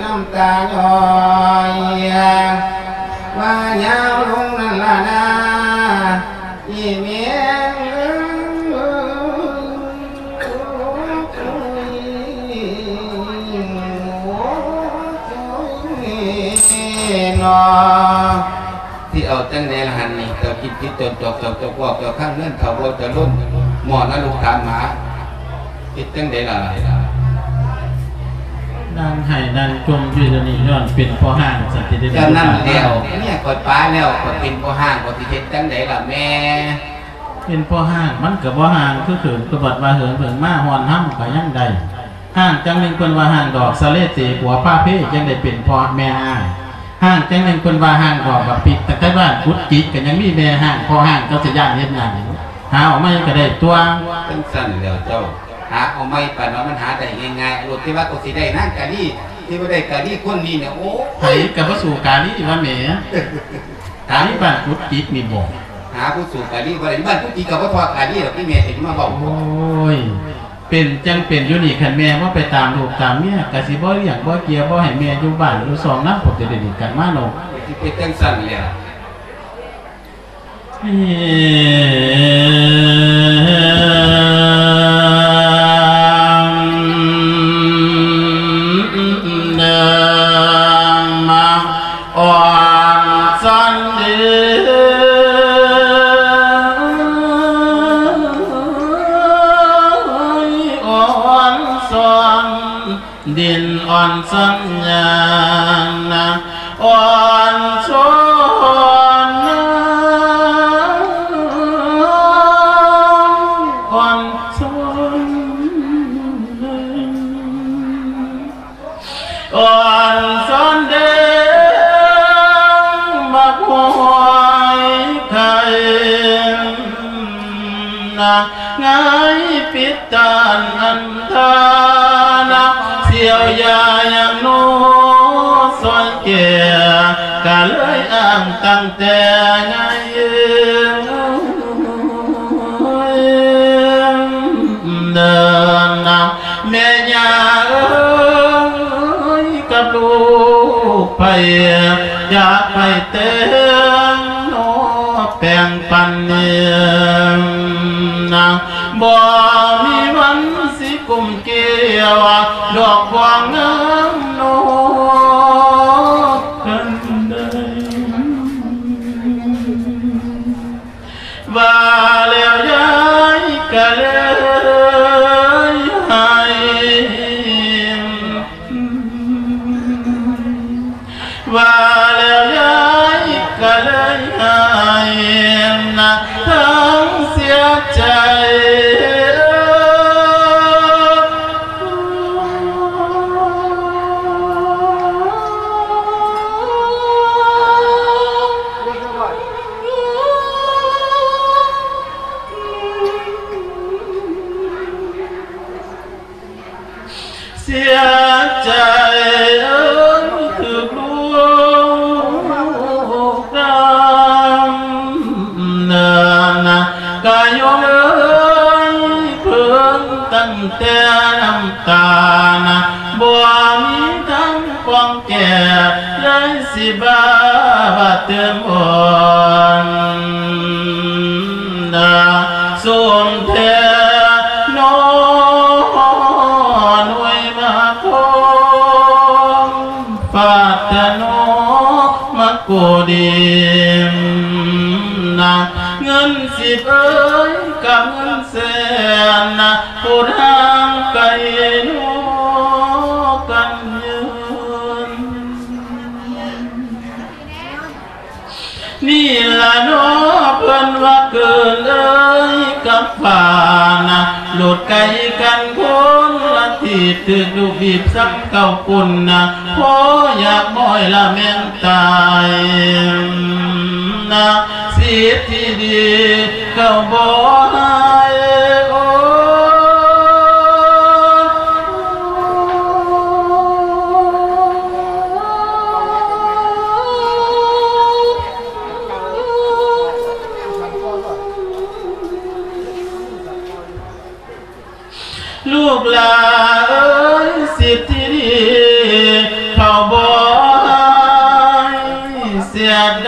ນ້ຳຕາຍ້ອຍ ວ່າຍາວລົງນັ້ນລະນາ ອີແມ່ເອີຍ ເນາະ ຊິເອົາຈັ່ງໃດລະຫັ້ນນີ້ ເຈົ້າຄິດຜິດຕົນ ເຈົ້າເຈົ້າເຈົ້າພວກເຈົ້າ ຄັງເງິນເຂົາບໍ່ຈະລົ້ນ ໝໍນະລູກຖາມຫາ. ເຮັດຈັ່ງໃດລະ? ນາງໄຫ້ນາງຈົ່ມຢູ່ດຽວນີ້ ຍ້ອນເປັນພໍ່ຮ້າງ ສັນຕິໄດ້ ຈັ່ງນັ້ນແລ້ວ ເມຍຂ້ອຍປາແລ້ວ ຂ້ອຍເປັນພໍ່ຮ້າງ ຂ້ອຍຊິເຮັດຈັ່ງໃດລະແມ່? ເປັນພໍ່ຮ້າງມັນກໍບໍ່ຮ້າງຄືເຂີນ ກໍບັດວ່າເຫີງເຫີງມາຮ້ອນຮຳກໍຍັງໄດ້. ຮ້າງຈັ່ງໜຶ່ງເພິ່ນວ່າຮ້າງດອກສະເລເຕ ຜົວພາເພ ຈັ່ງໄດ້ເປັນພໍ່ແມ່ຮ້າງ. ຮ້າງຈັ່ງໜຶ່ງເພິ່ນວ່າຮ້າງດອກບັກປິກ ຕັ້ງແຕ່ບ້ານກຸດກິກກໍຍັງມີແມ່ຮ້າງ ພໍ່ຮ້າງເຈົ້າຊິຢ້ານເຮັດຫຍັງ? ຫາເອົາໃໝ່ກໍໄດ້ຕົວະ. ຈັ່ງຊັ້ນແລ້ວເຈົ້າ ຫາເອົາໃໝ່ປານວ່າມັນຫາໄດ້ງ່າຍໆໂລດ ທີ່ວ່າກໍຊິໄດ້ນາງກາລີ ທີ່ວ່າໄດ້ກາລີຄົນນີ້ນະ ໂອ້ ໃຜກໍບໍ່ສູ້ກາລີວ່າແໝ. ກາລີບ້ານກຸດກິກນີ້ບໍ? ຫາຜູ້ສູ້ກາລີບໍ່ໄດ້ ບ້ານກຸດກິກກໍບໍ່ພໍ້ກາລີດອກ ທີ່ແມ່ເປັນມາເວົ້າ. ໂອ້ຍ ເປັນຈັ່ງເປັນຢູ່ນີ້ ຄັນແມ່ບໍ່ໄປຕາມລູກຕາມເມຍ ກະຊິບໍ່ລ້ຽງບໍ່ເກຍ ບໍ່ໃຫ້ແມ່ຢູ່ບ້ານຢູ່ຊ່ອງນຳ ພວກເຈົ້າໄດ້ດີກັນມາເນາະ. ຊິເປັນຈັ່ງຊັ້ນແຫຼະ. ເດີນມາ ອ່ອນຊອນເດີ ອ່ອນຊອນດິນ ອ່ອນຊອນຫຍ້ານະ ອ່ອນຊອນນາ ອ່ອນຊອນເດີນ ອ່ອນຊອນເດີນ ບັກຫອຍໄຂ່ນະ ງາຍປິດຕານອັນທານະ ສ່ຽວຢາຢ່າງໜູຊອຍແກ່ ກະເລີຍອ້າງຕັ້ງແຕ່ໃຫຍ່ ເດີນນະ ແມ່ຍ່າເອີຍ ກັບລູກໃຜ ຢາກໃຫ້ແຕ່ງເນາະ ແປງປັນເນນນະ ບໍ່ມີວັນຊິກຸມກ່ຽວ ດອກບວງງາມເນາະ ກັນເດີ. ວ່າແລ້ວຍາຍກະເລີຍໄຫ້ ວ່າແລ້ວຍາຍກະເລີຍໄຫ້ນະ ທັງເສຍໃຈ. ເສຍໃຈເອີຍ ຖືກລູກດຳເນີນນະ ກະຍົມເອີຍ ເພິ່ງຕັ້ງແຕ່ນ້ຳຕານະ ບໍ່ມີທາງປ່ອງ ແກ່ໄດ້ຊິບາບາເຕີມອ່ອນນາ ສົມແທ້ໜໍ ໜ່ວຍມາຄອງ ຟາດແທ້ໜໍ ມາໂກດີມນາ ເງິນສິບເອີຍ ກັບເງິນແສນນາ ໂພດຫ່າງໄກນອກກັນເຍີນ. ນີ້ລະເນາະ ເພິ່ນວ່າເກີນເອີຍກັບຟ້ານະ ໂລດໄກກັນຄົນລະທີບ ຖືກລູກບີບຊ້ຳເຂົ້າປຸ້ນນະ ພໍຢາກໝ້ອຍລະແມ່ນຕາຍນະ ສິດທີ່ດີເຂົາບໍ່ໃຫ້ ໂອ. ລູກຫຼ້າເອີຍ ສິດທີ່ດີເຂົາບໍ່ໃຫ້ ສຽດ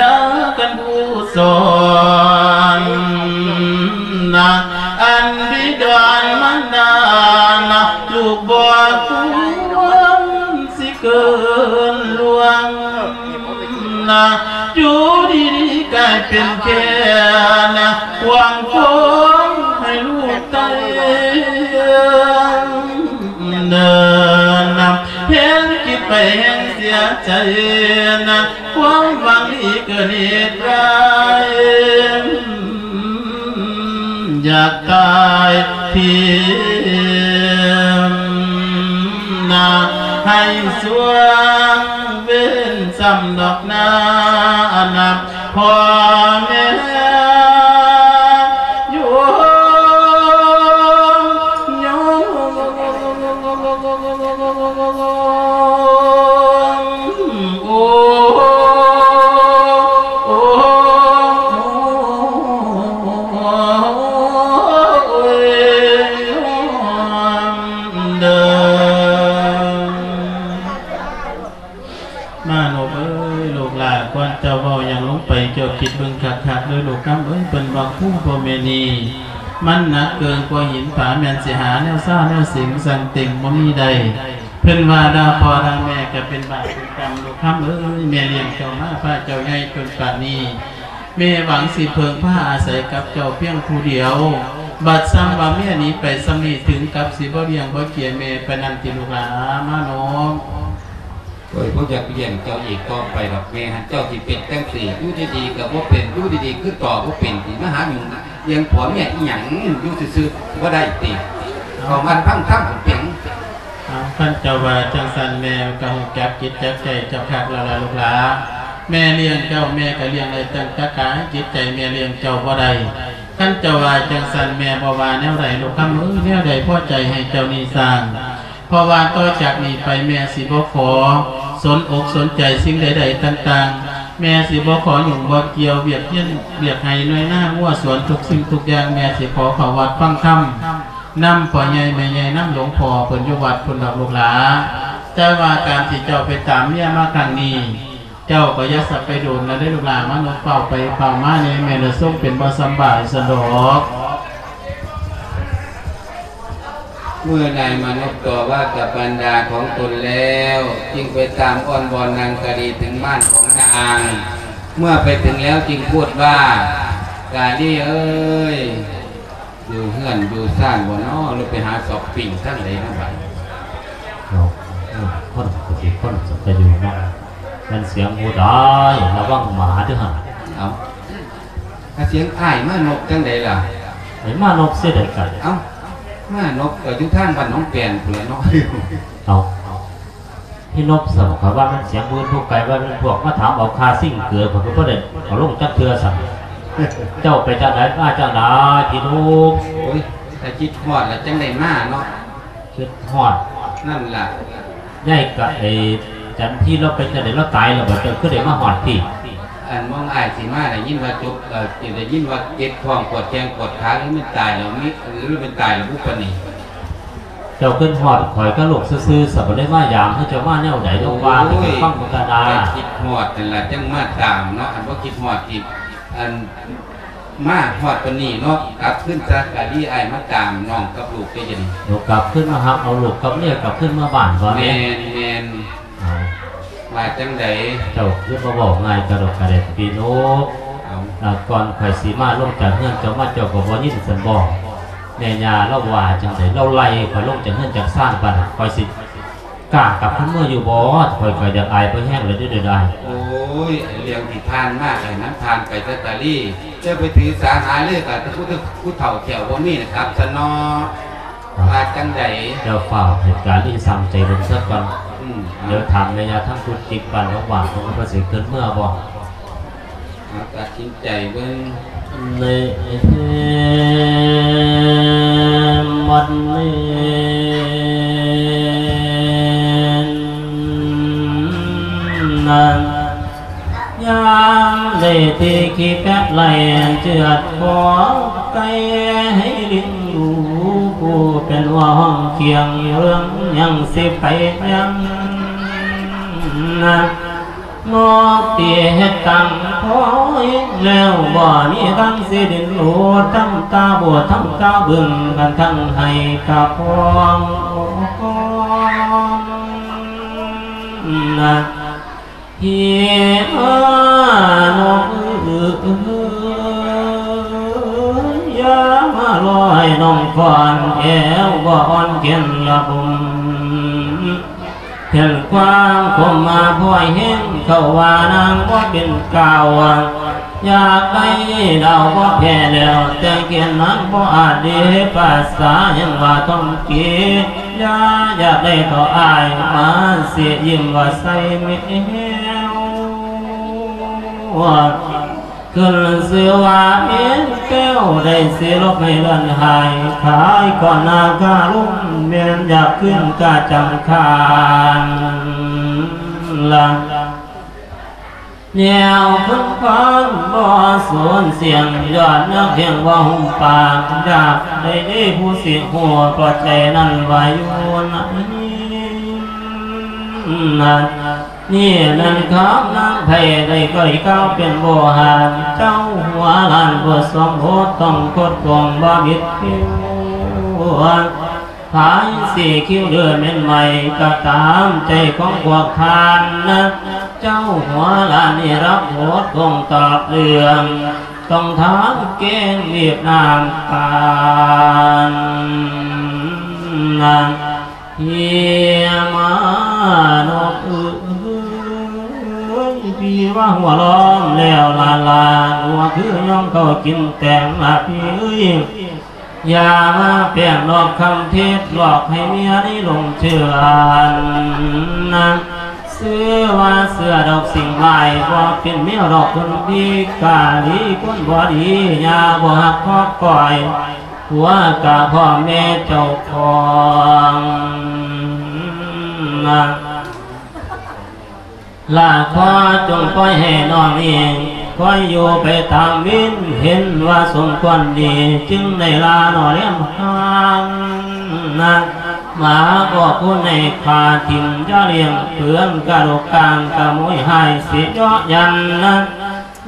ໃຫ້ເປັນແກ່ນະ ຫວັງຄອງໃຫ້ລູກໄຕ້ເດີນນະ ແຮງຄິດໄປແຮງເສຍໃຈນະ ຄວາມຫວັງດີເກີດເຫດຮ້າຍ ຢາກຕາຍຖິ້ມນະ ໃຫ້ສວງເວັນຊ້ຳດອກນາ ອັນນະ ພໍ່ແມ່ໂຍມ ໂຍມ ໂອ້ ໂອ້ ໂອ້ຍ ໂຍມເດີ. ມານົບເອີຍ ລູກຫຼ້າ ກ່ອນເຈົ້າເວົ້າຫຍັງລົງໄປ ເຈົ້າຄິດເບິ່ງຄັກໆເດີລູກຄຳເອີຍ. ເພິ່ນວ່າຄູພໍ່ແມ່ນີ້ ມັນໜັກເກີນກວ່າຫີນຜາ ແມ່ນຊິຫາແນວຊາແນວເສັງສັງເຕັງບໍ່ມີໄດ້. ເພິ່ນວ່າດ່າພໍ່ດ່າແມ່ກໍເປັນບາບເປັນກຳ ລູກຄຳເອີຍ. ແມ່ລ້ຽງເຈົ້າມາ ພາເຈົ້າໃຫຍ່ຈົນປານນີ້ ແມ່ຫວັງຊິເພິ່ງພາອາໄສກັບເຈົ້າພຽງຜູ້ດຽວ ບັດຊ່ຳວ່າເມຍໜີໄປຊ່ຳນີ້ ເຖິງກັບຊິບໍ່ລ້ຽງບໍ່ເກຍແມ່ປານນັ້ນຕິລູກຫຼ້າ ມານົບ. ໂອ້ຍ ບໍ່ຢາກລ້ຽງເຈົ້າອີກຕໍ່ໄປດອກແມ່ຫັ້ນ ເຈົ້າຊິເປັນຈັ່ງຊີ້ ຢູ່ດີໆກໍບໍ່ເປັນ ຢູ່ດີໆຄືຕໍ່ບໍ່ເປັນ ຊິມາຫາຫຍຸ້ງ ລ້ຽງຜົວເມຍອີຫຍັງ ຢູ່ຊື່ໆບໍ່ໄດ້ຕິ ເຂົ້າວັດຟັງທຳເປັນຫຍັງ? ເອົາ ຄັນເຈົ້າວ່າຈັ່ງຊັ້ນ ແມ່ກໍຮູ້ຈັກຈິດຈັກໃຈເຈົ້າຄັກແລ້ວລະລູກຫຼ້າ. ແມ່ລ້ຽງເຈົ້າ ແມ່ກໍລ້ຽງໄດ້ຕັ້ງແຕ່ກາຍ ຈິດໃຈແມ່ລ້ຽງເຈົ້າບໍ່ໄດ້. ຄັນເຈົ້າວ່າຈັ່ງຊັ້ນ ແມ່ບໍ່ວ່າແນວໃດລູກຄຳເອີຍ ແນວໃດພໍໃຈໃຫ້ເຈົ້ານີ້ສ້າງ. ເພາະວ່າຕໍ່ຈາກນີ້ໄປແມ່ຊິບໍ່ຂໍສົນອົກສົນໃຈສິ່ງໃດໆຕ່າງໆ ແມ່ຊິບໍ່ຂໍຫຍຸ້ງບໍ່ກ່ຽວວຽກຮຽນວຽກໄຮ່ນາ ງົວສວນ ທຸກສິ່ງທຸກຢ່າງ ແມ່ຊິຂໍເຂົ້າວັດຟັງທຳນຳພໍ່ໃຫຍ່ແມ່ໃຫຍ່ ນຳຫຼວງພໍ່ເພິ່ນຢູ່ວັດພຸ້ນດອກລູກຫຼ້າ. ແຕ່ວ່າການທີ່ເຈົ້າໄປຕາມເມຍມາຄັ້ງນີ້ ເຈົ້າກໍຢ່າສະໄປດົນນະເດີລູກຫຼ້າ ມານົບ ຟ້າວໄປຟ້າວມາແດ່ ແມ່ລະຊົງເປັນບໍ່ສຳບາຍຊັ້ນດອກ. ເມື່ອນາຍມານົບຕໍ່ວ່າກັບບັນດາຂອງຕົນແລ້ວ ຈຶ່ງໄປຕາມອ້ອນບ່ອນນັ່ງກະດີເຖິງບ້ານຂອງນາງ. ເມື່ອໄປເຖິງແລ້ວຈຶ່ງພູດວ່າ ກາລີເອີຍ ຢູ່ເຮືອນຢູ່ຊານບໍ່ນໍ ຫຼືໄປຫາຊັອບປິງທາງໃດເນາະບາດນີ້? ເນາະ ເອີ ຄົນກໍຊິຄົນສັກກະຢູ່ເນາະ ແມ່ນສຽງຜູ້ໃດ ລະວັງໝາເດີຫັ້ນ. ເອົ້າ ກະສຽງອ້າຍມານົບຈັ່ງໃດລະ? ໄປມານົບເສຍໃດກັນ? ເອົ້າ ມານົບກໍຢູ່ທາງບ້ານໜອງແປນພຸ້ນລະເນາະ. ເອົ້າ ພີ່ນົບ ຊັ້ນຂ້ອຍວ່າແມ່ນສຽງຜູ້ອື່ນຜູ້ໄກ ວ່າແມ່ນພວກມາຖາມເອົາຄ່າຊິງເກືອ ຂ້ອຍກໍບໍ່ໄດ້ເອົາລົງຈັກເທື່ອຊັ້ນ. ເຈົ້າໄປຈັ່ງໃດມາຈັ່ງໃດ ພີ່ໜຸ່ມ? ໂອ້ຍ ຖ້າຄິດຮອດລະຈັ່ງໄດ້ມາເນາະ. ຄິດຮອດ ນັ້ນລະ ຍາຍກະ ໄອ້ຈັນທີລາວໄປຈັ່ງໃດ ລາວຕາຍແລ້ວບໍ່? ເຈົ້າຄືໄດ້ມາຮອດພີ້? ອັນມອງອ້າຍຊິມາ ໄດ້ຍິນວ່າຈົບ ເອີ ໄດ້ຍິນວ່າເຈັບທ້ອງ ປວດແຂ້ງປວດຂາ ຫຼືແມ່ນຕາຍແລ້ວ ມີ ຫຼືແມ່ນຕາຍແລ້ວບຸບປານນີ້? ເຈົ້າຄິດຮອດຂ້ອຍກັບລູກຊື່ໆ ສະ ບໍ່ໄດ້ມາຢາມ ຄືເຈົ້າມາແນວໃດ? ລອງວ່າໃຫ້ຂ້ອຍຟັງເບິ່ງກະນາ. ໂອ້ຍ ຄິດຮອດນັ້ນລະ ຈັ່ງມາຕາມເນາະ ຄັນບໍ່ຄິດຮອດທີ່ ອັນ ມາຮອດປານນີ້ເນາະ ກັບຄືນຊະ ກະດີອ້າຍມາຕາມນ້ອງກັບລູກເດ້ ດຽວນີ້ ເອົາກັບຄືນມາຮັບເອົາລູກກັບເມຍກັບຄືນມາບ້ານກ່ອນແດ່. ແມ່ນ ແມ່ນ ເອົາ ວ່າຈັ່ງໃດ? ເຈົ້າຄືມາເວົ້າງ່າຍກະດອກກະແດກ ພີ່ນົບ. ເອົາ ລະກ່ອນຂ້ອຍຊິມາລົງຈາກເຮືອນເຈົ້າມາ ເຈົ້າກໍບໍ່ຍິນຊັ້ນບໍ? ແມ່ຍ່າລາວວ່າຈັ່ງໃດ? ລາວໄລ່ຂ້ອຍລົງຈາກເຮືອນຈາກຊານປານນັ້ນ ຂ້ອຍຊິ ກ້າກັບຄືນເມືອຢູ່ບໍ່? ຂ້ອຍກໍຢາກອາຍພໍແຮງແລ້ວເດ້ ດຽວນີ້. ໂອ້ຍ ເລື່ອງທີ່ຜ່ານມາກໍໃຫ້ມັນຜ່ານໄປຊະ ກາລີ. ຢ່າໄປຖືສາຫາເລີຍກັບຜູ້ ຜູ້ເຖົ້າແຂ້ວບໍ່ມີນະ ກັບຊະເນາະ. ວ່າຈັ່ງໃດ? ເຈົ້າຟ້າວໃຫ້ກາລີຊ່ຳໃຈເບິ່ງຊະກ່ອນ. ອືມ ດຽວຖາມແມ່ຍ່າທາງກຸດຈິກບ້ານໜອງຫວ່າງ ເພິ່ນວ່າເພິ່ນຊິຂຶ້ນເມືອບໍ່? ເອົາ ຕັດສິນໃຈເບິ່ງ. ໃນວັນນີ້ນັ້ນ ຍາມໄດ້ທີ່ຂີ້ແປະໄລ່ເຈື່ອນຂໍໄກ່ໃຫ້ລິງດູ ຜູ້ເປັນຫົວຫ້ອງຄຽງເລື່ອງ ຍັງຊິໄປຍັງນະ ນົກທີ່ເຮັດຕັ້ງພໍແລ້ວ ບໍ່ມີທາງຊິດິນໂລດ ທັງຕາບວດ ທັງຕາບຶງ ກັນທັງໄຫ້ກະພອງນະ ທີ່ມານົກເອີຍ. ຢ່າມາລໍໃຫ້ນ້ອງຄອນແອວບໍ່ອ່ອນແຂນລະບົມ ເຫັນຄວາມຄົມມາພອຍແຮງເຂົ້າວ່ານາງບໍ່ເປັນກ່າວ ຢາກໄດ້ດາວບໍ່ແພ້ແລ້ວ ແຕ່ເກນນາງບໍ່ອາດເດປາສາຍັງວ່າທ່ອງເກ ຢ່າຢາກໄດ້ເທົ່າອ້າຍມາຊິຍິ້ມວ່າໃສ່ແມວ ຂຶ້ນຊື່ວ່າເອັນແປ້ວ ໄດ້ຊິຫຼົບໃຫ້ເລື່ອນຫາຍ ຂາຍກ່ອນໜ້າກາລຸມ ແມ່ນຢາກຂຶ້ນກະຈຳຄານລະ ແນວຄົນຄວານບໍ່ສູນສຽງ ຍອດນັກຮຽນບໍ່ຫຸ້ມປາກ ຢາກໄດ້ເດຜູ້ຊິຮູ້ ເພາະໃຈນັ້ນວ່າຢູ່ໃນນັ້ນ ນີ້ແມ່ນຄຳນາງໃຜ ໄດ້ກ້ອຍກ່າວເປັນໂວຫານ ເຈົ້າຫົວລ້ານບໍ່ສົມບົດ ຕ້ອງຄົດໂກງບໍ່ບິດຜິວ ພາຍສີຄິວເດີແມ່ນໃໝ່ ກໍຕາມໃຈຂອງພວກທ່ານນະ ເຈົ້າຫົວລ້ານນີ້ຮັບໂທດຄົງຕອບເລື່ອງ ຕ້ອງຖາມແກງວຽດນາມປານນະ ພີ່ມານົກເອີຍ ພີ່ວ່າຫົວລ້ອມແລ້ວລະລາ ຫົວຄືຍ່ອງເຂົ້າກິນແຕງລະພີ່ເອີຍ ຢ່າມາແປ້ງນອກຄຳເທດ ຫຼອກໃຫ້ເມຍນີ້ຫຼົງເຊື່ອນະ ຊື່ວ່າເຊື່ອດອກສິ່ງຮ້າຍ ບໍ່ເປັນແນວດອກຄົນດີ ກາດີຄົນບໍ່ດີ ຢ່າບໍ່ຮັກຮອບກ້ອຍ ຜົວກະພໍ່ແມ່ເຈົ້າຂອງນະ ລະຂໍຈົ່ງປ່ອຍໃຫ້ນ້ອງນີ້ ຄອຍຢູ່ໄປຕາມວິນ ເຫັນວ່າສົມຄວນດີ ຈຶ່ງໄດ້ລາໜໍ່ແຫຼມຫາງນະ ໝາບອກຄຸນໃຫ້ຂ້າຖິ້ມ ຢ່າລ້ຽງເຜືອນກະດູກກາງ ກະໂມຍຫາຍຊິເຍາະຢັນນະ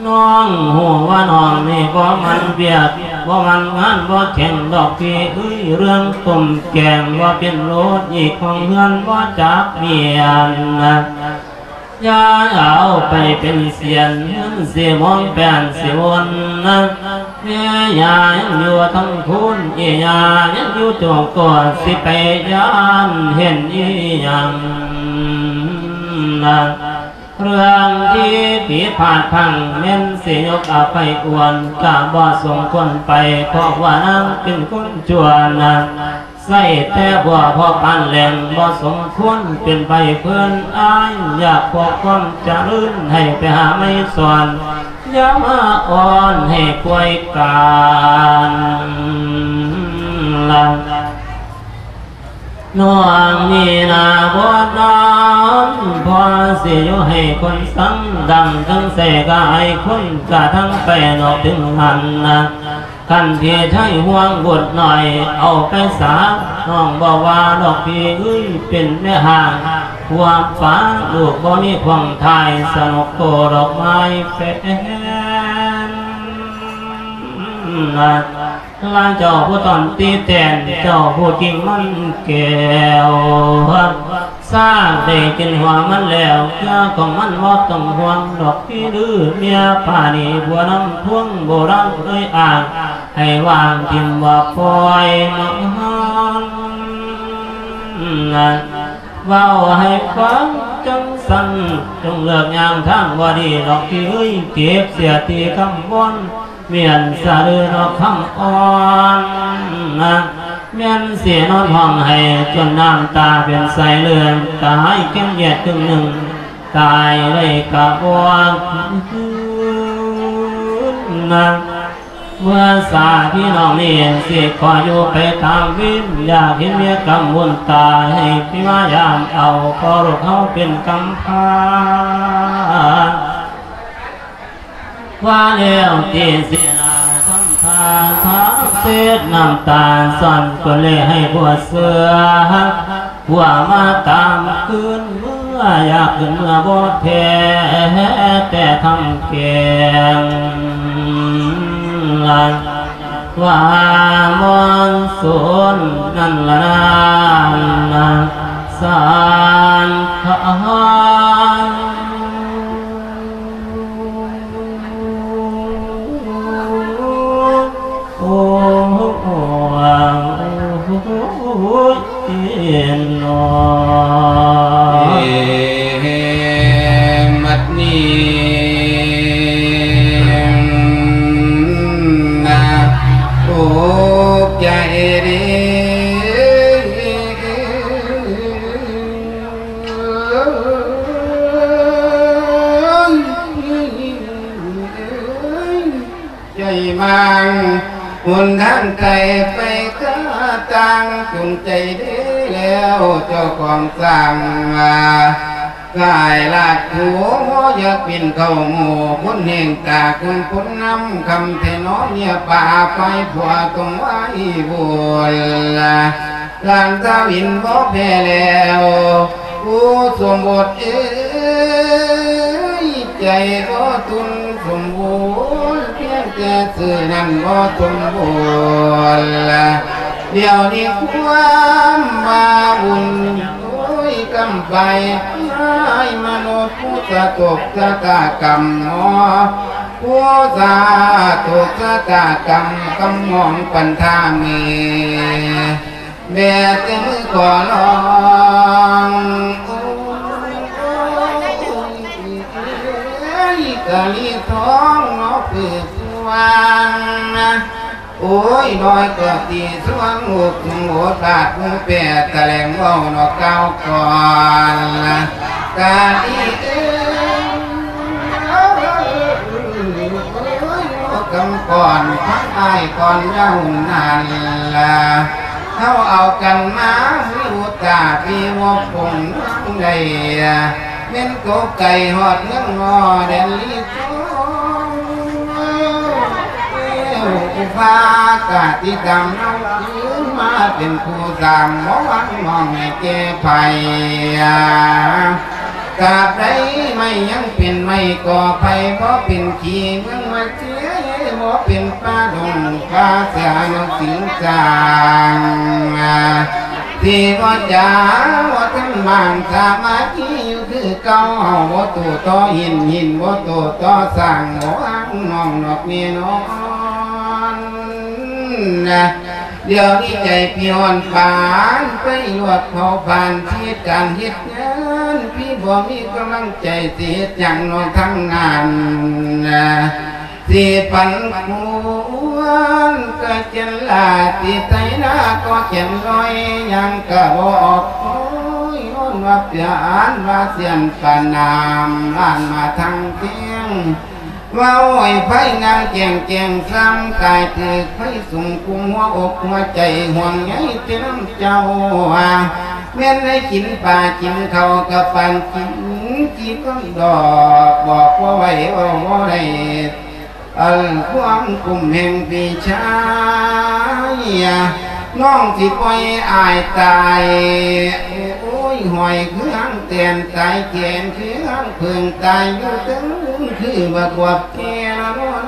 ນ້ອງຮູ້ວ່ານ້ອງນີ້ບໍ່ໝັ່ນວຽກ ບໍ່ໝັ່ນງານ ບໍ່ແຂງດອກພີ່ເອີຍ ເລື່ອງຕົ້ມແກງບໍ່ເປັນໂລດ ອີກຂອງເຮືອນບໍ່ຈັກມຽນນະ ຢ່າເອົາໄປເປັນສຽນ ເງິນຊິມອງແປນຊິວົນນະ ແມ່ຍ່າຍັງຢູ່ທັງຄູນ ອີ່ຍ່າຍັງຢູ່ໂຈກໂກ ຊິໄປຢ້ານເຫັນອີ່ຫຍັງນະ ເລື່ອງທີ່ຜິດພາດພລັ້ງ ແມ່ນຊິຍົກອະໄພອວນ ກະບໍ່ສົມຄວນໄປ ເພາະວ່ານາງເປັນຄົນຊົ່ວນະ ໃຊ້ແຕ່ບົວພໍປານແຫຼງ ບໍ່ສົມຄວນເປັນໃບເພິ່ນ ອ້າຍຢາກພໍຄວາມຈະເລີນ ໃຫ້ໄປຫາໄມ້ສອນ ຢ່າມາອ້ອນໃຫ້ປ່ວຍການລະ ນ້ອງມີໜ້າບົດນານ ພໍຊິຢູ່ໃຫ້ຄົນສັງ ດັງເຖິງໃສກະອາຍຄົນ ກະທັງໄປນອກເຖິງຫັ້ນນະ ຄັນພີ່ໄທຫ່ວງບຸດໜ້ອຍ ເອົາໄປສາ ນ້ອງບໍ່ວ່າດອກພີ່ເອີຍ ເປັນແມ່ຮ້າງ ພວກປ້າລູກບໍ່ມີພວງຖ່າຍ ສະໜົກໂຕດອກໄມ້ແປນນະ ລະເຈົ້າຜູ້ຕ້ອນຕີແຕນ ເຈົ້າຜູ້ກິງມັນແກ້ວ ຊາກໄດ້ກິນຫົວມັນແລ້ວ ເຄືອຂອງມັນບໍ່ຕ້ອງຫ່ວງດອກພີ່ເດີ ເມຍປ້ານີ້ຜົວນຳພວງ ໂບລານເອີຍອ້າງ ໃຫ້ວາງຖິ້ມວ່າປ່ອຍມັນ ເວົ້າໃຫ້ຟັງຈັ່ງຊັ້ນ ຈົ່ງເລືອກຍ່າງທາງບໍ່ດີດອກພີ່ເອີຍ ເກັບເສຍທີ່ຄຳວົນ ວຽນສະເດີດອກຄຳອ່ອນນະ ແມ່ນຊິນອນຮ້ອງໄຫ້ຈົນນ້ຳຕາເປັນສາຍເລືອດ ຕາຍແກ້ນຫຽດຄຶ່ງໜຶ່ງ ຕາຍໄດ້ກະບໍ່ຄືນນະ ເມື່ອສາພີ່ນ້ອງນີ້ຊິຂໍຢູ່ໄປຕາມວິນ ຢາກເຫັນເມຍກຳບຸນຕາ ໃຫ້ພີ່ມາຢາມເອົາ ເພາະລູກເຮົາເປັນກຳພ້າ ວ່າແລ້ວຕິເສຍໜ້າທຳທ່າທາເຊັດນ້ຳຕາ ຊ້ອນກົ້ນເລໃຫ້ຜົວເຊື່ອ ຜົວມາຕາມຄືນເມືອ ຢາກຄືນເມືອບໍ່ແທ້ ແຕ່ທຳແກງ ວ່າມອນສູນນັ້ນລະນານ ສານຂາ ມັງ ຫົນທາງໄກໄປກະຕ່າງ ຈົງໃຈເດີແລ້ວເຈົ້າຂອງສ້າງ ກາຍລາດໂຜ ຢາກປິ່ນເຂົ້າໝູ່ ຄົນແຫ່ງຕາ ຄົນພົນນຳ ຄຳແທ້ໜໍເມຍປ່າ ໄຟຜົວຕ້ອງໄວໂວນ ຫຼານສາວອິນບໍ່ແພ້ແລ້ວ ໂອ້ ສົມບົດເອີຍ ໃຈບໍ່ທົນສົມບູນ ພຽງແຕ່ຊື່ນັ້ນບໍ່ສົມບູນ ດຽວນີ້ຄວາມວ່າບຸນ ໂອ້ຍ ກຳໄປ ອ້າຍມະນຸດ ຜູ້ສະຕົກຊະຕາກຳ ເນາະ ຜູ້ສະຕົກຊະຕາກຳ ກຳມອງປັນທາເມ ແບແຕ່ມືຂໍລອງ ໂອ້ຍ ກະລີທອງເນາະ ເປີດສະຫວ່າງ ໂອ້ຍ ນ້ອຍກໍຕີສວງ ໂອກສຸງໂອດບາດ ໝູ່ແປດຕະແຫຼງເວົ້າເນາະ ກ່າວກ່ອນ ກະດີເອີຍ ໂອ້ຍ ກຳກ່ອນ ທັງອ້າຍກ່ອນເຈົ້ານັ້ນລະ ເຮົາເອົາກັນມາ ມີອຸດຕາ ມີວົງປົງໃດ ແມ່ນຕົກໄກຮອດເມືອງງໍ ແດນລີ ເຈົ້າຜູ້ພາກະຕິດຕາມເຮົາຄືນມາເປັນຜູ້ສ້າງ ບໍ່ຫວັງມອງໃຫ້ແກ່ໃຜ ຕາບໃດໄມ້ຍັງເປັນໄມ້ກໍໄຜ່ ບໍ່ເປັນຂີ້ເມືອງມາເຊຍ ບໍ່ເປັນປ່າດົງປ່າເສືອນກສິງສາງ ທີ່ບໍ່ຈາບໍ່ທັນບາງ ສາມັກຄີຢູ່ຄືເກົ່າ ເຮົາບໍ່ໂຕ້ຕໍ່ຫີນ ຫີນບໍ່ໂຕ້ຕໍ່ຊ້າງ ບໍ່ຫວັງນ້ອງນອກແນ່ນອນ ດຽວນີ້ໃຈພີ່ຮ້ອນປານໄຟ ລວກເຜົາຜານ ເຮັດການເຮັດງານ ພີ່ບໍ່ມີກຳລັງໃຈ ຊິເຮັດຫຍັງເນາະທັງນັ້ນ ຊິປັນຄວນກະແກ່ນລາ ຊິໄຖນາກໍແກ່ນລອຍ ຫຍັງກະບໍ່ອອກໂອຍ ຍ້ອນວ່າປານວ່າສຽນປານນ້ຳ ລ້ານມາທັງພຽງ ເວົ້າໃຫ້ໄພງາມແຈ້ງແຈ້ງຊ້ຳ ກາຍຖືກໄຟສຸມກຸມຫົວອົກຫົວໃຈ ຫ່ວງໃຍແຕ່ນຳເຈົ້າ ແມ່ນໄດ້ກິນປາກິນເຂົ້າ ກະປານກິນຈີ່ກ້ອນດອກ ບອກບໍ່ໄຫວເວົ້າບໍ່ໄດ້ ອັນຄວາມກຸ້ມແຫ່ງພີ່ຊາຍ ນ້ອງຊິປ່ອຍອ້າຍຕາຍ ໂອ້ຍ ຫ້ອຍຄືຫາງແຕນຕາຍ ແຂນຄືຫາງເຜິ້ງຕາຍ ຢູ່ເທິງຄືບັກບວບແກ່ລະເນາະ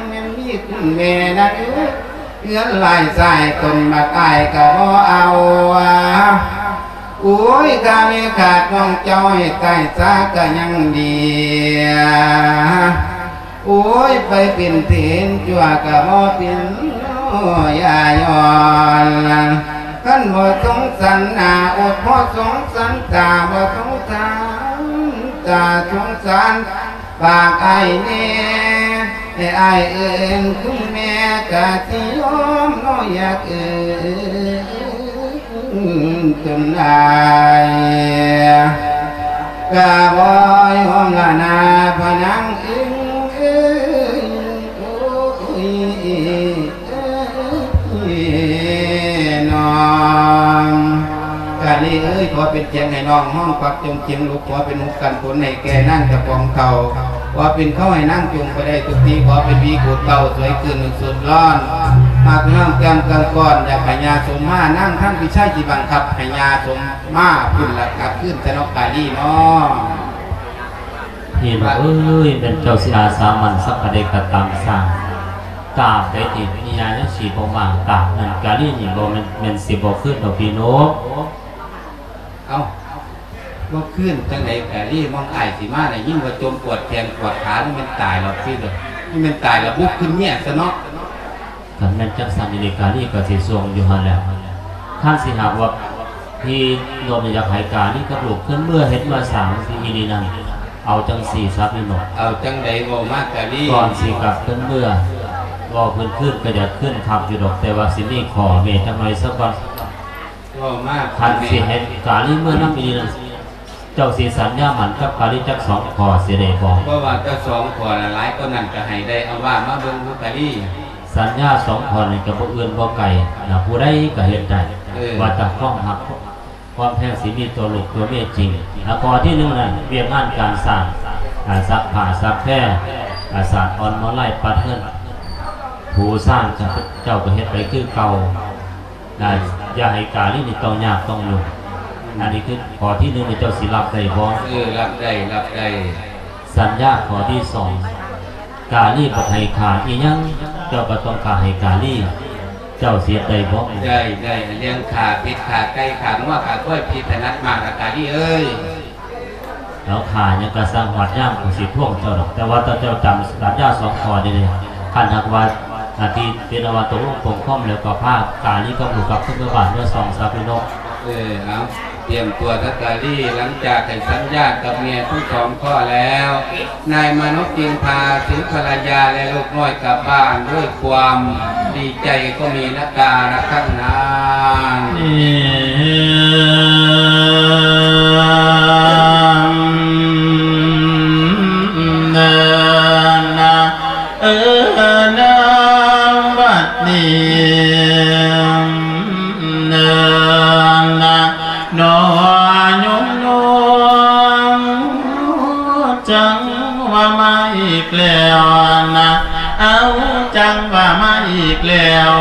ແມ່ນມີຄຸນແມ່ນະ ເອີຍ ເຮືອນຫຼາຍຊາຍຕົນບັກອ້າຍກະບໍ່ເອົາ ໂອ້ຍ ກະແມ່ຂາດນ້ອງເຈົ້າໃຫ້ຕາຍຊາກະຍັງດີ ໂອ້ຍ ໄປເປັນເພນຈົວກະບໍ່ເປັນ ໂອ້ຍ ຢ່າຍ້ອນ ຄັນບໍ່ສົງສານໜ້າອົດ ບໍ່ສົງສານຕາ ບໍ່ສົງສານຕາ ສົງສານປາກອ້າຍແດ່ ໃຫ້ອ້າຍເອີ້ນຄຸນແມ່ກະຊິຍອມເນາະ ຢາກເອີ້ນ ຈົນໄດ້ ກະບໍ່ຍອມລະນາພະນາງເອີຍ ໂອ້ຍ ນ້ອງ ກາລີເອີຍ ຂໍເປັນສຽງໃຫ້ນ້ອງຮ້ອງປັກຈົງເຈັງ ລູກຂໍເປັນຫຸກກັນຝົນໃຫ້ແກ່ນາງເຈົ້າຂອງເຂົາ ຂໍເປັນເຂົາໃຫ້ນາງຈົງໄປໄດ້ທຸກທີ ຂໍເປັນວີໂກດເຕົ້າ ສວຍຄືນໜຶ່ງສຸດຮ້ອນ ຫາກນ້ອງແກ້ມກັງກ້ອນ ຢາກໃຫ້ຍ່າສົມມາ ນາງທັນພິໄຊຊິບັງຄັບໃຫ້ຍ່າສົມ ມາພຸ້ນລະ ກັບຄືນຊະເນາະ ກາລີເນາະ. ພີ່ນ້ອງເອີຍ ແມ່ນເຈົ້າຊິອາສາໝັ້ນສັກປານໃດກໍຕາມຊ່າງ ຕາບໃດທີ່ຍາຍັງຊິບໍ່ມາ ຕາບນັ້ນກາລີນີ້ບໍ່ແມ່ນ ແມ່ນຊິບໍ່ຄືນດອກພີ່ນ້ອງ. ເອົ້າ ບໍ່ຄືນຈັ່ງໃດກາລີ ມອງອ້າຍຊິມາ ໄດ້ຍິນວ່າຈົມປວດແຂນປວດຂາ ມັນແມ່ນຕາຍແລ້ວຕິ ມັນແມ່ນຕາຍແລ້ວບຸບຂຶ້ນເມຍຊະເນາະ. ຄັນແມ່ນຈັ່ງຊັ້ນອີ່ຫຼີ ກາລີກໍຊິສົ່ງຢູ່ຫັ້ນແຫຼະ. ຄັນຊິຫາກວ່າພີ່ນ້ອງຢາກໃຫ້ກາລີກັບລູກຂຶ້ນເມືອເຮັດເມືອສ້າງທີ່ອີ່ຫຼີນັ້ນ ເອົາຈັ່ງຊີ້ຊະພີ່ນ້ອງ ເອົາຈັ່ງໃດເວົ້າມາກາລີ. ກ່ອນຊິກັບຂຶ້ນເມືອ ເວົ້າພື້ນໆ ກໍຢາກຂຶ້ນຄັກຢູ່ດອກ ແຕ່ວ່າຊິມີຂໍ້ແມ້ຈັກໜ້ອຍຊະກ່ອນ. ເວົ້າມາ ຄັນຊິໃຫ້ກາລີເມືອນຳອີ່ຫຼີນັ້ນ ເຈົ້າຊິສັນຍາໝັ້ນກັບກາລີຈັກສອງຂໍ້ຊິໄດ້ບໍ່? ບໍ່ວ່າແຕ່ສອງຂໍ້ລະ ຫຼາຍກວ່ານັ້ນກໍໃຫ້ໄດ້. ເອົາວ່າມາເບິ່ງດູກາລີ. ສັນຍາສອງຂໍ້ນີ້ກໍບໍ່ອື່ນບໍ່ໄກນະ ຜູ້ໃດກໍເຮັດໄດ້ ເອີ ວ່າແຕ່ຄວາມຮັກຄວາມແພງຊິມີຕໍ່ລູກຕໍ່ເມຍຈິງ. ອາ ຂໍ້ທີໜຶ່ງນັ້ນ ວຽກງານການສ້າງ ອາ ຊັກຜ້າຊັກແພ ອາ ສາດອ່ອນມາໄລ ປັດເງິນ ຜູ້ຊານ ເຈົ້າກໍເຮັດໄປຄືເກົ່າ. ອາ ຢ່າໃຫ້ກາລີນີ້ຕ້ອງຍາກຕ້ອງຫຍຸ້ງ. ອັນນີ້ຄືຂໍ້ທີໜຶ່ງ ນີ້ເຈົ້າຊິຮັບໄດ້ບໍ່? ເອີ ຮັບໄດ້ ຮັບໄດ້. ສັນຍາຂໍ້ທີສອງ ກາລີບໍ່ໃຫ້ຂ້າອີ່ຫຍັງ ເຈົ້າກໍຕ້ອງຂ້າໃຫ້ກາລີ ເຈົ້າຊິເຮັດໄດ້ບໍ່? ໄດ້ ໄດ້. ເລື່ອງຂ້າເປັດ ຂ້າໄກ່ ຂ້າງົວ ຂ້າຄວາຍ ພິດຖະໜັດມາກລະກາລີເອີຍ. ແລ້ວຂ້າຫຍັງກໍຊ່າງ ຮອດຍາມຂ້ອຍຊິທວງເຈົ້າດອກ ແຕ່ວ່າຖ້າເຈົ້າຈຳສັນຍາສອງຂໍ້ນີ້ ຄັນຫາກວ່າອາທິດເປັນອັນວ່າຕົກລົງປົງຄອມແລ້ວ ກໍພາກາລີກັບລູກກັບຄືນເມືອບ້ານເມືອຊ່ອງຊະພີ່ນ້ອງ. ເອີ ເອົາ ຕຽມຕົວຊະກາລີ. ຫຼັງຈາກໄດ້ສັນຍາກັບເມຍທັງສອງຂໍ້ແລ້ວ ນາຍມານົບຈຶ່ງພາຖືພັນລະຍາ ແລະ ລູກນ້ອຍກັບບ້ານດ້ວຍຄວາມດີໃຈກໍມີນະກາລະຄັ້ງນັ້ນ. ເອີ ນາ ບັດນີ້ ນາ ນາ ໜໍໂຍມນ້ອງ ຈັ່ງວ່າມາອີກແລ້ວນະ ເອົາ ຈັ່ງວ່າມາອີກແລ້ວ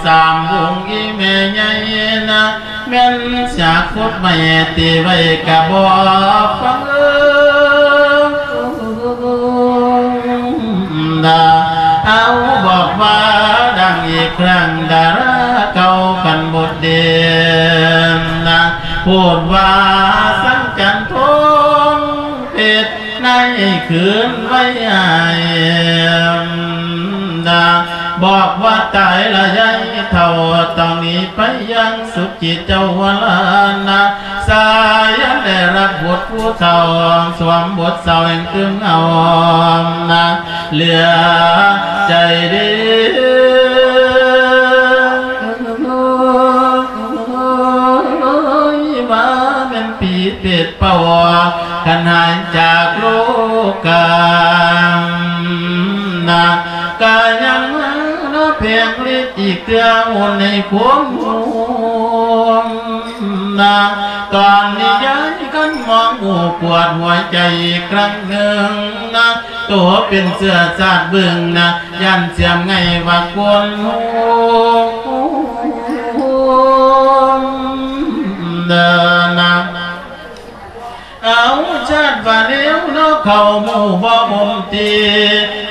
ສາມວົງອີ່ແມ່ໃຫຍ່ນະ ແມ່ນສາກຂຸດໄມ້ຕີໄວ້ກະບໍ່ຟັງ ດາ ເອົາ ບອກວ່າດັງອີກຄັ້ງ ດາລາເກົ່າກັນບົດເດນນະ ໂພດວ່າສັງຈັນທົງເພັດໃນຄືນໄວອ້າຍ ດາ ບອກວ່າຕາຍລະຍາຍເຖົ້າ ຕ້ອງໜີໄປຢ່າງສຸດ ຈິດເຈົ້າວະລານະ ສາຍັນໄດ້ຮັບບົດຜູ້ເຖົ້າ ສວມບົດສາວແຫ່ງຕື່ມເຫງົານະ ເຫຼືອໃຈດີ ວ່າແມ່ນຜີເປດເປົ່າ ຄັນຫາຍຈາກໂລການະ ກະຍັງມາເນາະ ແຜງລິດອີກເທື່ອ ໂອນໃຫ້ຄົນຮູ້ນະ ຕອນນີ້ຍາຍຄັນມອງ ໂອ້ ປວດຫົວໃຈອີກຄັ້ງໜຶ່ງນະ ໂຕເປັນເຊື້ອຊາດບຶງນະ ຢ້ານສຽມໄງວ່າຄົນຮູ້ນະ. ເອົາ ຊາດວ່າແນວເນາະ ເຂົ້າໝູ່ບໍ່ອົມຕີ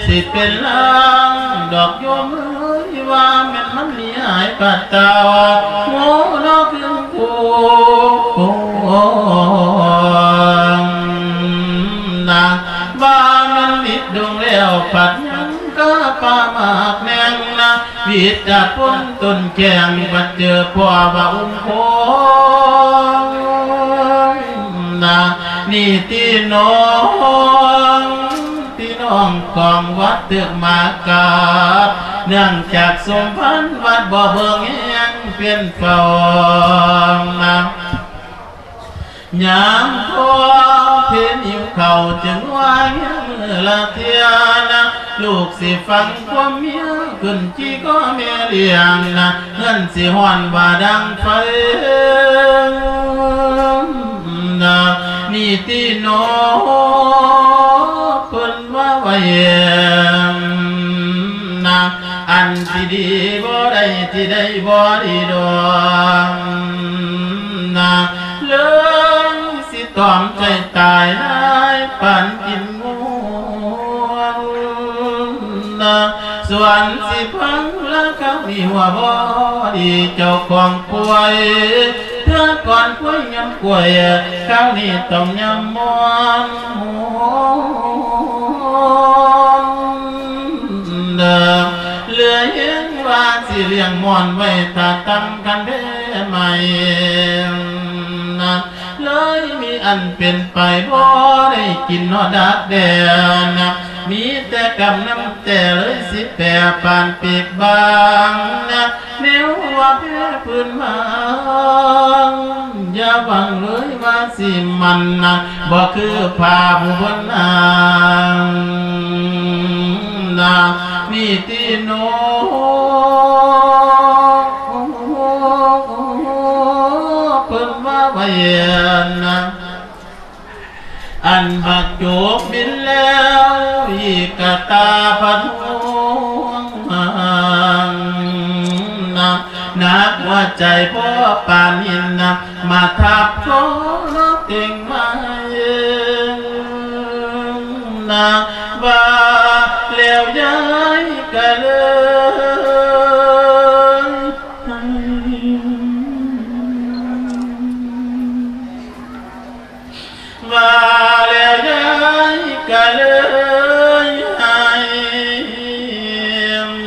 ຊິເປັນລາງດອກໂຍມເອີຍ ວ່າແມ່ນມັນໜີຫາຍປາດຕາ ໂງ່ເນາະ ຄຶງຄູນະ ວ່າແມ່ນລິດດົງແລ້ວ ພັດຍັງກະປ່າໝາກແໜ່ງນະ ວິດຈາກຄົນຕົ້ນແຂ້ງ ບັດເຈີພໍ່ວ່າອົງຄົງນະ ນີ້ຕິນ້ອງ ພີ່ນ້ອງຂອງວັດຕຶກມາກາບ ເນື່ອງຈາກສົມພັນວັດບໍ່ເບິ່ງແຮງເປັນເຝົ້ານະ ຍາມພໍເພັນຫິວເຂົ້າ ຈຶ່ງວ່າຫິວມື້ລະເທື່ອນະ ລູກຊິຟັງຄວາມເມຍ ຂຶ້ນຈີ່ກໍແມ່ລ້ຽງນະ ເຮືອນຊິຮ້ອນວ່າດັງໄຟນະ ນີ້ຕິນ້ອງ ເພິ່ນວ່າໄວ້ນະ ອັນທີ່ດີບໍ່ໄດ້ ທີ່ໄດ້ບໍ່ດີດອກນະ ເລີຍຊິຕອມໃຈຕາຍນາຍ ປານກິນງວງນະ ສ່ວນຊິພັງລະຄາວນີ້ວ່າບໍ່ດີ ເຈົ້າຂອງປ່ວຍ ເທື່ອກ່ອນປ່ວຍຍາມປ່ວຍ ຄາວນີ້ຕ້ອງຍາມມ່ອນ ເຫຼືອແຮງວ່າຊິລ້ຽງມ່ອນໄວ້ຖ້າຕຳຄັນແພ້ໃໝ່ນະ ເລີຍມີອັນເປັນໄປ ບໍ່ໄດ້ກິນຮອດດາກແດ່ນະ ມີແຕ່ກຳນ້ຳແຕ່ ເລີຍຊິແປປານປີກບາງນະ ແນວວ່າແພ້ພື້ນເມືອງ ຢ່າຫວັງເລີຍວ່າຊິໝັ້ນນະ ບໍ່ຄືພາຜູ້ເພິ່ນນາງນະ ນີ້ຕິໂນ ເພິ່ນວ່າໄວ້ນະ ອັນບັກໂຈກບິນແລ້ວ ອີກກະຕາພັດຫວງນະ ໜັກຫົວໃຈພໍປານຫີນນະ ມາທັບຂໍເຕັງມາເອງນະ ວ່າແລ້ວຍາຍກະເລີຍ ວ່າແລ້ວຍາຍກະເລີຍໃຫ້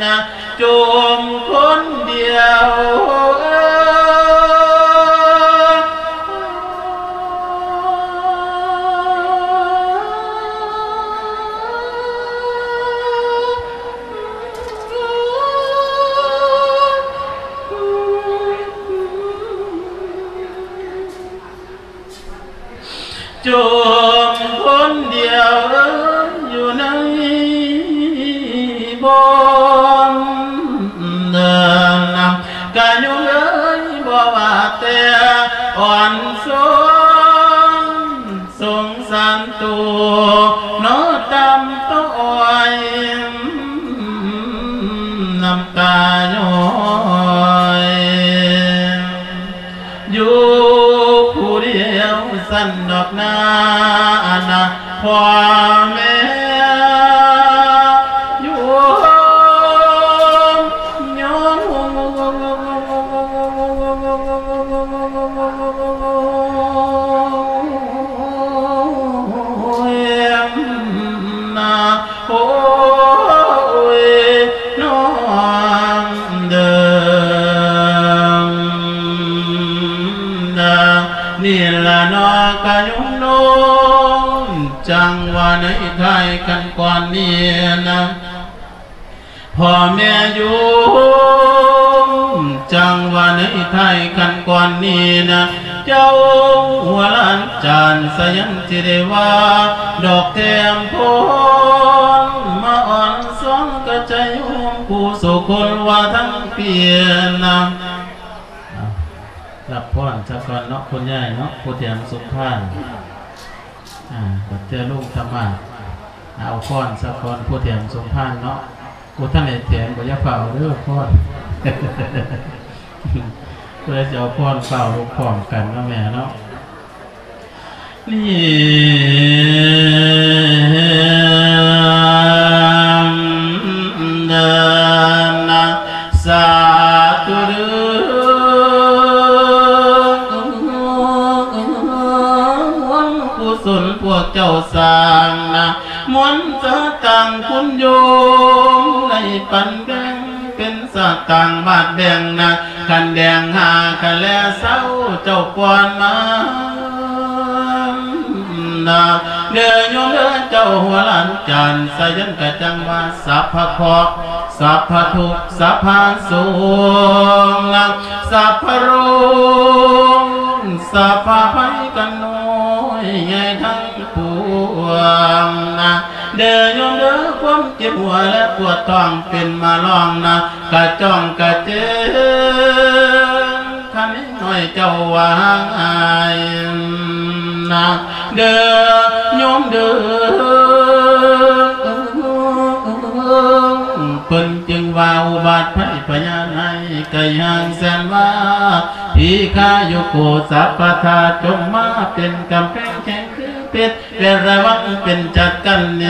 ນະ ຈົ່ມຄົນດຽວ ຈົ່ມຄົນດຽວເອີຍ ຢູ່ໃນບ່ອນເດີນນຳ ກະຍົງເອີຍ ບໍ່ວ່າແຕ່ອ່ອນຊອນ ສົງສານໂຕ ເນາະ ຕຳຕະອ້ອຍ ນ້ຳຕາຍ້ອຍ ຢູ່ຜູ້ດຽວຊັ້ນດອກນາ ອັນນະ ພໍ່ແມ່ ໂຍມ ໂຍມ ໂອ້ຍ ນ້ອງເດີ ນີ້ລະເນາະ ກະໂຍມໂນ້ມ ຈັ່ງວ່າໃນທ້າຍຂັ້ນກ່ອນນີ້ນະ ພໍ່ແມ່ໂຍມ ຈັ່ງວ່າໃນທ້າຍຂັ້ນກ່ອນນີ້ນະ ເຈົ້າຫົວຫຼານຈານສະຫຍັງຊິໄດ້ວ່າ ດອກແຖມພົນ ມາອ່ອນສອງກະໃຈໂຍມຜູ້ສຸຄົນວ່າທັງປີນະ ອ່າ ຮັບພອນສາກ່ອນເນາະ ຄຸນຍາຍເນາະ ຜູ້ແຖມສົມພານ ອ່າ ບັດເທື່ອລຸງຕະໝາດ ເອົາພອນສາກ່ອນ ຜູ້ແຖມສົມພານເນາະ ບໍ່ທັນໄດ້ແຖມ ບໍ່ຢ່າຟ້າວເດີພອນ ຜູ້ໃດຊິເອົາພອນ ຟ້າວລຸກພ້ອມກັນເນາະແມ່ເນາະ ນີ້ເດີນະ ສາທຸເດີ ບຸນກຸສົນພວກເຈົ້າສ້າງນະ ມວນສະຕາງຄຸນໂຍມ ໄດ້ປັນແບ່ງເປັນ ສະຕາງບາດແບ່ງນະ ຄັນແດງຫາຄັນແລເຊົາ ເຈົ້າປ້ອນມານະ ເດີໂຍມເດີ ເຈົ້າຫົວຫຼານຈານ ສະຫຍັງກະຈັ່ງວ່າ ສັບພະເຄາະ ສັບພະທຸກ ສັບພະໂສກນະ ສັບພະໂລກ ສັບພະໄພກັນນ້ອຍໃຫຍ່ທັງປວງນະ ເດີໂຍມເດີ ຄວາມເຈັບຫົວ ແລະ ປວດທ້ອງເປັນມາລອງນະ ກະຈ່ອງກະເຈງ ຄັນນ້ອຍເຈົ້າວ່າຫາຍນະ ເດີໂຍມເດີ ເພິ່ນຈຶ່ງວ່າອຸບາດໄພພະຍາໄນ ໄກຫ່າງແສນວາ ທີຄາຍຸໂກ ສັບພະທາດ ຈົ່ງມາເປັນກຳແພງແຂງຄືເພັດ ເວລາວັງເປັນຈັດກັນເນ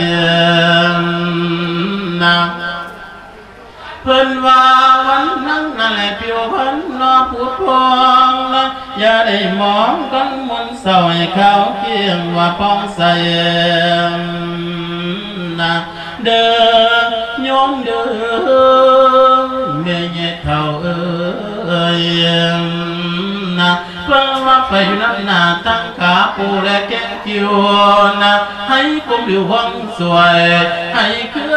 ນະ ເພິ່ນວ່າວັນນັ້ນນັ້ນແຫຼະ ຜິວພັນນອຜຸດຜ່ອງນະ ຢ່າໄດ້ມອງກັນມົນເສົ້າ ໃຫ້ຂາວກຽງວ່າຜ່ອງໃສນະ ເດີໂຍມເດີ ແມ່ໃຫຍ່ເຖົ້າເອີຍນະ ເພິ່ນວ່າໄປຢູ່ນຳໜ້າທາງ ຜູ້ແລແກງຄິວນະ ໃຫ້ຄວາມຫຼິວຫວັງຊ່ວຍ ໃຫ້ເຄືອ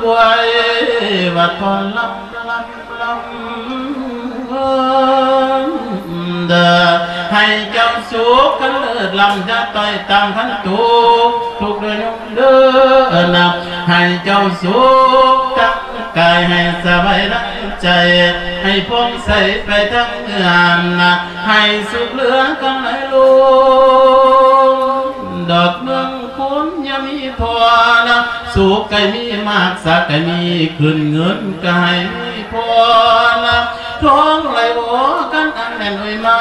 ໄວວ່າຕອນລຳ ລຳ ລຳ ເດີ ໃຫ້ເຈົ້າສຸກກັນເລີດລ້ຳ ຢ່າຕ້ອຍຕ່ຳຄັນທຸກ ທຸກເດີໂຍມເດີນະ ໃຫ້ເຈົ້າສຸກທັງກາຍ ໃຫ້ສະບາຍທັງໃຈ ໃຫ້ຜ່ອງໃສໄປທັງເຮືອນນະ ໃຫ້ສຸກເຫຼືອກັນຫຼາຍໂລ ດອກເມືອງ ຄົນຢ່າມີພໍນະ ສຸກໃຫ້ມີມາກ ສັກໃຫ້ມີຂຶ້ນ ເງິນກໍໃຫ້ມີພໍນະ ທອງໄຫຼບໍ່ກັນອັນແໜ້ນໂອຍມາ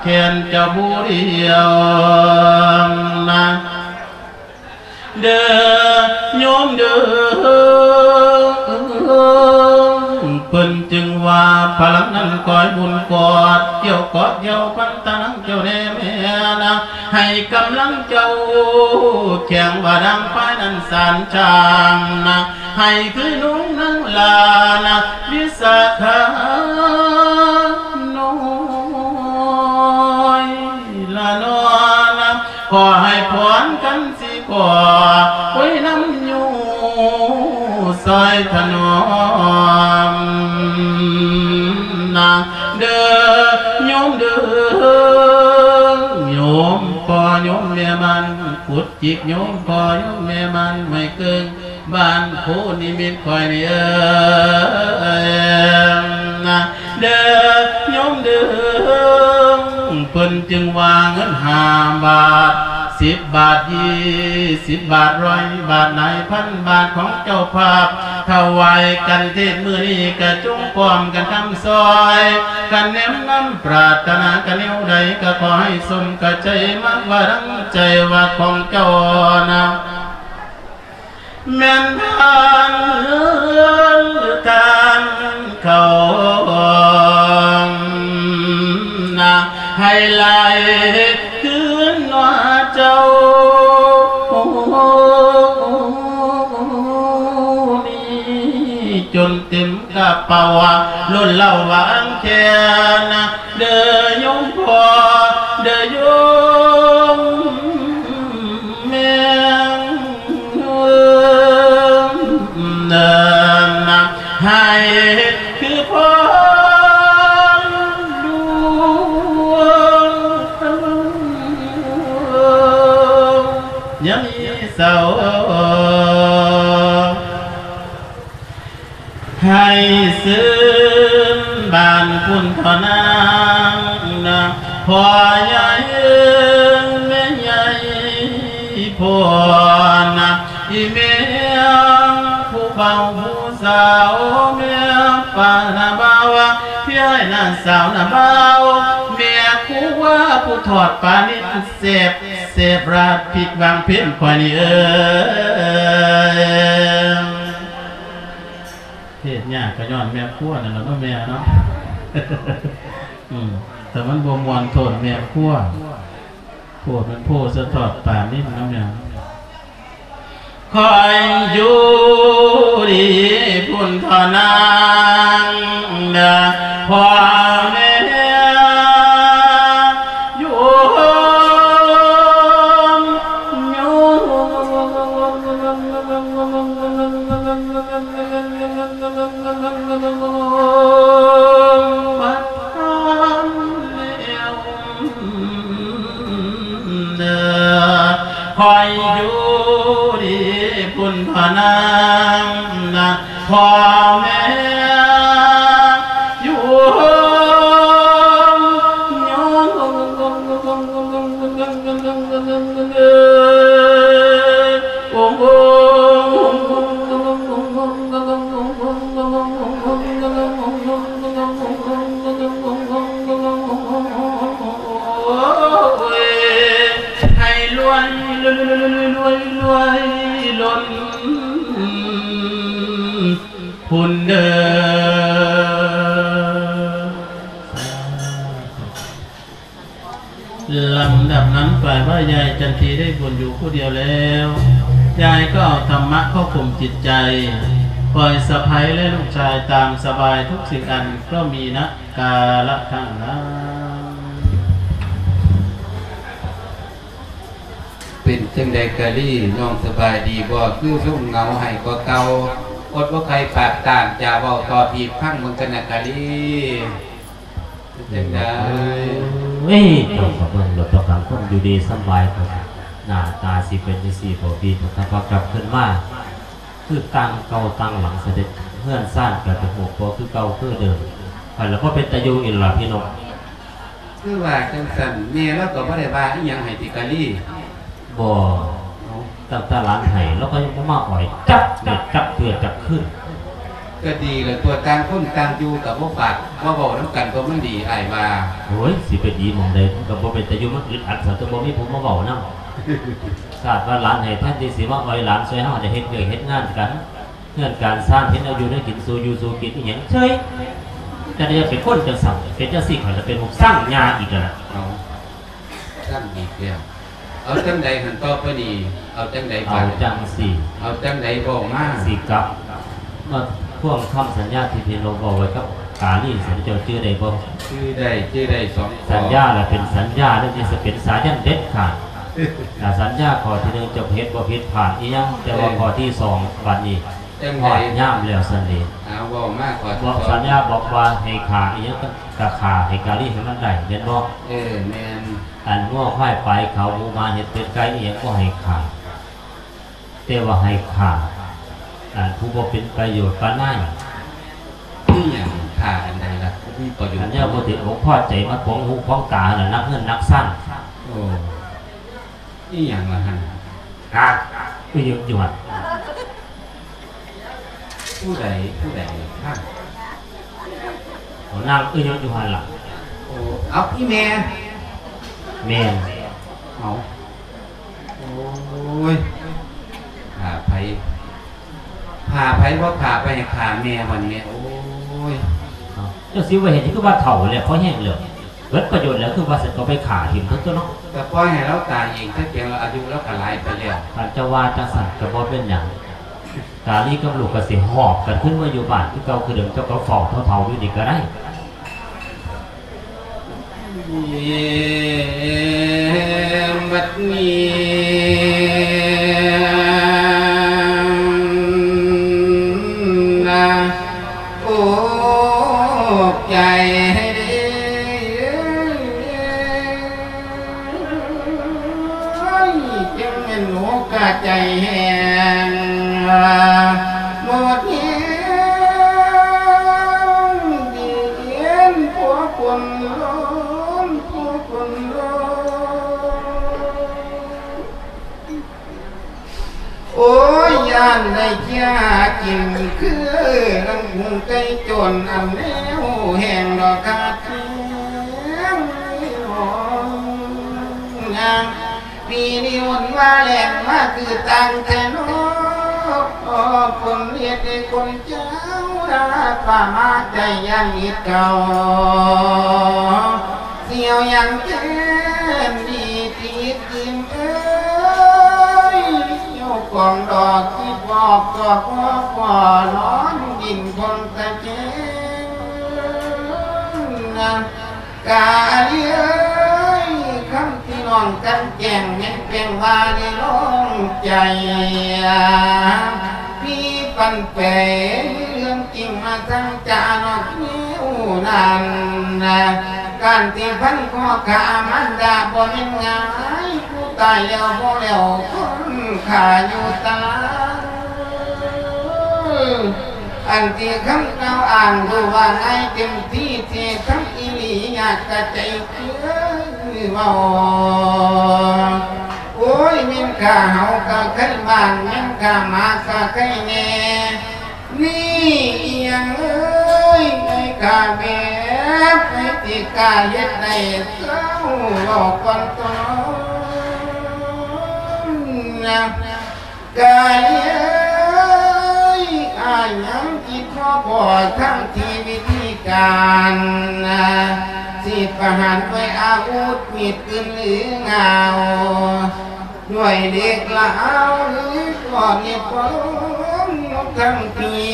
ແຂນເຈົ້າຜູ້ດຽວນະ ເດີໂຍມເດີ ເພິ່ນຈຶ່ງວ່າພະລັງນັ້ນກອຍບຸນກອດ ກ່ຽວກອດກ່ຽວພັນຕານັງເຈົ້າແດ່ແມ່ນະ ໃຫ້ກຳລັງເຈົ້າແຂງວ່າດັ່ງຝ້າຍນັ້ນສານຊ່າງນະ ໃຫ້ຄືນຸ່ງນາງລານະ ວິສາຂານ້ອຍລະນອນະ ຂໍໃຫ້ພອນກັນຊິຂໍ ໂອຍນຳຢູ່ຊ່ອຍຖະໜອມນາ ເດີໂຍມເດີ ໂຍມພໍ່ໂຍມແມ່ມັນ ກຸດຈິກໂຍມພໍ່ໂຍມແມ່ມັນ ໄມ້ເກິ່ງບ້ານໂພນິມິດຂ້ອຍນີ້ເອີຍນະ ເດີໂຍມເດີ ເພິ່ນຈຶ່ງວ່າເງິນຫ້າບາດ ສິບບາດ ຊາວບາດ ຮ້ອຍບາດ ຫຼາຍພັນບາດຂອງເຈົ້າພາບ ຖວາຍກັນເທດມື້ນີ້ ກະຈົ່ງພ້ອມກັນຄຳຊ່ອຍ ຄັນແນມນຳປາດຖະໜາກະແນວໃດ ກະຂໍໃຫ້ສົມກະໃຈ ມັກວ່າດັ່ງໃຈວ່າຂອງເຈົ້ານະ ແມ່ນທານເງິນ ຫຼື ທານເຂົ້ານະ ໃຫ້ໄຫຼຄືນມາເຈົ້າ ນີ້ຈົນເຕັມກະເປົາ ລົ້ນເຫຼົ້າຫວ່າງແຄນ ເດີໂຍມພໍ່ ເດີໂຍມແມ່ ໃຫ້ຄືພອນຫຼວງ ຢ່າມີເສົ້າ ໃຫ້ຊື່ນບ້ານພຸ້ນເທາະນາງນະ ພໍ່ໃຫຍ່ແມ່ໃຫຍ່ໂພນນະ ອີ່ແມ່ຜູ້ບ່າວຜູ້ສາວ ແມ່ປ້ານ້າບ່າວ ພີ່ອ້າຍນ້າສາວນ້າບ່າວ ແມ່ຄົວຜູ້ທອດປານິດແຊບ ແຊບລາດພິກຫວ່າງເພັນຂ້ອຍນີ້ເອີຍ. ເທດຍາກກໍຍ້ອນແມ່ຄົວນັ້ນລະເນາະແມ່ເນາະ ອືມ ຖ້າມັນບໍ່ມ່ວນໂທດແມ່ຄົວ ໂພດມັນໂພສະທອດປານນີ້ເນາະແມ່ ຄອຍຢູ່ດີພຸ້ນເທາະນາງເດີ ພໍ່ແມ່ ໂຍມ ໂຍມ ມາທານແລ້ວເດີ ຄອຍຢູ່ດີພຸ້ນເທາະນາງນະ ພໍ່ແມ່ ໂຍມ ໂຍມ ໂອ້ ໃຫ້ລວຍ ລວຍ ລວຍ ລວຍລົ້ນພຸ້ນເດີ. ລຳດັບນັ້ນ ຝ່າຍວ່າຍາຍຈັນທີໄດ້ບຸນຢູ່ຜູ້ດຽວແລ້ວ ຍາຍກໍເອົາທຳມະເຂົ້າຄຸມຈິດໃຈ ຝ່າຍສະໃພ້ ແລະ ລູກຊາຍຕາມສະບາຍທຸກສິ່ງອັນ ເພາະມີນະກາລະຄັ້ງນັ້ນ. ເປັນຈັ່ງໃດກາລີ ນ້ອງສະບາຍດີບໍ່? ຄືຊົງເຫງົາໄຫ້ກວ່າເກົ່າ ອົດບໍ່ໄຄປາກຕາມຈະເວົ້າຕໍ່ພີ່ຟັງເບິ່ງກັນນະກາລີ. ເປັນຈັ່ງໃດ? ເອີຍ ເຈົ້າກໍເບິ່ງໂລດ ຕ້ອງການຄົນຢູ່ດີສຳບາຍ ໜ້າຕາຊິເປັນຈັ່ງຊີ້ບໍ່ ພີ່ ຖ້າວ່າກັບຄືນມາ ຄືຕ່າງເກົ່າຕ່າງຫຼັງສະເດັດ ເຮືອນຊານກໍຈະຮູ້ບໍ່ຄືເກົ່າຄືເດີມ ຂ້ອຍລະບໍ່ເປັນຕາຢູ່ອີກລະພີ່ນ້ອງ. ຄືວ່າຈັ່ງຊັ້ນ ແມ່ລາວກໍບໍ່ໄດ້ວ່າອີ່ຫຍັງໃຫ້ຕິກາລີ? ບໍ່. ເອົ້າ ຕັ້ງແຕ່ຫຼານໄຫ້ ລາວກໍຍັງບໍ່ມາອ້ອຍຈັກເທື່ອ ຈັກເທື່ອຈັກຄືນ. ກໍດີແລ້ວຕົວະ ຕ່າງຄົນຕ່າງຢູ່ກໍບໍ່ປາກບໍ່ເວົ້ານຳກັນ ຕົວະມັນດີ ອ້າຍວ່າ. ໂອ້ຍ ຊິໄປດີໝ່ອງໃດ ມັນກໍບໍ່ເປັນຕາຢູ່ ມັນອຶດອັດ ຊະຕົວະ ບໍ່ມີຜູ້ມາເວົ້ານຳ. ຊາດວ່າຫຼານໄຫ້ ແທນທີ່ຊິມາອ້ອຍຫຼານຊ່ວຍເຮົາໄດ້ເຮັດວຽກເຮັດງານກັນ ເຮືອນການຊານ ເຮັດແນວຢູ່ແນວກິນ ສູ່ຢູ່ສູ່ກິນອີ່ຫຍັງເສີຍ. ແຕ່ຢ່າເປັນຄົນຈັ່ງຊັ້ນ ເປັນຈັ່ງຊີ້ຂ້ອຍລະເປັນພວກຊັງຍາອີກແລ້ວ. ເອົາ ຊ້ຳອີກແລ້ວ. ເອົາຈັ່ງໃດຫັ້ນຕໍ່ໄປນີ້? ເອົາຈັ່ງໃດບາດ? ເອົາຈັ່ງຊີ້. ເອົາຈັ່ງໃດເວົ້າມາ. ຊິກັບມາທວງຄຳສັນຍາທີ່ພີ່ນ້ອງເວົ້າໄວ້ກັບກາລີ ເຈົ້າຈື່ໄດ້ບໍ່? ຈື່ໄດ້ ຈື່ໄດ້ສອງຂໍ້. ສັນຍາລະເປັນສັນຍາ ແລ້ວຊິເປັນສາຍັນເດັດຂາດ. ຖ້າສັນຍາຂໍ້ທີໜຶ່ງ ເຈົ້າເຮັດບໍ່ຜິດພາດອີ່ຫຍັງ ແຕ່ວ່າ ເອີ ຂໍ້ທີສອງ ບາດນີ້ ຈັ່ງໃດ? ຮອດຍາມແລ້ວຊັ້ນເດ. ເອົາ ເວົ້າມາ ຂໍ້ທີສອງ. ສັນຍາບອກວ່າໃຫ້ຂ້າອີ່ຫຍັງກໍຂ້າ ໃຫ້ກາລີໃຫ້ມັນໄດ້ ແມ່ນບໍ່? ເອີ ແມ່ນ. ອັນງົວຄວາຍປາຍເຂົ້າ ໝູໝາເຫັດເປັດໄກ່ອີ່ຫຍັງບໍ່ໃຫ້ຂ້າ ແຕ່ວ່າໃຫ້ຂ້າ ອັນຜູ້ບໍ່ເປັນປະໂຫຍດປານໃດ. ຄືຫຍັງ? ຂ້າອັນໃດລະ ບໍ່ມີປະໂຫຍດ? ອັນແນວບໍ່ຖືກອົກພໍໃຈ ມາຂວາງຫູຂວາງຕາຫັ້ນລະ ນັກເງິນນັກຊານ. ໂອ້ ອີ່ຫຍັງລະຫັ້ນ? ຮະ? ໄປຢູ່ ຢູ່ຫັ້ນ. ຜູ້ໃດ? ຜູ້ໃດ? ຮະ? ເອົາ ນາງອີ່ຫຍັງຢູ່ຫັ້ນລະ? ໂອ້ ເອົາ ອີ່ແມ່. ແມ່ນ. ເອົາ ໂອ້ຍ ຂ້າໃຜ? ຂ້າໃຜບໍ່ຂ້າ ໄປຂ້າແມ່ມັນແມ່. ໂອ້ຍ ເຈົ້າຊິວ່າເຮັດ ຄືວ່າເຖົ້າແລ້ວ ພໍແຮງແລ້ວ ເບິດປະໂຫຍດແລ້ວ ຄືວ່າຊັ້ນກໍໄປຂ້າຖິ້ມເຖິງຕົວເນາະ. ກໍປ່ອຍໃຫ້ລາວຕາຍເອງ ແຕ່ພຽງວ່າອາຍຸລາວກໍຫຼາຍໄປແລ້ວ. ຄັນເຈົ້າວ່າຈັ່ງຊັ້ນກໍບໍ່ເປັນຫຍັງ ກາລີກັບລູກກໍຊິຫອບກັນຂຶ້ນມາຢູ່ບ້ານຄືເກົ່າຄືເດີມ ເຈົ້າກໍເຝົ້າເຖົ້າໆຢູ່ນີ້ກໍໄດ້. ບັດນີ້ນະ ໂອກໃຈໃຫ້ເດ ຈັ່ງແມ່ນໂອກາດໃຈແຫ້ງ ໝົດແຮງ ດີເຢັນ ພວກຄົນ ໂອ້ຍ ຢ້ານໄດ້ເຄຍຫາກິນ ຄືນຳກຸງໄກ່ຈົນ ອັນແນວແຫ້ງດອກຂາດແຄງ ປີນີ້ອຸ່ນວ່າແລ້ງມາຄືຕ່າງແທ້ເນາະ ຄົນເຮັດໃຫ້ຄົນເຈົ້າລາດວ່າມາໃຈຢ່າງອິດເກົ່າ ສຽວຫຍັງແທນດີຕິດ ອີ່ມເອີຍ ຢູ່ກອງດອກທີ່ບອກກໍພໍພໍນອນດິນຄົນຕະແຄງນະ ກາເອີຍ ຄຳທີ່ນ້ອງກັນແກ້ງແມ່ນແປງວ່າໃນລອງໃຈ ມີປັນແປເລື່ອງ ຈຶ່ງມາສັງຈານອກແນວນັ້ນ ການທີ່ພັນຄອຂ້າມານດາບໍ່ແມ່ນງ່າຍ ຜູ້ຕາຍແລ້ວບໍ່ແລ້ວຄົນຂ້າຢູ່ຕາຍ ອັນທີ່ຄຳກ່າວອ້າງ ຮູ້ວ່າງ່າຍເຕັມທີ່ ທີ່ຄຳອີ່ຫຼີຍາກກະໃຈຄືເວົ້າ ໂອ້ຍ ແມ່ນຂ້າເຫົາກະໄຄບ້ານ ແມ່ນຂ້າໝາກະໄຄແນ່ ນີ້ອີ່ຫຍັງເອີຍ ໃຫ້ຂ້າແບບໃຫ້ຕິກາເຮັດໃຫ້ເຈົ້າເວົ້າກ່ອນຕົວນະ ກາຍເອີຍ ອ້າຍຍັງຄິດພໍພໍທັງທີ່ວິທີການ ຊິປະຫານດ້ວຍອາວຸດມີດປືນຫຼືງາວ ດ້ວຍເຫຼັກລາວຫຼືກ້ອນເຫດກ້ອນ ທັງທີ່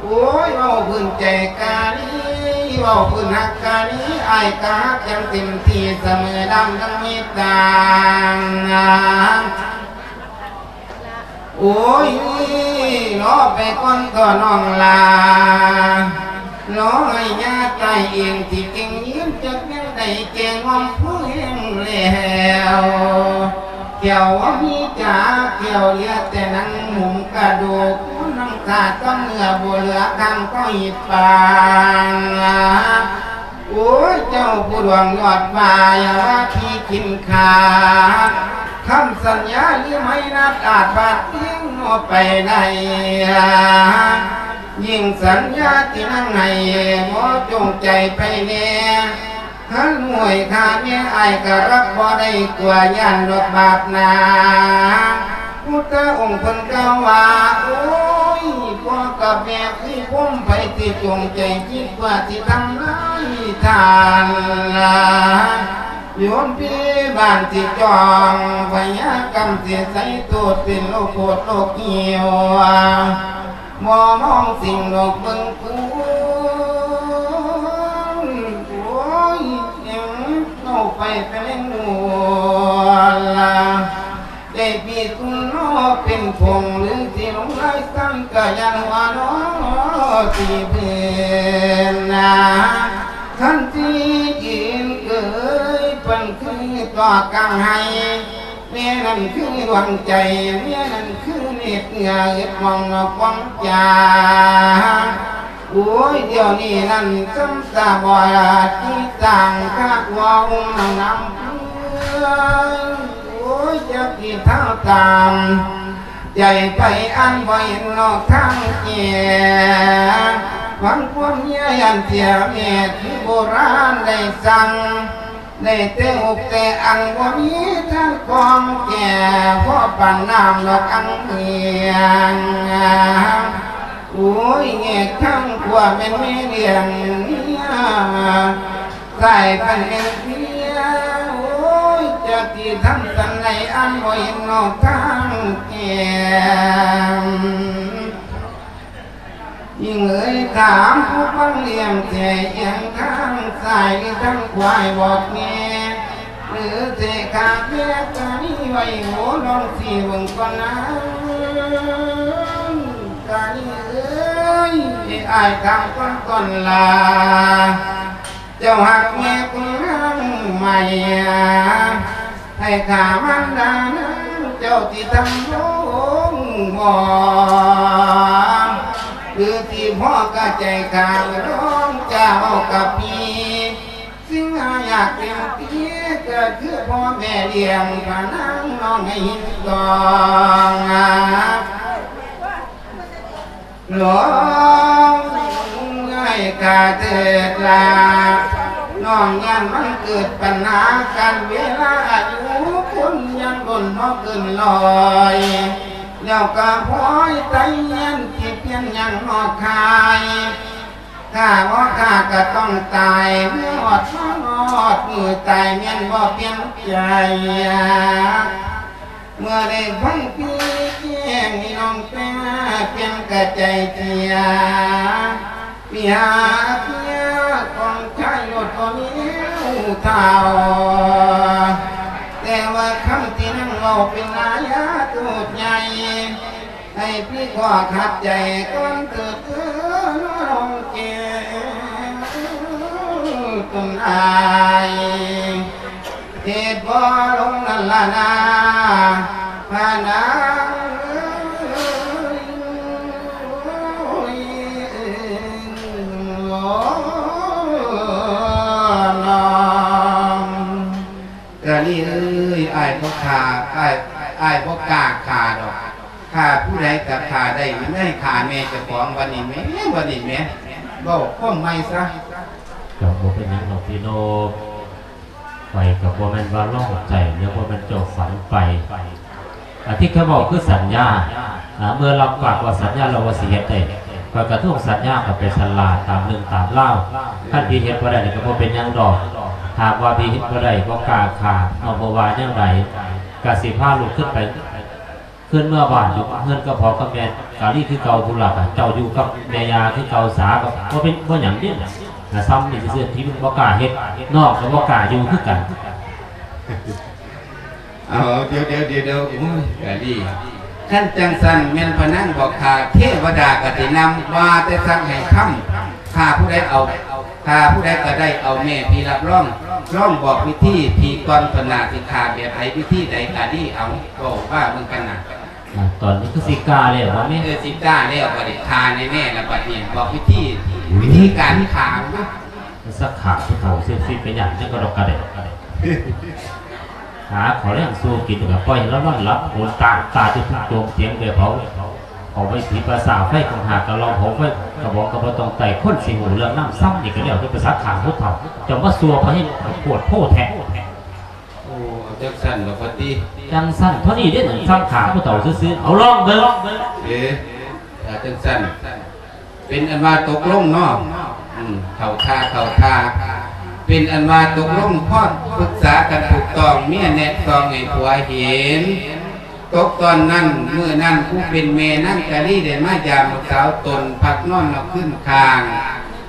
ໂອ້ຍ ເວົ້າພື້ນໃຈກາລີ ເວົ້າພື້ນຮັກກາລີ ອ້າຍກະຮັກຢ່າງເຕັມທີ່ສະເໝີດຳທັງເມດຕາ. ໂອ້ຍ ລໍໄປກ່ອນເຖາະນ້ອງຫຼ້າ ລໍໃຫ້ຍ່າຕາຍເອງ ທີ່ເກັ່ງຢືນຈັກແນວໃດ ແກ່ງອມຜູ້ແຫ້ງແລ້ວ ແຂ້ວບໍ່ມີຈັກແຂ້ວ ເຫຼືອແຕ່ໜັງຫຸ້ມກະດູກ ໜັງຕາຕ້ອງເຫຼືອ ບໍ່ເຫຼືອຄຳກໍອິດປາງ. ໂອ້ຍ ເຈົ້າຜູ້ດວງຍອດຟ້າ ຢ່າວ່າທີ່ກິນຂາດ ຄຳສັນຍາຫຼືໄມ້ນັດອາດບາດເພງບໍ່ໄປໄດ້ ຍິ່ງສັນຍາທີ່ນັ່ງໃຫ້ ບໍ່ຈົ່ງໃຈໄປແດ່ ຄັນຫ້ວຍຂ້າແມ່ອ້າຍກໍຮັບບໍ່ໄດ້ ກົວຢ້ານດອກບາບໜາ. ພຸດທະອົງເພິ່ນກ່າວວ່າ ໂອ້ຍ ພໍ່ກັບແມ່ຄືພົມ ໃຜຊິຈົງໃຈຄິດວ່າຊິທຳລາຍທ່ານລະ ໂຍມພີ່ບ້ານຊິຈ້ອງ ພະຍາກຳຊິໃສ່ໂທດ ເປັນໂລກໂກດໂລກຫິວ ບໍ່ມອງສິ່ງໂລກເບິ່ງຄຸນ ໂອ້ຍ ເອົາໄປແຕ່ເລັກນ້ອຍລະ ໄດ້ປີດຄຸນເນາະ ເປັນຜົງຫຼືຊິລົງລາຍສັງ ກະຢ້ານວ່າເນາະ ທີ່ເພິ່ນນາ ຄັນຊິຢືນເກີຍ ເພິ່ນຄືຕໍ່ກາງໄຫ້ ແມ່ນັ້ນຄືດວງໃຈ ແມ່ນັ້ນຄືເນດເໜືອ ເອີດມອງນອກຂອງຈາ. ໂອ້ຍ ດຽວນີ້ນັ້ນຊຳຕາບອດ ທີ່ຕ່າງຄາດວ່າອົງນາງນຳເພື່ອນ ໂອ້ຍ ຈັກຊິເທົ່າຕາມໃຈໃຜ ອັນບໍ່ເຫັນນອກທາງແກ້ ຫວັງຄວາມເມຍຢ້ານເສຍແມ່ ຄືໂບລານໄດ້ສັ່ງ ໄດ້ແຕ່ອົກແຕ່ອັ່ງ ບໍ່ມີທາງກອງແກ້ ພໍປານນ້ຳດອກອັ່ງເໝືອງ. ໂອ້ຍ ແຍກທາງຂົວແມ່ນແມ່ລ້ຽງເມຍ ຊ້າຍພັນແມ່ນເມຍ ໂອ້ຍ ຈັກຊິທຳສັນໃດ ອັນບໍ່ເຫັນນອກທາງແກ້. ຍິງເອີຍ ຖາມຜູ້ຟັງລ້ຽງແທ້ ອຽງທາງຊ້າຍຫຼືທາງຂວາ ບອກແນ່ ຫຼືເສຂາແຍກກະມີໄວ້ ໂຫ ລອງຊີ້ເບິ່ງກ່ອນນາ ກະມີເອີຍ ອ້າຍຖາມກ່ອນກ່ອນລາ ເຈົ້າຮັກແມ່ຄົນນາງໃໝ່ ໃຫ້ຂ້າມານດານາງ ເຈົ້າຊິທຳລົງບໍ່ ຫຼືຊິພໍກະໃຈຂ້າ ລອງຈາເວົ້າກັບພີ່ ສິ່ງຫາຍາກເຕັມທີ່ ກະຄືພໍ່ແມ່ລ້ຽງພານາງນ້ອງໃຫ້ເຫັນຕ້ອງ ລອງໃຫ້ຂ້າເທີດລະ ນ້ອງຢ້ານມັນເກີດບັນຫາ ການເວລາອາຍຸຄົນຍັງດົນບໍ່ເກີນຮ້ອຍ ແລ້ວກະພ້ອຍໄຕຍຽນທີ່ປ່ຽນຍັງນອກຄາຍ ຖ້າບໍ່ຂ້າກະຕ້ອງຕາຍ ເມື່ອຮອດມາຮອດມື້ຕາຍ ແມ່ນບໍ່ປ່ຽນໃຈ ເມື່ອໄດ້ຟັງພີ່ແຈ້ງ ນ້ອງແປປ່ຽນກະໃຈເສຍ ເສຍເສຍຂອງຊາຍໂລດບໍ່ມີແນວເທົ່າ ແຕ່ວ່າຄຳທີ່ນາງເວົ້າເປັນອາຍາໂທດໃຫຍ່ ໃຫ້ພີ່ຂໍຂັດໃຈກ່ອນເທີດເທີນ້ອງແກ້ວ ຕົນອ້າຍ ເຮັດບໍ່ລົງນັ້ນລະນາ ພານາງເອີຍ ໂອ້ຍ ນ້ອງ ກະລີເອີຍ ອ້າຍບໍ່ຂ້າ ອ້າຍ ອ້າຍບໍ່ກ້າຂ້າດອກ ຂ້າຜູ້ໃດກະຂ້າໄດ້ ມັນໃຫ້ຂ້າແມ່ເຈົ້າຂອງ ບັດນີ້ແໝ ບັດນີ້ແໝ ເວົ້າຄວາມໃໝ່ຊະ. ກໍບໍ່ເປັນຫຍັງດອກພີ່ນ້ອງ ຂ້ອຍກໍບໍ່ແມ່ນວ່າລອງໃຈ ຫຼືບໍ່ແມ່ນເຈົ້າຝັນໄປ ອັນທີ່ຂ້ອຍເວົ້າຄືສັນຍາ ອ່າ ເມື່ອຮັບປາກວ່າສັນຍາແລ້ວວ່າຊິເຮັດໄດ້ ຂ້ອຍກໍຕ້ອງສັນຍາກັນໄປຊັ້ນລະ ຕາມເລື່ອງຕາມລາວ ຄັນພີ່ເຮັດບໍ່ໄດ້ນີ້ກໍບໍ່ເປັນຫຍັງດອກ ຫາກວ່າພີ່ເຮັດບໍ່ໄດ້ ບໍ່ກ້າຂ້າ ເຮົາບໍ່ວ່າແນວໃດ ກໍຊິພາລູກຂຶ້ນໄປ ເພິ່ນເມືອບ້ານຢູ່ເຮືອນກັບພໍ່ກັບແມ່ກາລີຄືເກົ່າ ຜູ້ຫຼັກເຈົ້າຢູ່ກັບແມ່ຍ່າຄືເກົ່າສາ ກໍບໍ່ເປັນ ບໍ່ຫຍັງເດ້. ນະ ຊ່ຳນີ້ຊື່ໆ ທີ່ມັນບໍ່ກ້າເຮັດ ນ້ອງກໍບໍ່ກ້າຢູ່ຄືກັນ. ເອົາ ດຽວໆ ໂອ້ຍ ກາລີ ຄັນຈັ່ງຊັ້ນແມ່ນພະນາງບໍ່ຂ້າ ເທວະດາກໍຊິນຳ ວ່າແຕ່ສັກໃຫ້ຄຳ ຂ້າຜູ້ໃດເອົາ ຂ້າຜູ້ໃດກໍໄດ້ເອົາແມ່ພີ່ຮັບຮອງ ລອງບອກວິທີພີ່ກ່ອນ ເພິ່ນໜ້າຊິຂ້າແບບໃດ ວິທີໃດກາລີ ເອົາ ເວົ້າວ່າເບິ່ງກັນນະ. ອ່າ ຕອນນີ້ຄືຊິກ້າແລ້ວບໍ່ແມ່? ເອີ ຊິກ້າແລ້ວ ບັດນີ້ຂ້າແນ່ໆ ລະບັດນີ້ ບອກວິທີ ວິທີການຂ້າ ສັກຂ້າຜູ້ເຖົ້າເຊັກຊີໄປຫຍັງ ຈັກກະດອກກະແດກ ຫາເຂົ້າແລງສູ່ກິນ ແລ້ວກໍປ່ອຍໃຫ້ລາວນອນຫຼັບ ໂອນຕາຕາຈຸດໂຈມຕຽງແບບເຜົາ ເຜົາໄຟຜີປາສາໄຟ ກອງຫາກະລອງເຜົາໄຟ ກະບອງກະບໍ່ຕ້ອງໄຕ້ ຄົນຊິຮູ້ເລື່ອງນຳ ຊ່ຳນີ້ກະແລ້ວແຕ່ໄປສັກຂ້າຜູ້ເຖົ້າ ເຈົ້າມາຊົ່ວພະເຮັດໂພດໂພແທ້. ໂອ້ ເອົາຈັ່ງຊັ້ນບໍ່ປະຕິ ຈັ່ງຊັ້ນພໍດີເດ້ ສັກຂ້າຜູ້ເຖົ້າຊື່ໆ ເອົາລອງເບິ່ງ. ເອີ ຖ້າຈັ່ງຊັ້ນ ເປັນອັນວ່າຕົກລົງເນາະ ອືມ ເຂົ້າທ່າ ເຂົ້າທ່າ ເປັນອັນວ່າຕົກລົງ ພໍປຶກສາກັນຖືກຕ້ອງ ເມຍແນະສ່ອງໃຫ້ຜົວເຫັນ. ຕົກຕອນນັ້ນ ມື້ນັ້ນ ຜູ້ເປັນແມ່ນາງກາລີໄດ້ມາຢາມລູກສາວຕົນ ພັກນອນນອກຄືນຂ້າງ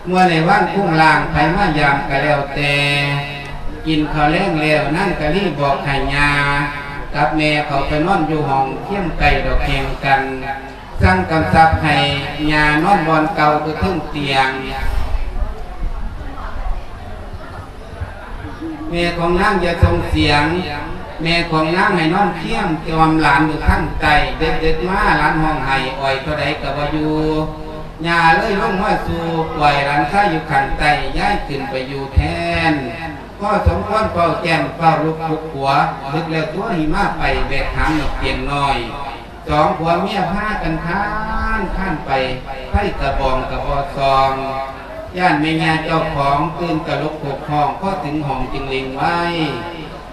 ເມື່ອໃນວັນຄຸງລ່າງ ໃຜມາຢາມກໍແລ້ວແຕ່ ກິນເຂົ້າແລງແລ້ວ ນາງກາລີບອກໃຫ້ຍ່າກັບແມ່ເຂົ້າໄປນອນຢູ່ຫ້ອງຄຽມໃກ້ດອກແຫ່ງກັນ. ສັ່ງກຳຊັບໃຫ້ຍ່ານອນບ່ອນເກົ່າຄືເທິງຕຽງ. ແມ່ຂອງນາງຢ່າສົ່ງສຽງ, ແມ່ຂອງນາງໃຫ້ນອນຄຽມຈອມຫຼານຢູ່ທາງໃຕ້. ເດິກໆມາ ຫຼານຮ້ອງໄຫ້ ອ້ອຍເທົ່າໃດກໍບໍ່ຢູ່. ຍ່າເລີຍລົງມາສູ່ ປ່ອຍຫຼານຊາຍຢູ່ຂ້າງໃຕ້, ຍ້າຍຂຶ້ນໄປຢູ່ແທນ. ພໍສົມຄວນເຝົ້າແຈ້ມ ເຝົ້າລຸກປຸກຜົວ, ດຶກແລ້ວຕົວະ ຫິມາໄປແວະຖາມນກຕຽງນ້ອຍ. ສອງຜົວເມຍພາກັນຄານ ຄານໄປ, ໄຟກະບອງກະບໍ່ສ່ອງ. ຢ້ານແມ່ຍ່າເຈົ້າຂອງຕື່ນກະລຸກໂຄກຮ້ອງ, ພໍເຖິງຫ້ອງຈຶ່ງເລັ່ງໄວ.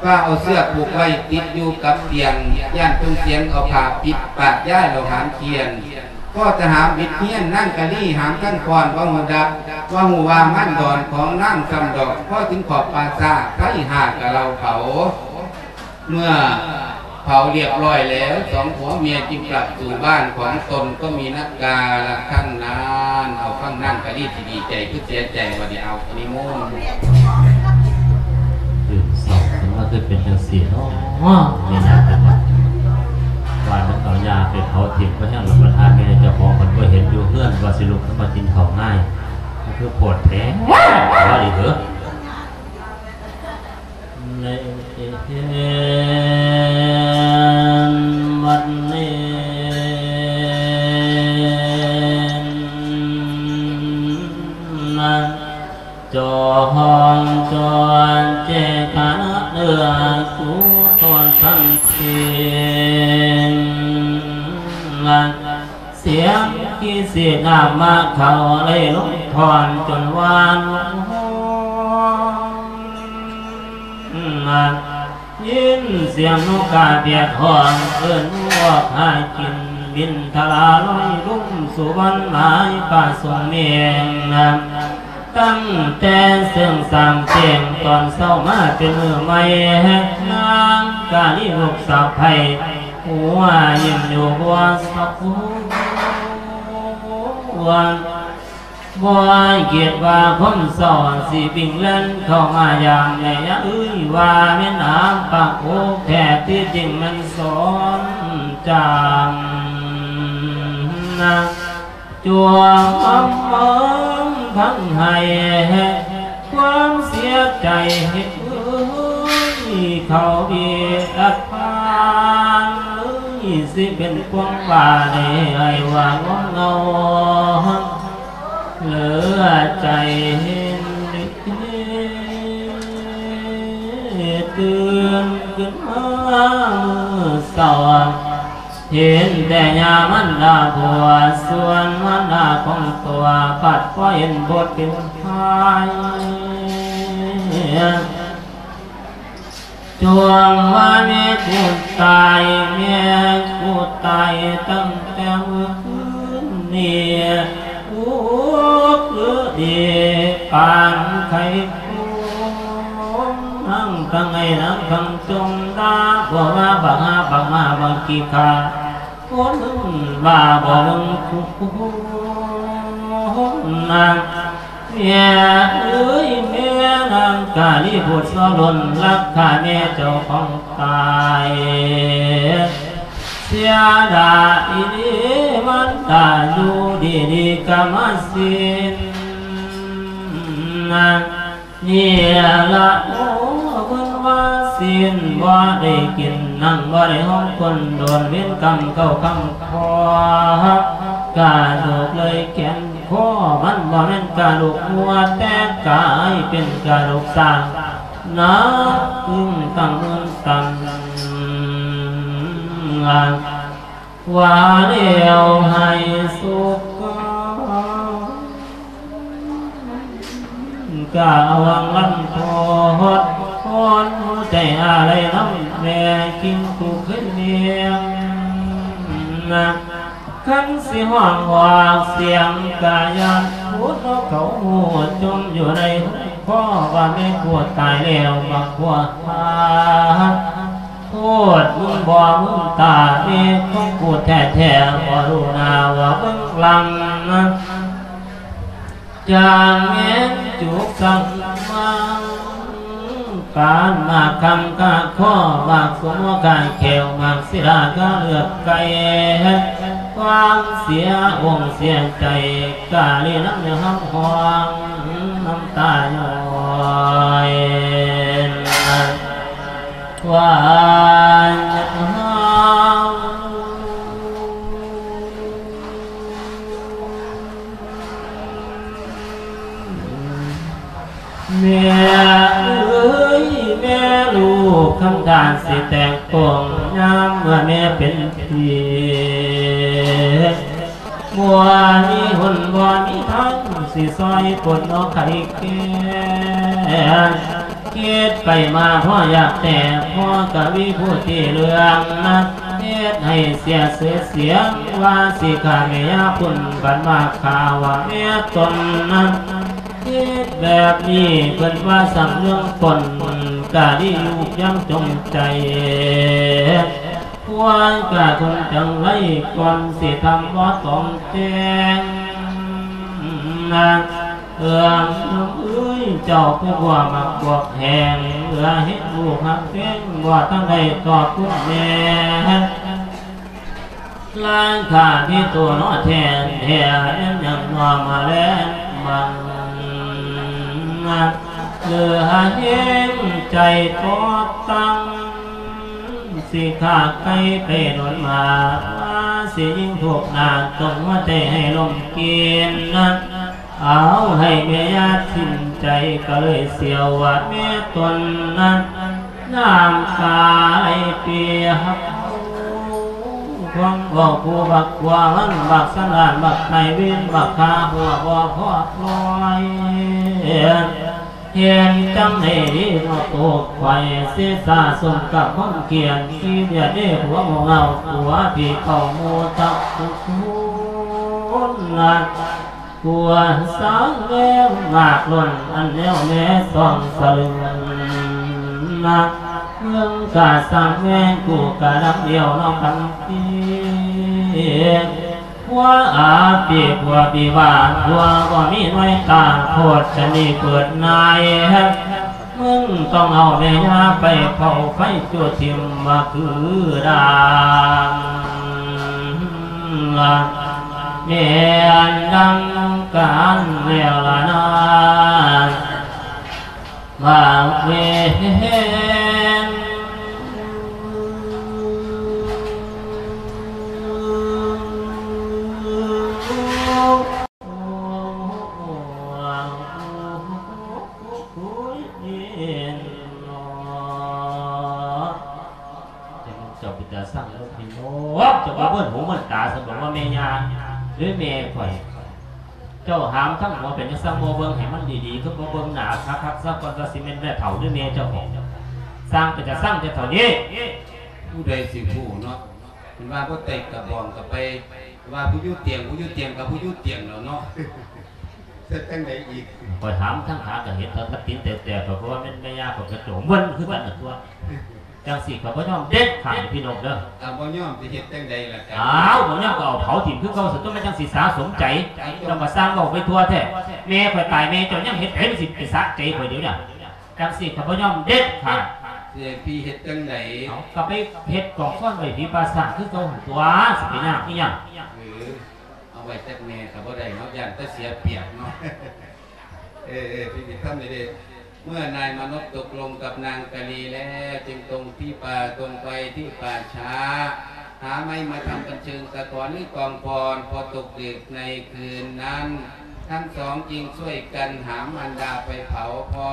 ຟ້າວເອົາເຊືອກຜູກໄວ້ຕິດຢູ່ກັບຕຽງ, ຢ້ານເພິ່ນສຽງເອົາຜ້າປິດປາກ ຍ້າຍເອົາຫາມຂຽນ. ພໍຈະຫາມບິດຮຽນ, ນາງກະລີຫາມທັງຄອນ ບໍ່ຮູ້ດັບ, ບໍ່ຮູ້ວ່າມັນດອນຂອງນາງຊ້ຳດອກ. ພໍເຖິງຂອບປ່າຊ້າ, ໄຟຫ້າກະເລົາເຜົາ. ເມື່ອເຜົາລຽບຮ້ອຍແລ້ວ, ສອງຜົວເມຍຈຶ່ງກັບສູ່ບ້ານຂອງຕົນ ກໍມີນັກກາລະຄັ້ງນັ້ນ. ເອົາ ຟັງນາງກະລີຊິດີໃຈຄືເສຍໃຈ ວ່າໄດ້ເອົານິມົນ. ຕື່ນເຊົ້າຂຶ້ນມາຄືເປັນຈັ່ງຊີ້ເນາະ ແມ່ຍ່າເພິ່ນວ່າ. ວ່າມັນເອົາຍ່າໄປເຜົາຖິ້ມ ກໍຍັງລຳບາດ ແມ່ເຈົ້າຂອງເພິ່ນບໍ່ເຫັນຢູ່ເຮືອນ ວ່າຊິລຸກຂຶ້ນມາກິນເຂົ້າງ່າຍ ມັນຄືໂພດແທ້ ວ່າດີເດີ້. ໃນເວັນນີ້ນະ ຈອງຈອນເຈກະເນື້ອກູໂຕສັນຕິນະ ສຽງກິເສນາມາເຂົ້າໄລ່ລົງທ່ອນຈົນຫວານ. ຍິນສຽງນົກກາແບດຮ້ອງເອີ້ນອອກຫາກິນ ບິນທະລາລອຍລຸ່ມສຸວັນໝາຍປະສົງເມງນະ. ຕັ້ງແຕ່ເຊິ່ງສາງແຈ້ງຕອນເຊົ້າມາເປັນມື້ໃໝ່ ນາງກາລີລູກສະໃພ້ ຫົວຍິ້ມຢູ່ບໍ່ສະກວນ ບໍ່ຄິດວ່າຄົນເສົ້າຊິວິ່ງແລ່ນເຂົ້າມາຢາມແມ່ຍາເອີຍ ວ່າແມ່ນອາປາກອົກແທ້ ທີ່ຈິງແມ່ນສອນຈາງນາງ ຈົວມເມືອງທັງໄຫ້ ຄວາມເສຍໃຈເຮັດເອີຍ ເຂົາເບດພານເອີຍ ຊິເປັນຄວາມບາດໃດ ໃຫ້ວ່າງົມເງົາ ເຫຼືອໃຈເຫັນເດ ຕື່ນຂຶ້ນມາມື້ເຊົ້າ ເຫັນແຕ່ຍາມັນດາຜົວ ສ່ວນມັນດາຂອງຕົວ ພັດພໍເຫັນບົດເປັນພາຍ ຈວງວ່າແມ່ກູຕາຍ ແມ່ກູຕາຍຕັ້ງແຕ່ມື້ຄືນນີ້ ອຸກເອີເອປານໄຂ່ໂຄງ ນາງທັງໄຫ້ນາງທັງຈົ່ງ ດາບໍ່ວ່າບັກຫາບັກໝາບັກຂີ້ຂ້າ ຄົນວ່າບໍ່ເບິ່ງຄຸນນາງ ແມ່ເອີຍ ແມ່ນາງກາລີຜູ້ຊົ່ວລົ້ນ ລັກຂ້າແມ່ເຈົ້າຂອງຕາຍ ເສຍດາຍອີ່ຫຼີ ມັນຕາຍຢູ່ດີໆ ກະມາສິ້ນນາງ ນີ້ລະໂອ ເພິ່ນວ່າສິ້ນບໍ່ໄດ້ກິນ ນັ່ງບໍ່ໄດ້ຫ້ອງຄົນໂດນ ເວນກຳເຂົ້າຄຳຄໍ ກະດູກເລີຍແຂນຄໍ ມັນບໍ່ແມ່ນກະດູກງົວ ແຕ່ກາຍເປັນກະດູກຊ້າງ ໜັກຕຶງຕັ້ງເມືອງຕັນ ວ່າແລ້ວໃຫ້ສຸກ ກະຫວັງລັນທອດ ຄອນຫົວໃຈອາໄລນຳແມ່ ຄິງຜູ້ເຄີຍລ້ຽງນະ ຄັນຊິຮ້ອງອອກສຽງກະຢ້ານ ຜູ້ນກເຂົາຮູ້ຈົມຢູ່ໃນຫົວ ເພາະວ່າແມ່ຜູ້ຕາຍແລ້ວ ບັກຜົວຫາ ໂທດມຶງບໍ່ມຶງຕາ ເມຂອງກູແທ້ໆ ບໍ່ຮູ້ໜ້າວ່າເບິ່ງຫຼັງ ຈາງແມ່ນຈຸກສັງມັງ ປານໝາກຄຳກະຄໍ ໝາກສົມກະແຂວ ໝາກສີລາກະເລືອດໄກ່ ຄວາມເສຍອົງເສຍໃຈ ກະລີນຳເນື້ອເຮົາຮ້ອງ ນ້ຳຕາຍ້ອຍ ວ່າເຮົາ ແມ່ເອີຍ ແມ່ລູກຄຳທານຊິແຕກໂປ່ງ ຍາມເມື່ອແມ່ເປັນຜີ ບໍ່ມີຫົນບໍ່ມີທາງ ຊິຊ່ອຍປົດອອກໄຂ້ແກ້ ຄິດໄປມາພໍຢາກແຕ່ ພໍກະວີຜູ້ທີ່ເລື່ອງນະ ເຮັດໃຫ້ເສຍຊື່ສຽງ ວ່າຊິຂ້າແມ່ຍາພຸ້ນ ບັດມາຂ້າວ່າແມ່ຕົນນະ ເຮັດແບບນີ້ ເພິ່ນວ່າສຳເລື່ອງຕົນ ກະດີຢູ່ຢ່າງຈົງໃຈ ຄວນກະຄົນຈັ່ງໄລ ກ່ອນຊິທຳບໍ່ຕ້ອງແຈ້ງນະ ເອື້ອມເອີຍ ເຈົ້າຜູ້ບໍ່ມັກບວກແຮງ ເອື້ອເຮັດລູກຮັກແພງ ບໍ່ທັນໄດ້ຕອບຄຸນແມ່ ລ້າງຂ້າທີ່ຕົວເນາະແທນແທ້ ແມ່ນຫຍັງເນາະມາແລງບັງ ເຫຼືອແຮງໃຈຕອບຕັ້ງ ຊິຂ້າໄກ່ໄປໂດນມາ ວ່າຊິຍິງທຸບໜ້າ ຕົງຫົວໃຈໃຫ້ລົມກິນ ເອົາໃຫ້ແມ່ຍາດສິ້ນໃຈ ກະເລີຍສຽວວ່າແມ່ຕົນນັ້ນ ນ້ຳຕາໄຫຼເປຍຮັກ ຄວາມເວົ້າຜູ້ບັກກວ່າມັນ ບັກສັນດານ ບັກໄພເວນ ບັກຂ້າຫົວບໍ່ພໍລອຍ ເຫັນຈັ່ງໃດດີເນາະໂຕຂ້ອຍ ເສສາສົມກັບຄວາມຂຽນ ຂີ້ດຽດເດ້ຜົວໂງ່ເຫງົາ ຜົວຜີເຂົ້າໝູ່ທັກທຸກຄົນນະ ກວນສາງແວວງາກລົ້ນ ອັນແນວແລສ່ອງສະເຫຼືອນນະ ເບິ່ງກະສາງແວວກູກະດຳດຽວເນາະຄັນຕີ ຜົວອາປີ ຜົວປີວ່າ ຜົວບໍ່ມີໜ່ວຍຕາ ໂພດຊະນີເປີດນາຍ ມຶງຕ້ອງເອົາແມ່ຍ່າໄປເຜົາໄຟຈູດຖິ້ມວ່າຄືດາງ ແມ່ນດັ່ງການແລ້ວລະນາ ວ່າເວນ ເຈົ້າເປັນຕາຊັງເນາະພີ່ນ້ອງ ເຈົ້າບໍ່ເບິ່ງຫູເບິ່ງຕາ ສະບອກວ່າແມ່ຍ່າ ຫຼືແມ່ຂ້ອຍ ເຈົ້າຫາມທັງຫົວເປັນຫຍັງ ຈັ່ງບໍ່ເບິ່ງໃຫ້ມັນດີໆ ຄືບໍ່ເບິ່ງໜ້າຄັກໆ ຊະກ່ອນ ວ່າຊິແມ່ນແມ່ເຖົ້າ ຫຼືແມ່ເຈົ້າຂອງ ຊ່າງເປັນຕາຊັງແທ້ເຖົ້ານີ້ ຜູ້ໃດຊິຮູ້ເນາະ ເພິ່ນວ່າບໍ່ໄຕ້ກະບອງກະໄປ ວ່າຜູ້ຢູ່ຕຽງ ຜູ້ຢູ່ຕຽງກະຜູ້ຢູ່ຕຽງແລ້ວເນາະ ເຮັດຈັ່ງໃດອີກ ຂ້ອຍຫາມທັງຂາກະເຫັນ ເທົ່າກັບຕີນແຕກໆ ຂ້ອຍກໍວ່າແມ່ນແມ່ຍ່າ ຂ້ອຍກະໂຈມເບິ່ງຄືກັນນະຕົວະ. ຈັ່ງຊີ້ຂ້ອຍບໍ່ຍອມເດັດຂາດ ພີ່ນ້ອງເດີ. ຖ້າບໍ່ຍອມຊິເຮັດຈັ່ງໃດລະ? ອ້າວ ບໍ່ຍອມກໍເອົາເຜົາຖິ້ມຄືເກົ່າ ຊັ້ນຕົວະ ມັນຈັ່ງຊິສາສົມໃຈ. ເຈົ້າກໍຊ່າງເວົ້າໄປທົ່ວແທ້. ແມ່ຂ້ອຍຕາຍ ແມ່ເຈົ້າຍັງເຮັດໃດ ມັນຊິໄປສະໃຈຂ້ອຍດຽວນີ້. ຈັ່ງຊີ້ຂ້ອຍບໍ່ຍອມເດັດຂາດ. ຊິໃຫ້ພີ່ເຮັດຈັ່ງໃດ? ເອົາ ກໍໄປເຮັດກອງຟອນໄວ້ຜີປາຊ້າງຄືເກົ່າຫັ້ນຕົວະ ຊິໄປຍາກອີ່ຫຍັງ? ເອີ ເອົາໄວ້ຈັກແມ່ກໍບໍ່ໄດ້ເນາະ ຢ້ານແຕ່ເສຍປຽບເນາະ. ເອີ ເອີ ພີ່ໄປທຳນີ້ເດ້. ເມື່ອນາຍມານົບຕົກລົງກັບນາງກາລີແລ້ວ ຈຶ່ງຕົງທີ່ປ່າ ຕົງໄປທີ່ປ່າຊ້າ ຫາໄມ້ມາທຳເປັນເຊີງຕະກອນ ຫຼື ກອງຟອນ. ພໍຕົກດຶກໃນຄືນນັ້ນ ທັງສອງຈຶ່ງຊ່ວຍກັນຫາມມານດາໄປເຜົາ. ພໍ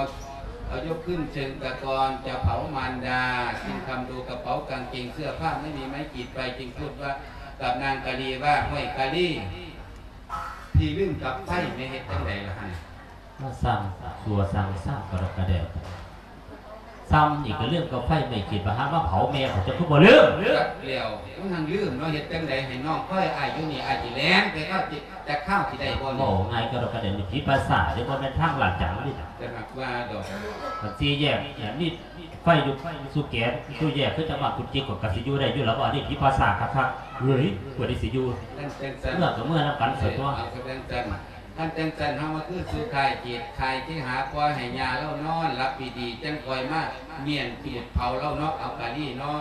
ເອົາຍົກຂຶ້ນເຊີງຕະກອນຈະເຜົາມານດາ ຈຶ່ງຄຳດູກະເປົາກາງເກງເສື້ອຜ້າ ໄມ່ມີໄມ້ກີດໄຟ ຈຶ່ງພູດວ່າກັບນາງກາລີວ່າ ຫ້ວຍກາລີ ທີ່ລືມກັບໄຟ ແມ່ເຮັດຈັ່ງໃດລະຫັ້ນ? ມາສ້າງຊົ່ວສ້າງຊາກກະດອກກະແດກ ຊ້ຳອີກກະເລື່ອງກັບໄຟ ໄມ້ຂີດປະຫານມາເຜົາແມ່ຂ້ອຍ ເຈົ້າຄືບໍ່ລືມ? ຈັກແລ້ວ ມັນຫັ້ນລືມເນາະ ເຮັດຈັ່ງໃດໃຫ້ນ້ອງຄອຍອ້າຍຢູ່ນີ້ ອ້າຍຊິແລ່ນໄປຄາວ ຈັກຄາວຊິໄດ້ບໍ່ນີ້? ເວົ້າງ່າຍກະດອກກະແດກ ນີ້ຜີປາຊ້າງເດ້ ບໍ່ແມ່ນທາງລາດຈັງນີ້. ແຕ່ຫາກວ່າດອກ ຄັນສີ່ແຍກນີ້ ໄຟຢູ່ສູ່ແກ ສູ່ແຍກຄືຈັ່ງວ່າກຸດຈິກ ຂ້ອຍກໍຊິຢູ່ໄດ້ຢູ່ລະບໍ່? ອັນນີ້ຜີປາຊ້າງຄັກໆ ເອີຍ ຜູ້ໃດຊິຢູ່ ຄັນຈັ່ງຊັ້ນ ເມື່ອກໍເມື່ອນຳກັນຊັ້ນຕົວະ. ເອີ ເອົາ ຄັນຈັ່ງຊັ້ນ ຄັນຈັ່ງຊັ້ນ ເຮົາມາຄືສູ່ຄ້າຍເກດ ຄ້າຍເຄຫາ ປ່ອຍໃຫ້ຍ່າລາວນອນຫຼັບດີໆ ຈັ່ງຄ່ອຍມາມ້ຽນຈູດເຜົາລາວເນາະ ເອົາກາລີເນາະ.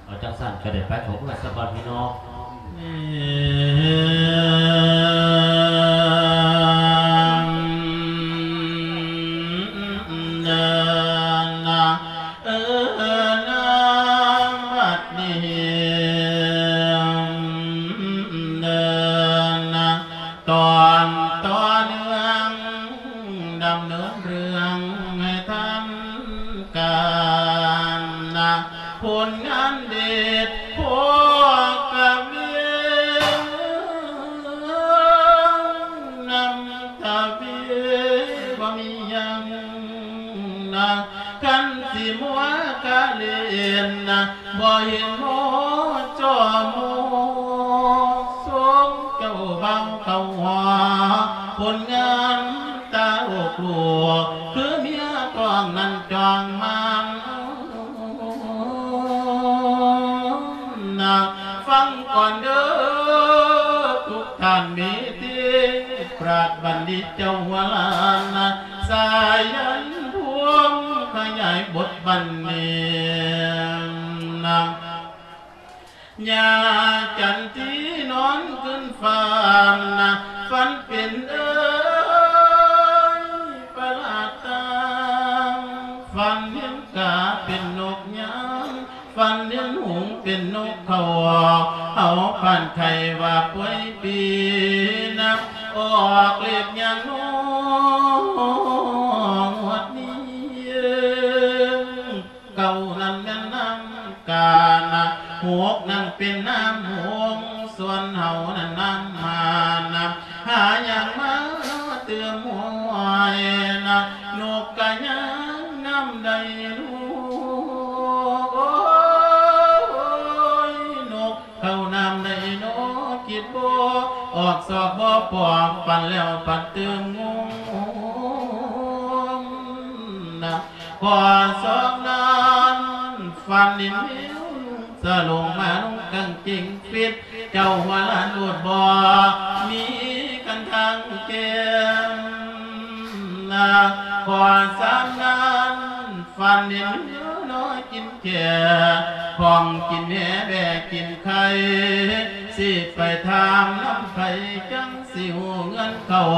ເອົາຈັ່ງຊັ້ນກໍໄດ້ໄປ ຂໍເມືອສະກ່ອນພີ່ນ້ອງ. ເອີນາ ເອີນາ ບັດນີ້ ເດີນນະ ຕອນຕໍ່ເນື່ອງ ດຳເນີນເລື່ອງໃຫ້ທັນການນະ ຜົນງານເດັດພໍກະເວນຳທະເວ ບໍ່ມີຫຍັງນະ ຄັນຊິມົວກະເລ່ນນະ ບໍ່ເຫັນພໍຈໍໝູ່ ຊົມເຈົ້າບ່າວເຂົ້າຫໍ ຜົນງານຕາໂລກໂລກ ຄືເມຍທ້ອງນັ້ນຈ້ອງມານນະ ຟັງກ່ອນເດີທຸກທ່ານມີຕິ ປາດບັນດິດເຈົ້າຫົວລ້ານນະ ສາຍັນພວມຂະຫຍາຍບົດບັນເນງນະ ຍາຈັນທີນອນຄືນຝັນນະ ຝັນເປັນເອີຍປະຫຼາດຕາ ຝັນເຫັນກາເປັນນົກຍາງ ຝັນເຫັນຫຸງເປັນນົກເຂົາ ເຮົາປານໄຂ່ວ່າປ່ວຍປີນະ ອອກເລກຍາງນົກງວດນີ້ ເກົ້ານັ້ນແມ່ນນ້ຳການະ ຫົກນັ້ນເປັນນ້ຳຫົງ ສ່ວນເຮົານັ້ນນ້ຳມານະ ຫາຫຍັງມາເຕີມຫ້ວຍນະ ນົກກະຍ່າງນ້ຳໃດລູກ ໂອ້ຍ ນົກເຂົ້ານ້ຳໃດນໍ ຄິດບໍ່ອອກຊອກບໍ່ປອກ ປັ່ນແລ້ວປັ່ນຕື່ມງມນະ ພໍສອກນັ້ນຝັນເຫັນແມວ ສະຫຼົງມານຸ່ງກາງເກງຟິດ ເຈົ້າຫົວລ້ານໂລດບໍ່ມີຄັນທາງແກ້ມນະ ພໍສາມນັ້ນຝັນເຫັນແມວນ້ອຍກິນແຂ້ ຂອງກິນແຫແບກກິນໄຂ່ ຊິໄປຖາມນຳໃຜ ຈັ່ງຊິຮູ້ເງິນເຂົ້າ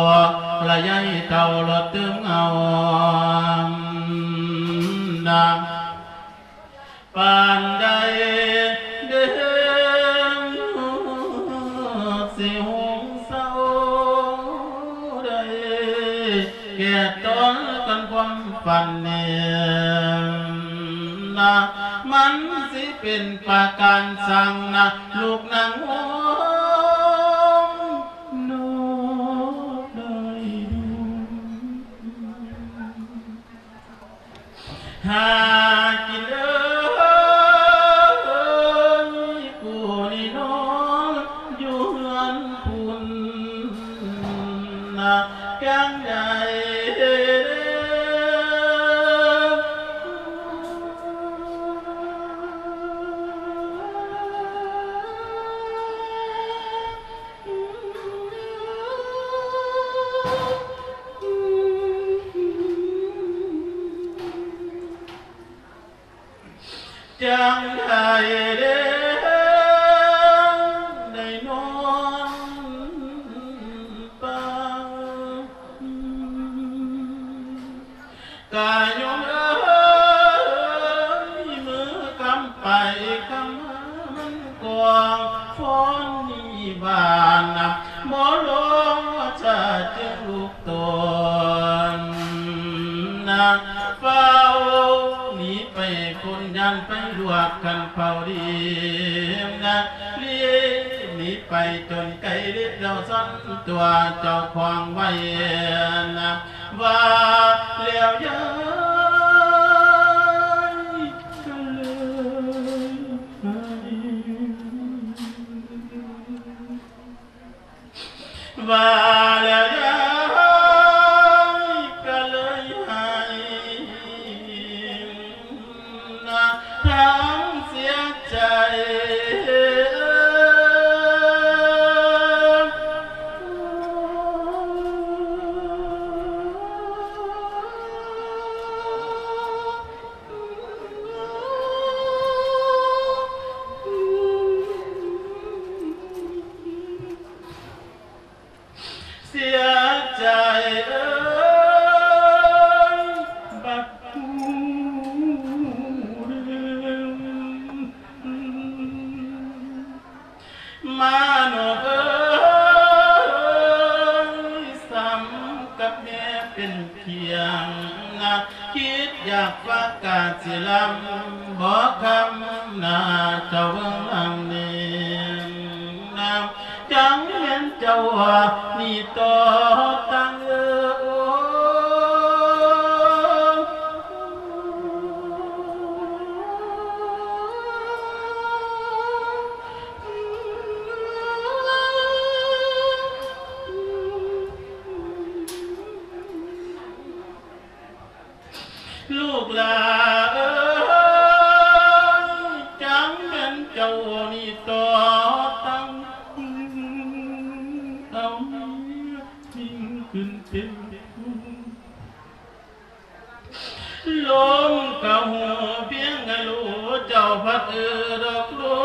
ລະຍາຍເຕົາລົດຕື່ມເອົານະ ປານໃດເດ ຊິຫຸງເຊົາໄດ້ ແກ່ຕອນກັນຄວາມຝັນນີ້ນະ ມັນຊິເປັນປະການສັງນະ ລູກນາງໂອມ ນອກໄດ້ດູ ຫາກິນເອີຍ ກູນີ້ນອນຢູ່ເຮືອນພຸ້ນນະ ກາງໃດ ນນີ້ບ້ານນະ ບໍ່ລໍຊາຈຶ່ງລຸກຕົນນະ ຟ້າວໜີໄປພົ້ນ ຢ້ານໄປລວກຄັນເຜົາດີນະ ລີ້ໜີໄປຈົນໄກລິດແລ້ວສັນຕົວເຈົ້າຂອງໄວ້ນະ ວ່າແລ້ວຍາຍກໍເລີຍ ວ່າແລ້ວຍາຍກໍເລີຍໃຫ້ນາງເສຍໃຈ. ເສຍໃຈເອີຍ ບັດຮູ້ເລື່ອງ ມາໂນເອີຍ ສ່ຳກັບແມ່ເປັນພຽງນະ ຄິດຢາກຝາກກາຊິລຳ ບໍ່ຄຳນາເຈົ້າເບິ່ງຫຼັງນີ້ນະ ຈັ່ງແມ່ນເຈົ້າໜີຕໍ່ຕັ້ງເອີ. ລູກຫຼ້າເອີຍ ຈັ່ງແມ່ນເຈົ້ານີ້ຕໍ່ຕັ້ງ ເອົາເມຍຍິງຂຶ້ນເປັນ ລົມກະຮູ້ພຽງກະຮູ້ ເຈົ້າພັດເອີດອກລົ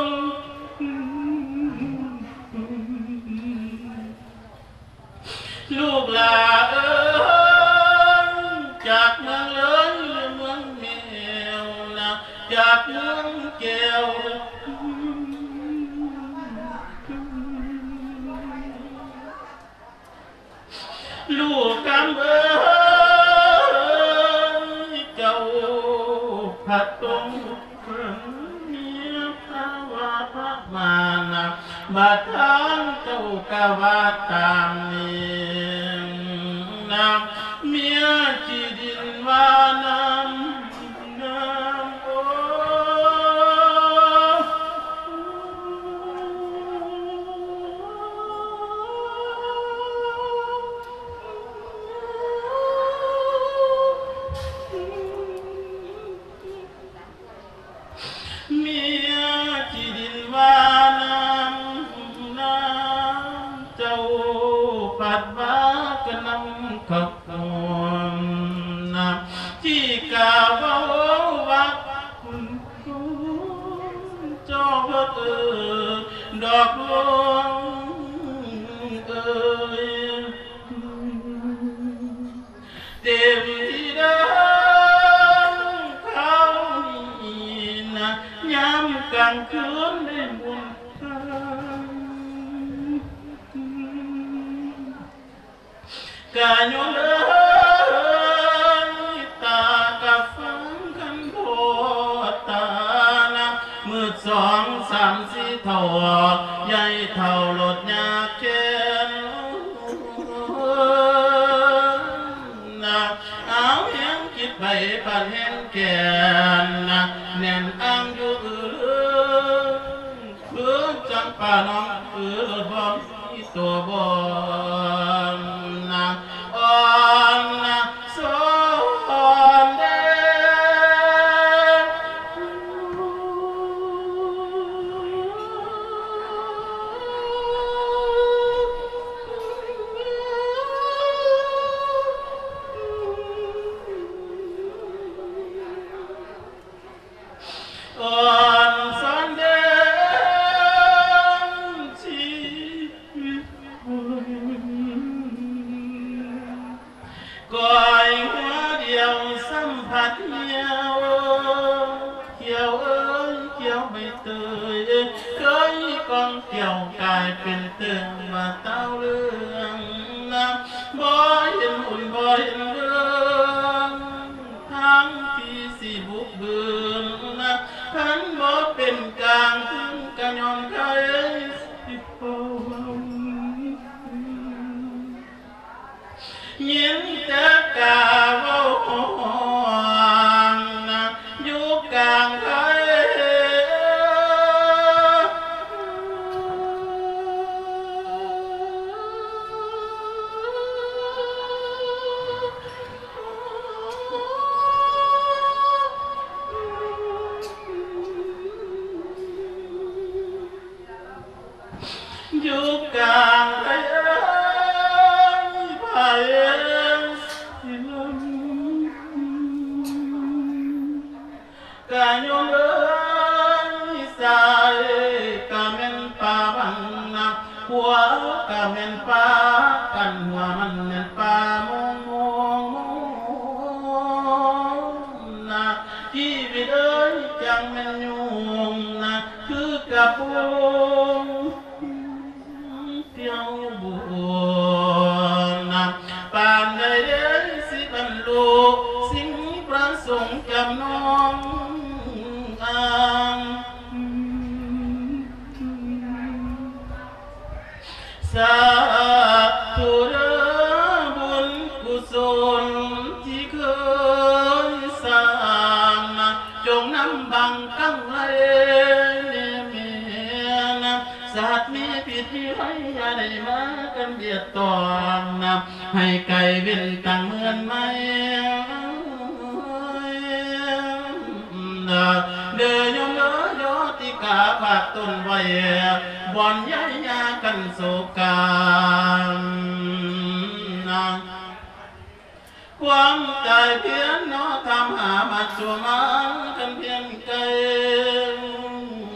ມ ລູກຫຼ້າເອີຍ ຈາກເມືອງເລີຍເມືອງແມວນະ ຈາກເມືອງແກ້ວ ລູກຄຳເອີຍ ເຈົ້າພັດຕົງເພິ່ງເມຍພາວະພະມານະ ບາດທາງເຈົ້າກະວ່າຕາມນີ້ນະ ເມຍຂີ້ດິນວ່ານ້ຳ ເມຍຂີ້ດິນວ່ານ້ຳ ນ້ຳ ເຈົ້າພັດວ່າກະນ້ຳຂະໂຂງນະ ທີ່ກະເວົ້າວ່າ ເຈົ້າເອີຍ ດອກຫຼວງເອີຍ ເຕັມທີ່ເດີນຄາວນີ້ນະ ຍາມກາງຄືນໄດ້ບຸນທານ ກະຍ້ອນເອີຍ ຕາກະຟັງຄຳພໍ່ຕານະ ມືດສອງສາມສີ່ເທົ່າ ໃຫຍ່ເຖົ້າລົດຍາກແຄ້ນນະ ເອົາແຮງຄິດໄປປານແຮງແກ່ນນະ ແໜ້ນອັງຢູ່ອື ຄືຈັ່ງປານ້ອງຄືລົດບໍ່ມີຕົວບໍ່ນາ ອ່ອນນາ ສອນເດ. ກ່ຽວກາຍເປັນເຕີງວ່າເຕົ້າເລື່ອງນະ ບໍ່ເຫັນບຸນບໍ່ເຫັນເລື່ອງ ທາງທີ່ຊິບຸກບືນນະ ຄັນບໍ່ເປັນກາງ ເພິ່ນກະຍອມໄຄຊິເວົ້າ ຍິນແຕ່ກາເວົ້າຮ້ອງນະ ຢູ່ກາງໄພ ຢູ່ກາງໄພ ໄພ ກະຍ້ອນເອີຍ ຊາຍກະແມ່ນປາບັງນະ ຜົວກະແມ່ນປາກັນ ຫົວມັນແມ່ນປາໂມງໆ ນະ ຊີວິດເອີຍ ຈັ່ງແມ່ນຫຍຸ້ງນະ ຄືກະປຸງ ທ່ຽວບຸນນະ ປານໃດເດຊິບັນລຸ ສິ່ງປະສົງຈຳນອງອາງ ສາທຸເດີ ບຸນກຸສົນທີ່ເຄີຍສ້າງນະ ຈົ່ງນຳບັງກັງໄລແນ່ແມ່ນະ ສັດມີພິດມີໄພ ຢ່າໄດ້ມາກັນບຽດຕອງນະ ໃຫ້ໄກເວັ້ນຕັ້ງເໝືອນໄໝ ເດີໂຍມເດີ ໂຍຕິກາຝາກຕົນໄວ້ ບ່ອນຍາຍາກັນໂສການະ ຄວາມຕາຍພຽນເນາະ ຖາມຫາມາຈູມາ ຄັນພຽງໄກ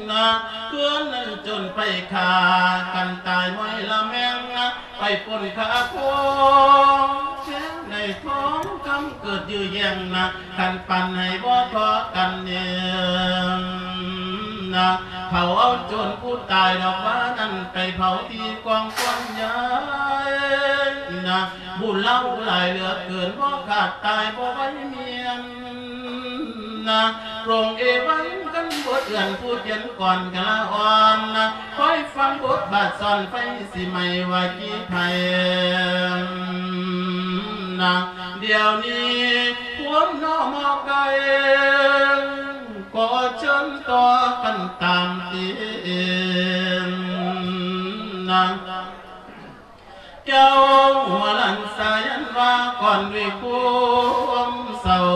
ນະ ເພື່ອນນັ້ນຈົນໄປຂ້າກັນຕາຍ ມອຍລະແມງນະ ໄປປົນຂ້າໂຄງ ແຊງໃນທອງຄຳເກີດຢື້ອແຍ່ງນະ ຄັນປັນໃຫ້ບໍ່ທໍ່ກັນເອງນະ ເຜົາເອົາໂຈນຜູ້ຕາຍດອກວ່ານັ້ນ ໄປເຜົາທີ່ກອງຄວັນໃຫຍ່ນະ ບຸນເລົ່າຫຼາຍເຫຼືອເກີນ ບໍ່ຂາດຕາຍບໍ່ໄຫວມຽນ ນະ ໂປງເອວັງກັນບົດເອື້ອນຜູ້ຂຽນກ່ອນກະລະອ່ອນນະ ຄອຍຟັງບົດບາດສອນໄຟຊິໄໝ້ວ່າກີໄຜນະ ດຽວນີ້ພວມນອມອກໄກ ກໍເຊີນຕໍ່ກັນຕາມຕີນນະ ເຈົ້າຫົວຫຼັນສາຍັນວ່າກ່ອນດ້ວຍຄວາມເສົ້າ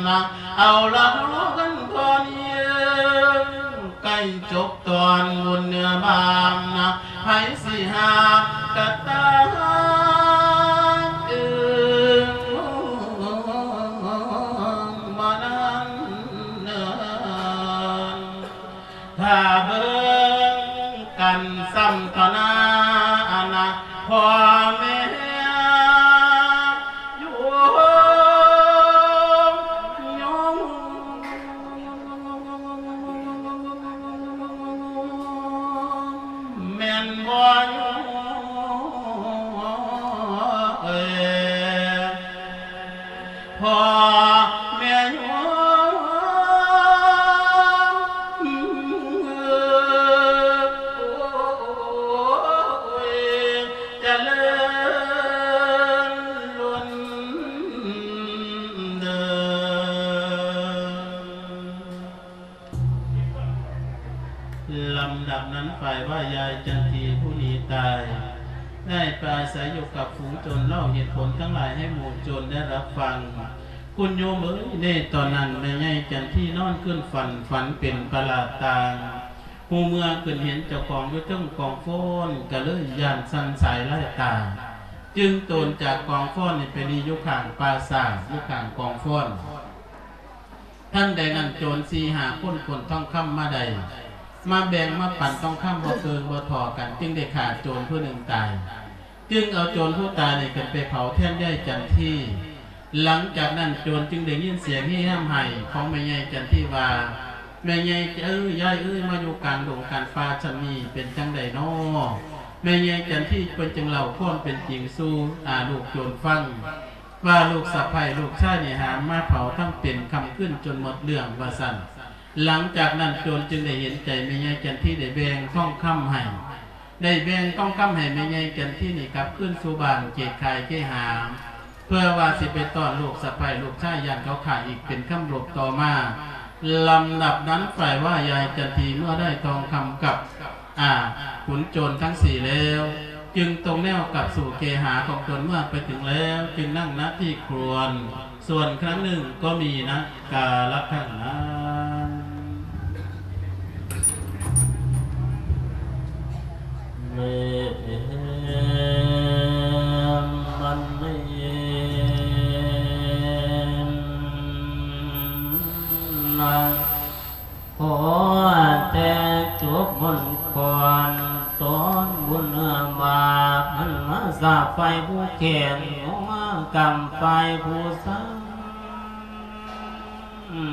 ນະ ເອົາລະເຮົາກັນຕອນເຢັນ ໃກ້ຈົບຕອນບຸນເນື້ອບານນະ ໃຜຊິຫາກະຕາເອີງມານັ້ນເນີນ ຖ້າເບິ່ງກັນຊ້ຳຕໍ່ໜ້າອະນາ ພໍ່ແມ່ໂຍມ ໂຍມ ແມ່ນບໍ່ໂຍມເອີຍ? ພໍ່ແມ່ໂຍມເອີຍ ຈະເລີນລົ້ນເດີ. ລຳດັບນັ້ນ ຝ່າຍວ່າຍາຍຈັນທີຜູ້ໜີຕາຍ ໄດ້ໄປອາໄສຢູ່ກັບຝູງໂຈນ ເລົ່າເຫດຜົນທັງຫຼາຍໃຫ້ໝູ່ໂຈນໄດ້ຮັບຟັງ. ຄຸນໂຍມເອີຍ ໃນຕອນນັ້ນແມ່ໃຫຍ່ຈັນທີນອນຄືນຝັນ ຝັນເປັນປະຫຼາດຕ່າງ ຮູ້ເມື່ອຂຶ້ນເຫັນເຈົ້າຂອງຢູ່ເທິງກອງຟອນ ກະເລີຍຢ້ານສັ່ນສາຍລາຍຕາ ຈຶ່ງໂຕນຈາກກອງຟອນນີ້ໄປນີ້ຢູ່ຂ້າງປ່າຊ້າ ຢູ່ຂ້າງກອງຟອນ. ທັນໃດນັ້ນໂຈນສີ່ຫ້າຄົນຂົນທອງຄຳມາໄດ້ ມາແບ່ງມາປັນທອງຄຳບໍ່ເຄິ່ງບໍ່ທໍ່ກັນ ຈຶ່ງໄດ້ຂ້າໂຈນຜູ້ໜຶ່ງຕາຍ ຈຶ່ງເອົາໂຈນຜູ້ຕາຍນີ້ຂຶ້ນໄປເຜົາແທນຍາຍຈັນທີ. ຫຼັງຈາກນັ້ນໂຈນຈຶ່ງໄດ້ຍິນສຽງເຮຮຳໄຫ້ຂອງແມ່ໃຫຍ່ຈັນທີວ່າ ແມ່ໃຫຍ່ເອີຍ ຍາຍເອີຍ ມາຢູ່ກາງດົງກາງປ່າຊ່ຳນີ້ ເປັນຈັ່ງໃດນໍ? ແມ່ໃຫຍ່ຈັນທີເພິ່ນຈຶ່ງເລົ່າຄວາມເປັນຈິງສູ່ ອາ ລູກໂຈນຟັງ ວ່າລູກສະໃພ້ລູກຊາຍນີ້ຫາມາເຜົາທັງເປັນຄ່ຳຄືນຈົນໝົດເລື່ອງວ່າຊັ້ນ. ຫຼັງຈາກນັ້ນໂຈນຈຶ່ງໄດ້ເຫັນໃຈແມ່ໃຫຍ່ຈັນທີ ໄດ້ແບ່ງທອງຄຳໃຫ້ ໄດ້ແບ່ງທອງຄຳໃຫ້ແມ່ໃຫຍ່ຈັນທີນີ້ກັບຄືນສູ່ບ້ານເຂດຄ້າຍເຄຫາ ເພື່ອວ່າຊິໄປຕ້ອນລູກສະໃພ້ລູກຊາຍ ຢ້ານເຂົາຂ້າອີກເປັນຄຳລົບຕໍ່ມາ. ລຳດັບນັ້ນ ຝ່າຍວ່າຍາຍຈັນທີເມື່ອໄດ້ທອງຄຳກັບ ອາ ຂຸນໂຈນທັງສີ່ແລ້ວ ຈຶ່ງຕົງແນວກັບສູ່ເຄຫາຂອງຕົນເມື່ອໄປເຖິງແລ້ວ ຈຶ່ງນັ່ງນະທີ່ຄວນ ສ່ວນຄັ້ງໜຶ່ງກໍມີນະກາລະຄັ້ງນັ້ນ ເມ ບັນເນນະ ຂໍແຕ່ຈົບມົນກ່ອນ ຕອນບຸນເໜືອບາບ ມັນມາສາບຝ່າຍຜູ້ແຂນ ຫົວມາກຳຝ່າຍຜູ້ສັງ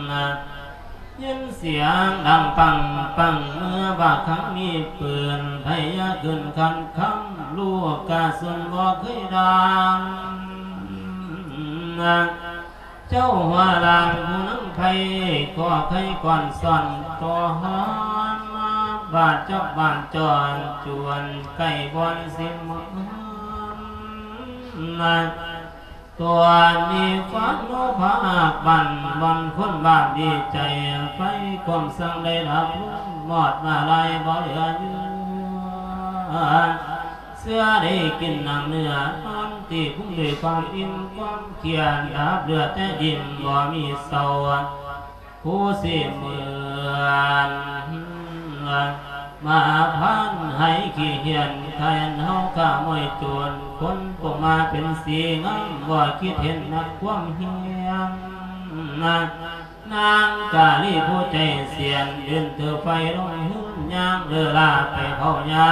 ນະ ຍິນສຽງດັງປັງປັງ ເມື່ອບາດຄັ້ງມີປືນ ໄພຍາຂຶ້ນຄັນຄຳ ລູກກະສຸນບໍ່ເຄີຍດ່າງ ນະ ເຈົ້າຫົວລ້ານຜູ້ນຳໄພ ກໍໄຄກ່ອນສ້ອນຕໍ່ຫາ ມາບາດຈັບບ້ານຈອນຈວນ ໃກ້ບ່ອນຊິມາ ນະ ຕົວະນີ້ຄວາມໂລພະອາກບັ້ນ ບ່ອນຄົນບາບດີໃຈ ໄຟຄວາມສັງໄດ້ດັບລົງ ມອດມາລາຍບໍ່ເຫຼືອເຍືອ ເສືອໄດ້ກິນນ້ຳເນື້ອ ນອນຕີພຸງດ້ວຍຄວາມອີ່ມຄວາມຄຽນ ດາບເຫຼືອແຕ່ຍິ້ມບໍ່ມີເຊົາ ຜູ້ຊິເໝືອນ ມາພານໄຫຂີ້ເຫື່ອນ ຂະຫຍັນເຮົາຂ້າມວຍໂຈນ ຄົນປົງມາເປັນສີງາມ ບໍ່ຄິດເຫັນນັກຄວາມເຮຍນ ນາງກາລີຜູ້ໃຈສຽນ ຢືນຖືໄຟລົງຫືນ ຍ່າງເລີລາໄປເຜົາຫຍ້າ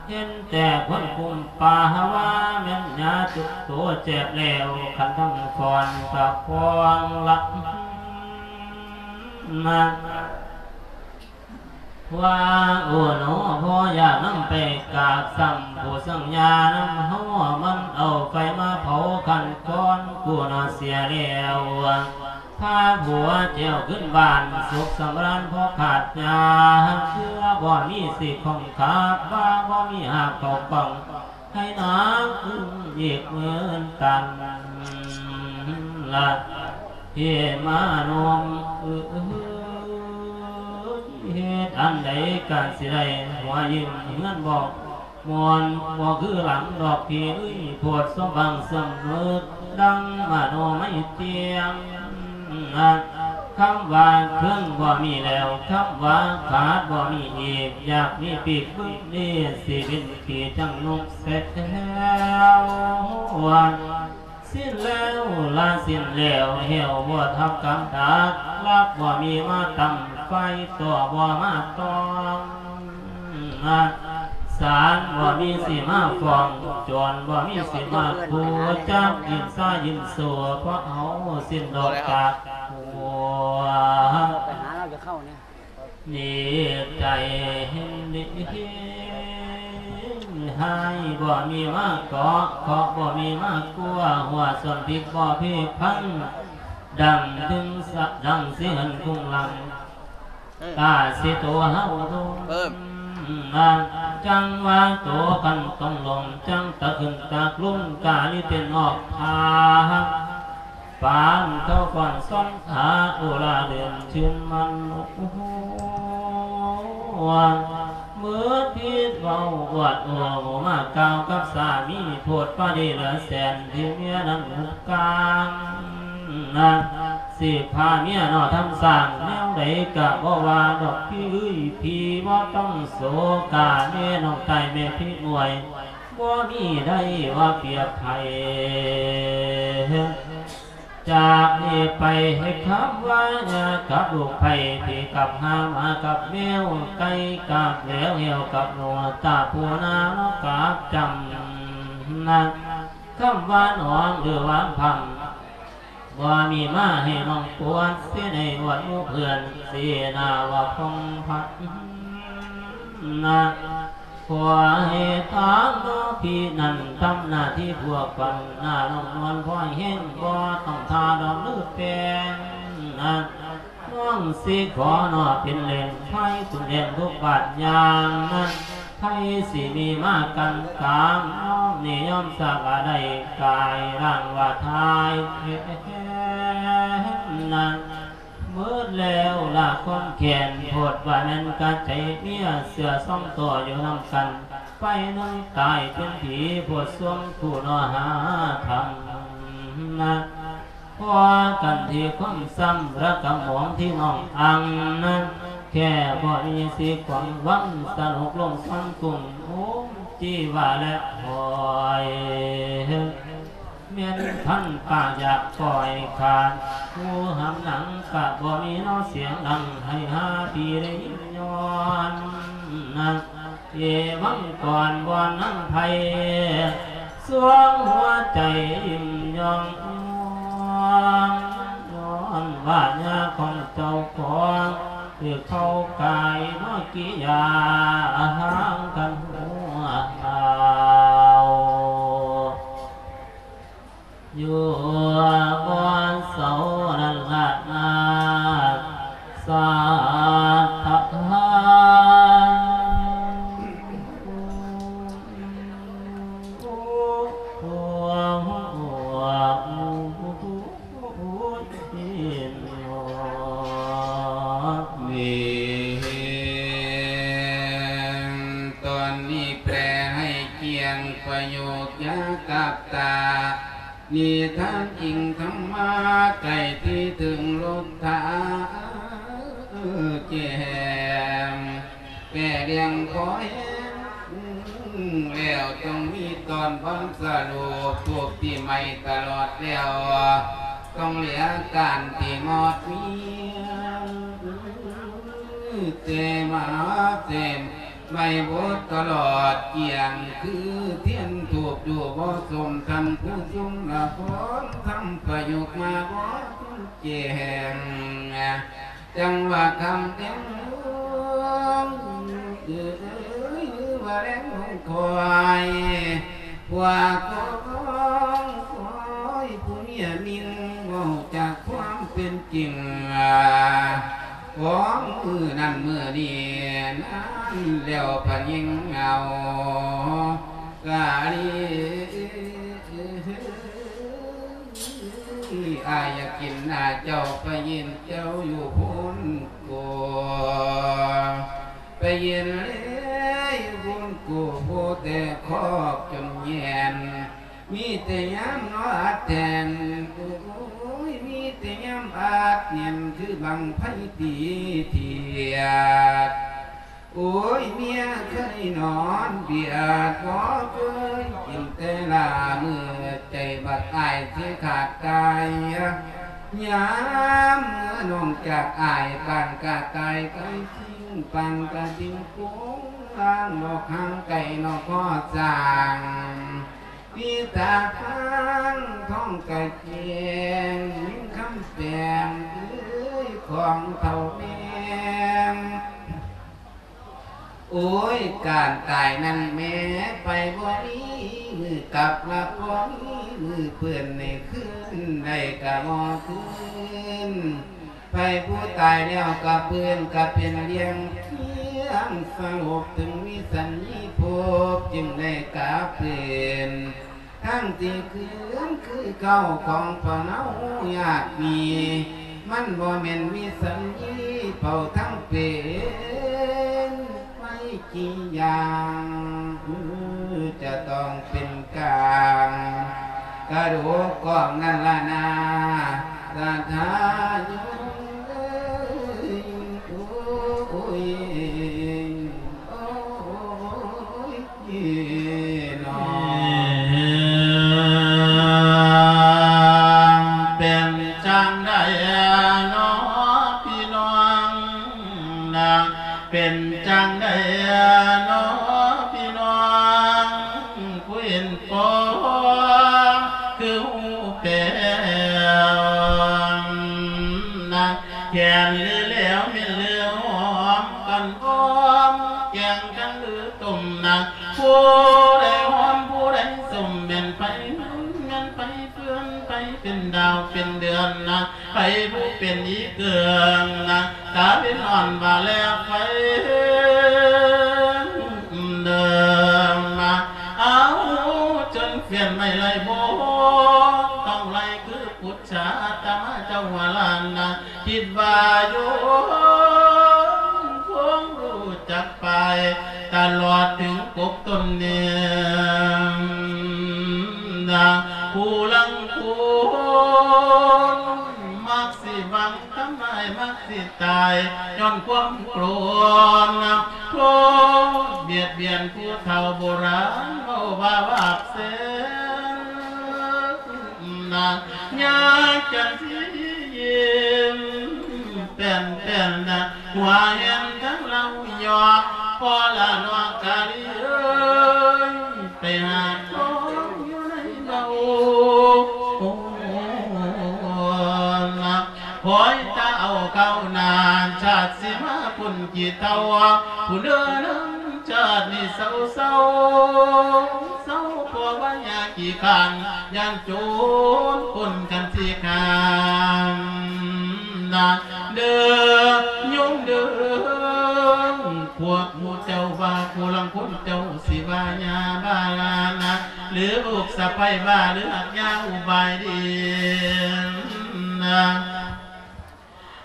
ເຫັນແຕ່ຄົນກຸມປ່າຫາວ່າ ແມ່ນຫຍ້າຈຸໂຕແຈບແລ້ວ ຄັນທັງຟອນກະຟອງລະ ນະ ວ່າ ໂອໂນ ພໍ່ຢາກນຳໄປກາບຊ້ຳ ຜູ້ສັງຍານຳເຮົາ ມັນເອົາໄຟມາເຜົາຂັ້ນກ່ອນ ກູນາເສຍແລ້ວ ພາຜົວແຈວຂຶ້ນບ້ານ ສຸກສຳລານພໍຂາດຫຍ້າ ເຄືອບໍ່ມີສິຂອງຂາບ ວ່າບໍ່ມີຫາບເຂົ້າກ່ອງ ໃຫ້ນາງອຶ້ງອີກເໝືອນກັນລະ ເພມານົມເອີຍ ເຮັດອັນໃດກະຊິໄດ້ຫົວຍິ້ມ ເຮືອນບໍ່ມ່ວນ ບໍ່ຄືຫຼັງດອກພີ່ເອີຍ ໂພດສົມຫວັງສຳນຶກ ດັ່ງມະໂນໄມຕຽງ ຄຳວ່າເຄິ່ງບໍ່ມີແລ້ວ ຄຳວ່າຂາດບໍ່ມີອີກ ຢາກມີປີກບຶດນີ້ ຊິບິນ ທີ່ຈັງນົກແຊວ ສິ້ນແລ້ວລະສິ້ນແລ້ວ ແຫ້ວບໍ່ທັບກຳດັກ ລັກບໍ່ມີມາຕຳ ໄຟຕໍ່ບໍ່ມາຕ້ອງ ສານບໍ່ມີຊິມາຟ້ອງ ໂຈນບໍ່ມີຊິມາຂູ່ ຈັກຍິນຊາຍິນໂຊ ເພາະເຮົາສິ້ນດອກຈາກຫົວ ໄປຫາລາວຈະເຂົ້ານີ້ ນີ້ໃຈເຫັນດີຮ້າຍ ບໍ່ມີມາເກາະ ເຄາະບໍ່ມີມາກົວ ຫົວສ່ວນພິກບໍ່ພີພັງ ດັງເຖິງສະ ດັງຊິເຫັນຄຸງຫຼັງ ເອີ ກາຊິໂຕເຮົາລົງ ເອີ ນາງ ຈັງວ່າໂຕຄັນຕ້ອງລົງ ຈັງຕະຂຶ້ນຕາກລຸງ ກາລິເຕັ້ນອອກທາງ ປານເຂົາກ່ອນສອນຫາ ໂອລາເດືອນຊື່ນມັນ ເມີດພິດເວົ້າອວດໂອ້ມາກ່າວກັບສາມີ ໂພດປາດີເຫຼືອແສນ ທີ່ເມຍນັ້ນຫຸບກາງ ນະ ຊິພາເມຍເນາະທຳສ້າງ ແນວໃດກະບໍ່ວ່າດອກພີ່ເອີຍ ພີ່ບໍ່ຕ້ອງໂສກາ ແມ່ນ້ອງຕາຍແມ່ພີ່ມວຍ ບໍ່ມີໃດວ່າປຽບໃຜ ຈາກນີ້ໄປໃຫ້ຄຳວ່າຍາກັບລູກໄຜ່ ຜີກັບຫ່າ ໝາກັບແມວ ໄກ່ກັບແຫຼວ ແຫ້ວກັບໜູ ຕາຜູ້ນາ ນົກກັບຈຳ ນະ ຄຳວ່າໜອງ ຫຼືວ່າພຳ ບໍ່ມີມາໃຫ້ນ້ອງປວດເສຍໃນວັດໝູ່ເພື່ອນເສນາວ່າພົງພັນນະ ຂໍໃຫ້ທາງນ້ອງພີ່ນັ້ນທຳໜ້າທີ່ພວກປັນໜ້ານ້ອງນວນພອຍແຮງ ບໍ່ຕ້ອງຖ້າດອກຫຼືແປງນະ ນ້ອງຊິຂໍເນາະເປັນແຫຼ່ງໄພ ເປັນແຫຼ່ງທຸກບາດຍາມນະ ໃຜຊິມີມາກັນກາງ ນ້ອງນີ້ຍອມສາກາໄດ້ກາຍຮ່າງວ່າທາຍແທ້ນະ ໝົດແລ້ວລະຄວາມແຄ້ນ ໂພດວ່າແມ່ນກະໃຈເມຍ ເສືອສອງໂຕຢູ່ນຳກັນ ໄປໜຶ່ງຕາຍເປັນຜີ ໂພດສວງຜູ້ເນາະຫາທຳນະ ພໍກັນທີ່ຄວາມຊ້ຳລະກະໝອງທີ່ນ້ອງອັ່ງນະ ແຄ່ບໍ່ມີສີຂວາງວັງ ສະໜຸກລົງຊອນກຸງ ໂອມຈີວາແລະຫອຍ ແມ່ນພັນປາກຢາກປ່ອຍຂາດ ຫູຫຳໜັງກະບໍ່ມີເນາະ ສຽງດັງໃຫ້ຫາພີ່ໄດ້ຍິນຍ້ອນນະ ເອວັງກ່ອນບ່ອນນາງໄພ ສວງຫົວໃຈຍິ້ມຍ້ອງ ຍ້ອນວ່າຍາຂອງເຈົ້າຂອງ ຄືເຂົາກາຍເນາະກິຍາ ຫາງກັນຫົວເອົາ ຢູ່ບ່ອນເສົານັ້ນລະນາ ສາທະຫານ ນີ້ ຕອນນີ້ແປໃຫ້ກ້ຽງປະໂຫຍກ ຢ່າກັບຕາ ນິທານຈິງທຳມາ ໃກ້ທີ່ເຖິງໂລດທາງແຈ້ງ ແປເລື່ອງພໍແຮງແລ້ວ ຕ້ອງມີຕອນບ່ອນສະຫຼຸບ ພວກທີ່ໄໝ້ຕະຫຼອດແລ້ວ ຕ້ອງເຫຼືອການທີ່ມອດມີ ແຕ່ມາແຕ່ ໄໝ້ບົດຕະຫຼອດກ້ຽງ ຄືທຽນທູບຢູ່ບໍ່ສົມທັນ ຜູ້ຊົງລະຄອນທຳປະໂຫຍກມາບໍ່ທັນແຈ້ງ ຈັ່ງວ່າຄ່ຳແດງເອີຍ ຫຼືວ່າແລງລົງຄອຍ ວ່າຂອງຄອຍຜູ້ເມຍມິ່ງ ເວົ້າຈາກຄວາມເປັນຈິງ ຂອງມື້ນັ້ນມື້ນີ້ນັ້ນແລ້ວ ພະຍິງເຫງົາກາລີ ອ້າຍຢາກກິນໜ້າເຈົ້າ ໄປຢືນເຈົ້າຢູ່ໂພນໂກ ໄປຢືນເລີຍຢູ່ໂພນໂກ ໂພແຕ່ຄອກຈົນແຍນ ມີແຕ່ຍາມເນາະອັດແໜ້ນ ໂອ້ຍ ມີແຕ່ຍາມອັດແໜ້ນ ຄືບັ້ງໄຟຕີທຽດ ໂອ້ຍ ເມຍເຄີຍນອນບຽດ ບໍ່ເຄີຍກິນແຕ່ລາມື້ ໃຈບັກອ້າຍຊິຂາດຕາຍ ຍາມເມື່ອນ້ອງຈາກອ້າຍ ປານກະຕ່າຍໄກ່ຈິງ ປານກະຕິ່ງໂປ່ງລາງ ນອກຫ່າງໄກນອກຂໍສ້າງ ມີຕາທາງທອງກະແຈ້ງ ຍິງຄຳແປງເອີຍ ຂອງເຖົ້າແມ່ ໂອ້ຍ ການຕາຍນັ້ນແມ້ ໄປບໍ່ມີມື້ກັບ ລະບໍ່ມີມື້ເພິ່ນໃນຄືນໃດກະບໍ່ຄືນ ໃຜຜູ້ຕາຍແລ້ວກະເພິ່ນກະເປັນລ້ຽງຄຽງສະຫຼົບ ເຖິງມີສັນມີພົບຈຶ່ງໄດ້ກະເພິ່ນ ທັງທີ່ຄືນຄືເກົ່າຂອງພວກເຮົາຍາດມີ ມັນບໍ່ແມ່ນມີສັນມີເປົ່າທັງເປັນ ໄປ ທີ່ຢ່າງ ຈະຕ້ອງເປັນກາງ ກະດູກກອງນັ້ນລະນາ ສາທາໂຍ ໂອ້ຍ ໂອ້ຍ ໂອ້ຍ ເປັນຈັ່ງໃດເນາະພີ່ນ້ອງນາງ ເປັນຈັ່ງໃດເນາະພີ່ນ້ອງ ຜູ້ເຫັນພໍຄືຮູ້ແລ້ວ ກັນຫຼືຕົ້ມນະ ຜູ້ໃດຫອມຜູ້ໃດສົ້ມ ແມ່ນໄຟ ແມ່ນໄຟເຟືອນ ໄຟເປັນດາວເປັນເດືອນນະ ໃຜຜູ້ເປັນອີເກີງນະ ຕາເປັນອ່ອນວ່າແລໄຟເດີມາ ເອົາຈົນເຟືອນໄມ້ໄລ່ບໍ່ ຕ້ອງໄລ່ຄື ພຸດຊາອາດຕະມາເຈົ້າຫົວລ້ານນະ ຄິດວ່າຢູ່ຄົງຮູ້ຈັກໄປ ຕະຫຼອດເຖິງກົກຕົ້ນນີ້ນະ ຜູ້ລາງຄົນມັກຊິຫວັງທຳຮ້າຍ ມັກຊິຕາຍຍ້ອນຄວາມໂກລນະ ໂທດບຽດບຽນຜູ້ເຖົ້າໂບລານເວົ້າວ່າບາບແສນ ນະ ຍາກຈັນຊິຍິ້ມແປ້ນໆ ນະ ຫົວແຮມທັງເລົ່າຢອກ ພໍລະນອກກາລີເອີຍ ໄປຫາຂອງຢູ່ໃນເບົາ ນະ ຄອຍຕາເອົາເຂົ້ານານ ຊາດຊິມາພຸ້ນກີ່ເຕົ່າ ຜູ້ເດີນນຳ ຊາດນີ້ເສົ້າ ເສົ້າ ເສົ້າ ເພາະວ່າຍາຂີ້ຄ້ານ ຢ້ານໂຈນປົນກັນຊິຂ້າມນະ ເດີໂຍມເດີ ພວກໝູ່ເຈົ້າວ່າ ຜູ້ລາງຄົນເຈົ້າຊິວ່າຍາບ້ານະ ຫຼືລູກສະໃພ້ບ້າ ຫຼືຮັກຍາອຸບາຍດີນະ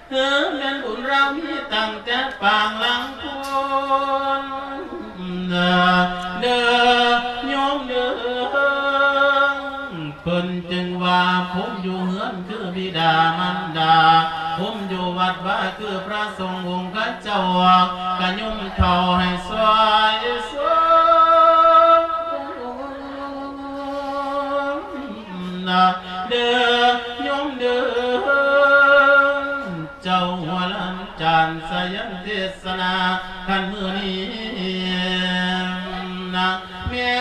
ເອີ ແມ່ນບຸນລາວມີຕັ້ງແຕ່ປາງຫຼັງພຸ້ນ ເດີໂຍມເດີ ເພິ່ນຈຶ່ງວ່າ ພູມຢູ່ເຮືອນຄືບິດາມານດາ ພູມຢູ່ວັດວາຄືພະສົງອົງຄະເຈົ້າ ກະໂຍມເຖົ້າໃຫ້ຊ່ວຍ ຊ່ວຍ ນະ ເດີໂຍມເດີ ເຈົ້າຫົວລ້ານຈານສາຍັນເທດສະໜາ ຄັນມື້ນີ້ນະ ແມ່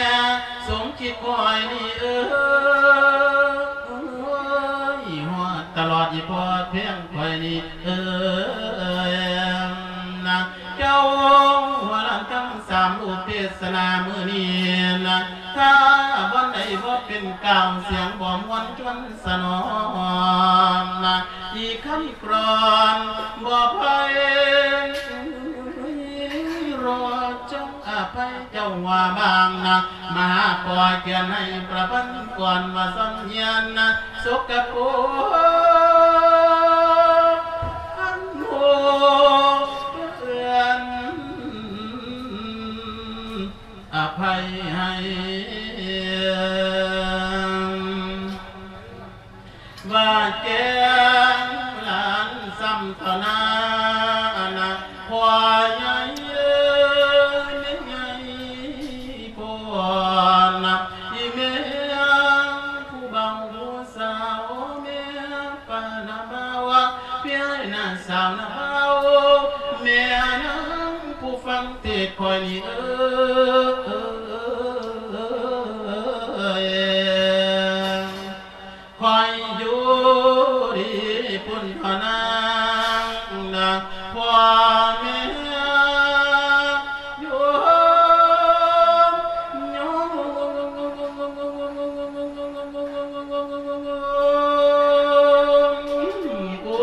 ສົມຄິດຂ້ອຍນີ້ເອີຍ ຮອດຕະຫຼອດອີ່ພໍ່ແພງຂ້ອຍນີ້ເອີຍ ນະ ເຈົ້າຫົວລ້ານທັງສາມຮູບເທດສະໜາມື້ນີ້ນະ ຖ້າບ່ອນໃດບໍ່ເປັນກ່າວ ສຽງບໍ່ມ່ວນຊວນສະໜອມນະ ອີກຄຳກລອນບໍ່ໄພເລາະ ຈົ່ງອະໄພເຈົ້າວ່າບາງນະ ມະຫາປົວກຽນໃຫ້ປະພັນກ່ອນວ່າສັນຍານນະ ສົກກະປົກ ອັນໂຫດເອື້ອນ ອະໄພໃຫ້ ວ່າແກງຫຼານຊ້ຳຕໍ່ໜ້ານະ ພໍ່ໃຫຍ່ເອີຍ ແມ່ໃຫຍ່ ພໍ່ນະ ອີແມ່ຜູ້ບ່າວຜູ້ສາວ ແມ່ປ້ານະບ່າວ ພີ່ອ້າຍນະສາວນະບ່າວ ແມ່ນາງຜູ້ຟັງເທດຂ້ອຍນີ້ເອີຍ ຂ້ອຍຢູ່ດີພຸ້ນທໍ່ນາງນະ ພໍ່ແມ່ໂຍມ ໂຍມ ໂອ້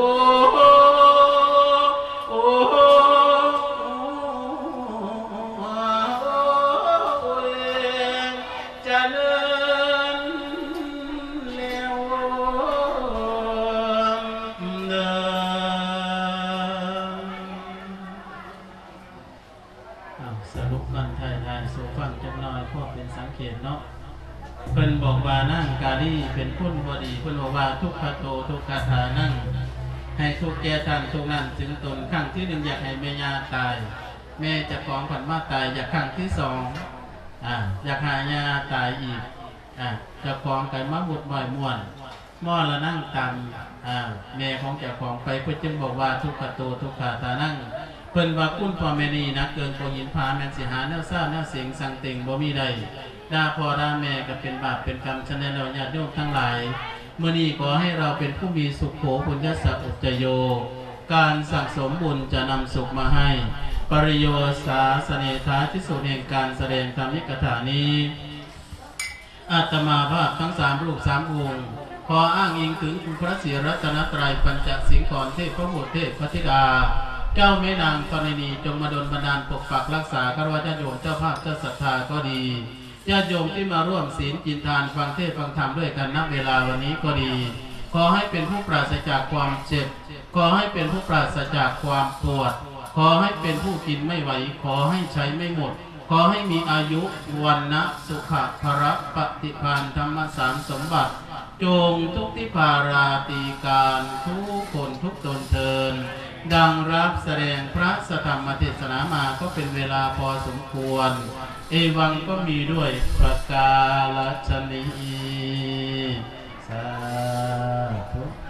ໂອ້ ຈະເລີນແລ້ວເດີ. ເອົາ ສະຫຼຸບບັນທາຍທ້າຍສູ່ຟັງຈັກໜ່ອຍ ພໍເປັນສັງເກດເນາະ. ເພິ່ນບອກວ່ານາງກາລີເປັນຄົນບໍ່ດີ ເພິ່ນບອກວ່າ ທຸກຂະໂຕ ທຸກຂະທານັງ ໃຫ້ທຸກແກ່ທ່ານທຸກນັ້ນເຖິງຕົນ. ຄັ້ງທີໜຶ່ງຢາກໃຫ້ແມ່ຍ່າຕາຍ ແມ່ເຈົ້າຂອງພັດມາຕາຍ ຢາກຄັ້ງທີສອງ ອາ ຢາກໃຫ້ຍ່າຕາຍອີກ ອາ ເຈົ້າຂອງກໍມາວຸດໝ້ອຍມ່ວນ ມໍລະນັງຕາມ ອາ ແມ່ຂອງເຈົ້າຂອງໄປ ເພິ່ນຈຶ່ງບອກວ່າ ທຸກຂະໂຕ ທຸກຂະທານັງ. ເພິ່ນວ່າຄຸນພໍ່ແມ່ນີ້ໜັກເກີນກວ່າຫີນຜາ ແມ່ນຊິຫາແນວຊາວແນວເສັງສັງເຕັງບໍ່ມີໄດ້ ດ່າພໍ່ດ່າແມ່ກໍເປັນບາບເປັນກຳ. ສະນັ້ນແລ້ວ ຍາດໂຍມທັງຫຼາຍ ມື້ນີ້ຂໍໃຫ້ເຮົາເປັນຜູ້ມີສຸໂຂ ປຸນຍະສະອຸດຈະໂຍ ການສັ່ງສົມບຸນຈະນຳສຸກມາໃຫ້. ປະລິໂຍຊາສະເນທາ ທີ່ສຸດແຫ່ງການສະແດງທຳມິກະຖານີ້ ອາດຕະມາພາບທັງສາມຮູບສາມອົງ ຂໍອ້າງອີງເຖິງຄຸນພະສີລັດຕະນະໄຕຣ ປັນຈະສິງຂອນ ເທບພະບຸດ ເທບພະທິດາ ເຈົ້າແມ່ນາງທໍລະນີ ຈົ່ງມາດົນບັນດານປົກປັກຮັກສາ ຄາລະວະຍາດໂຍມເຈົ້າພາບເຈົ້າສັດທາກໍດີ ຍາດໂຍມທີ່ມາຮ່ວມສິນກິນທານ ຟັງເທດຟັງທຳດ້ວຍກັນ ນະເວລາວັນນີ້ກໍດີ ຂໍໃຫ້ເປັນຜູ້ປາສະຈາກຄວາມເຈັບ ຂໍໃຫ້ເປັນຜູ້ປາສະຈາກຄວາມປວດ ຂໍໃຫ້ເປັນຜູ້ກິນໄມ່ໄຫວ ຂໍໃຫ້ໃຊ້ໄມ່ໝົດ ຂໍໃຫ້ມີອາຍຸ ວັນນະ ສຸຂະ ພະລະ ປະຕິພານ ທຳມະສານສົມບັດ ຈົ່ງທຸກທິພາລາຕີການທຸກຄົນທຸກຕົນເທີນ ດັ່ງຮັບສະແດງພະສະທຳມະເທດສະນາມາກໍເປັນເວລາພໍສົມຄວນ ເອວັງກໍມີດ້ວຍປະກາລະຊະນີ ສາທຸ.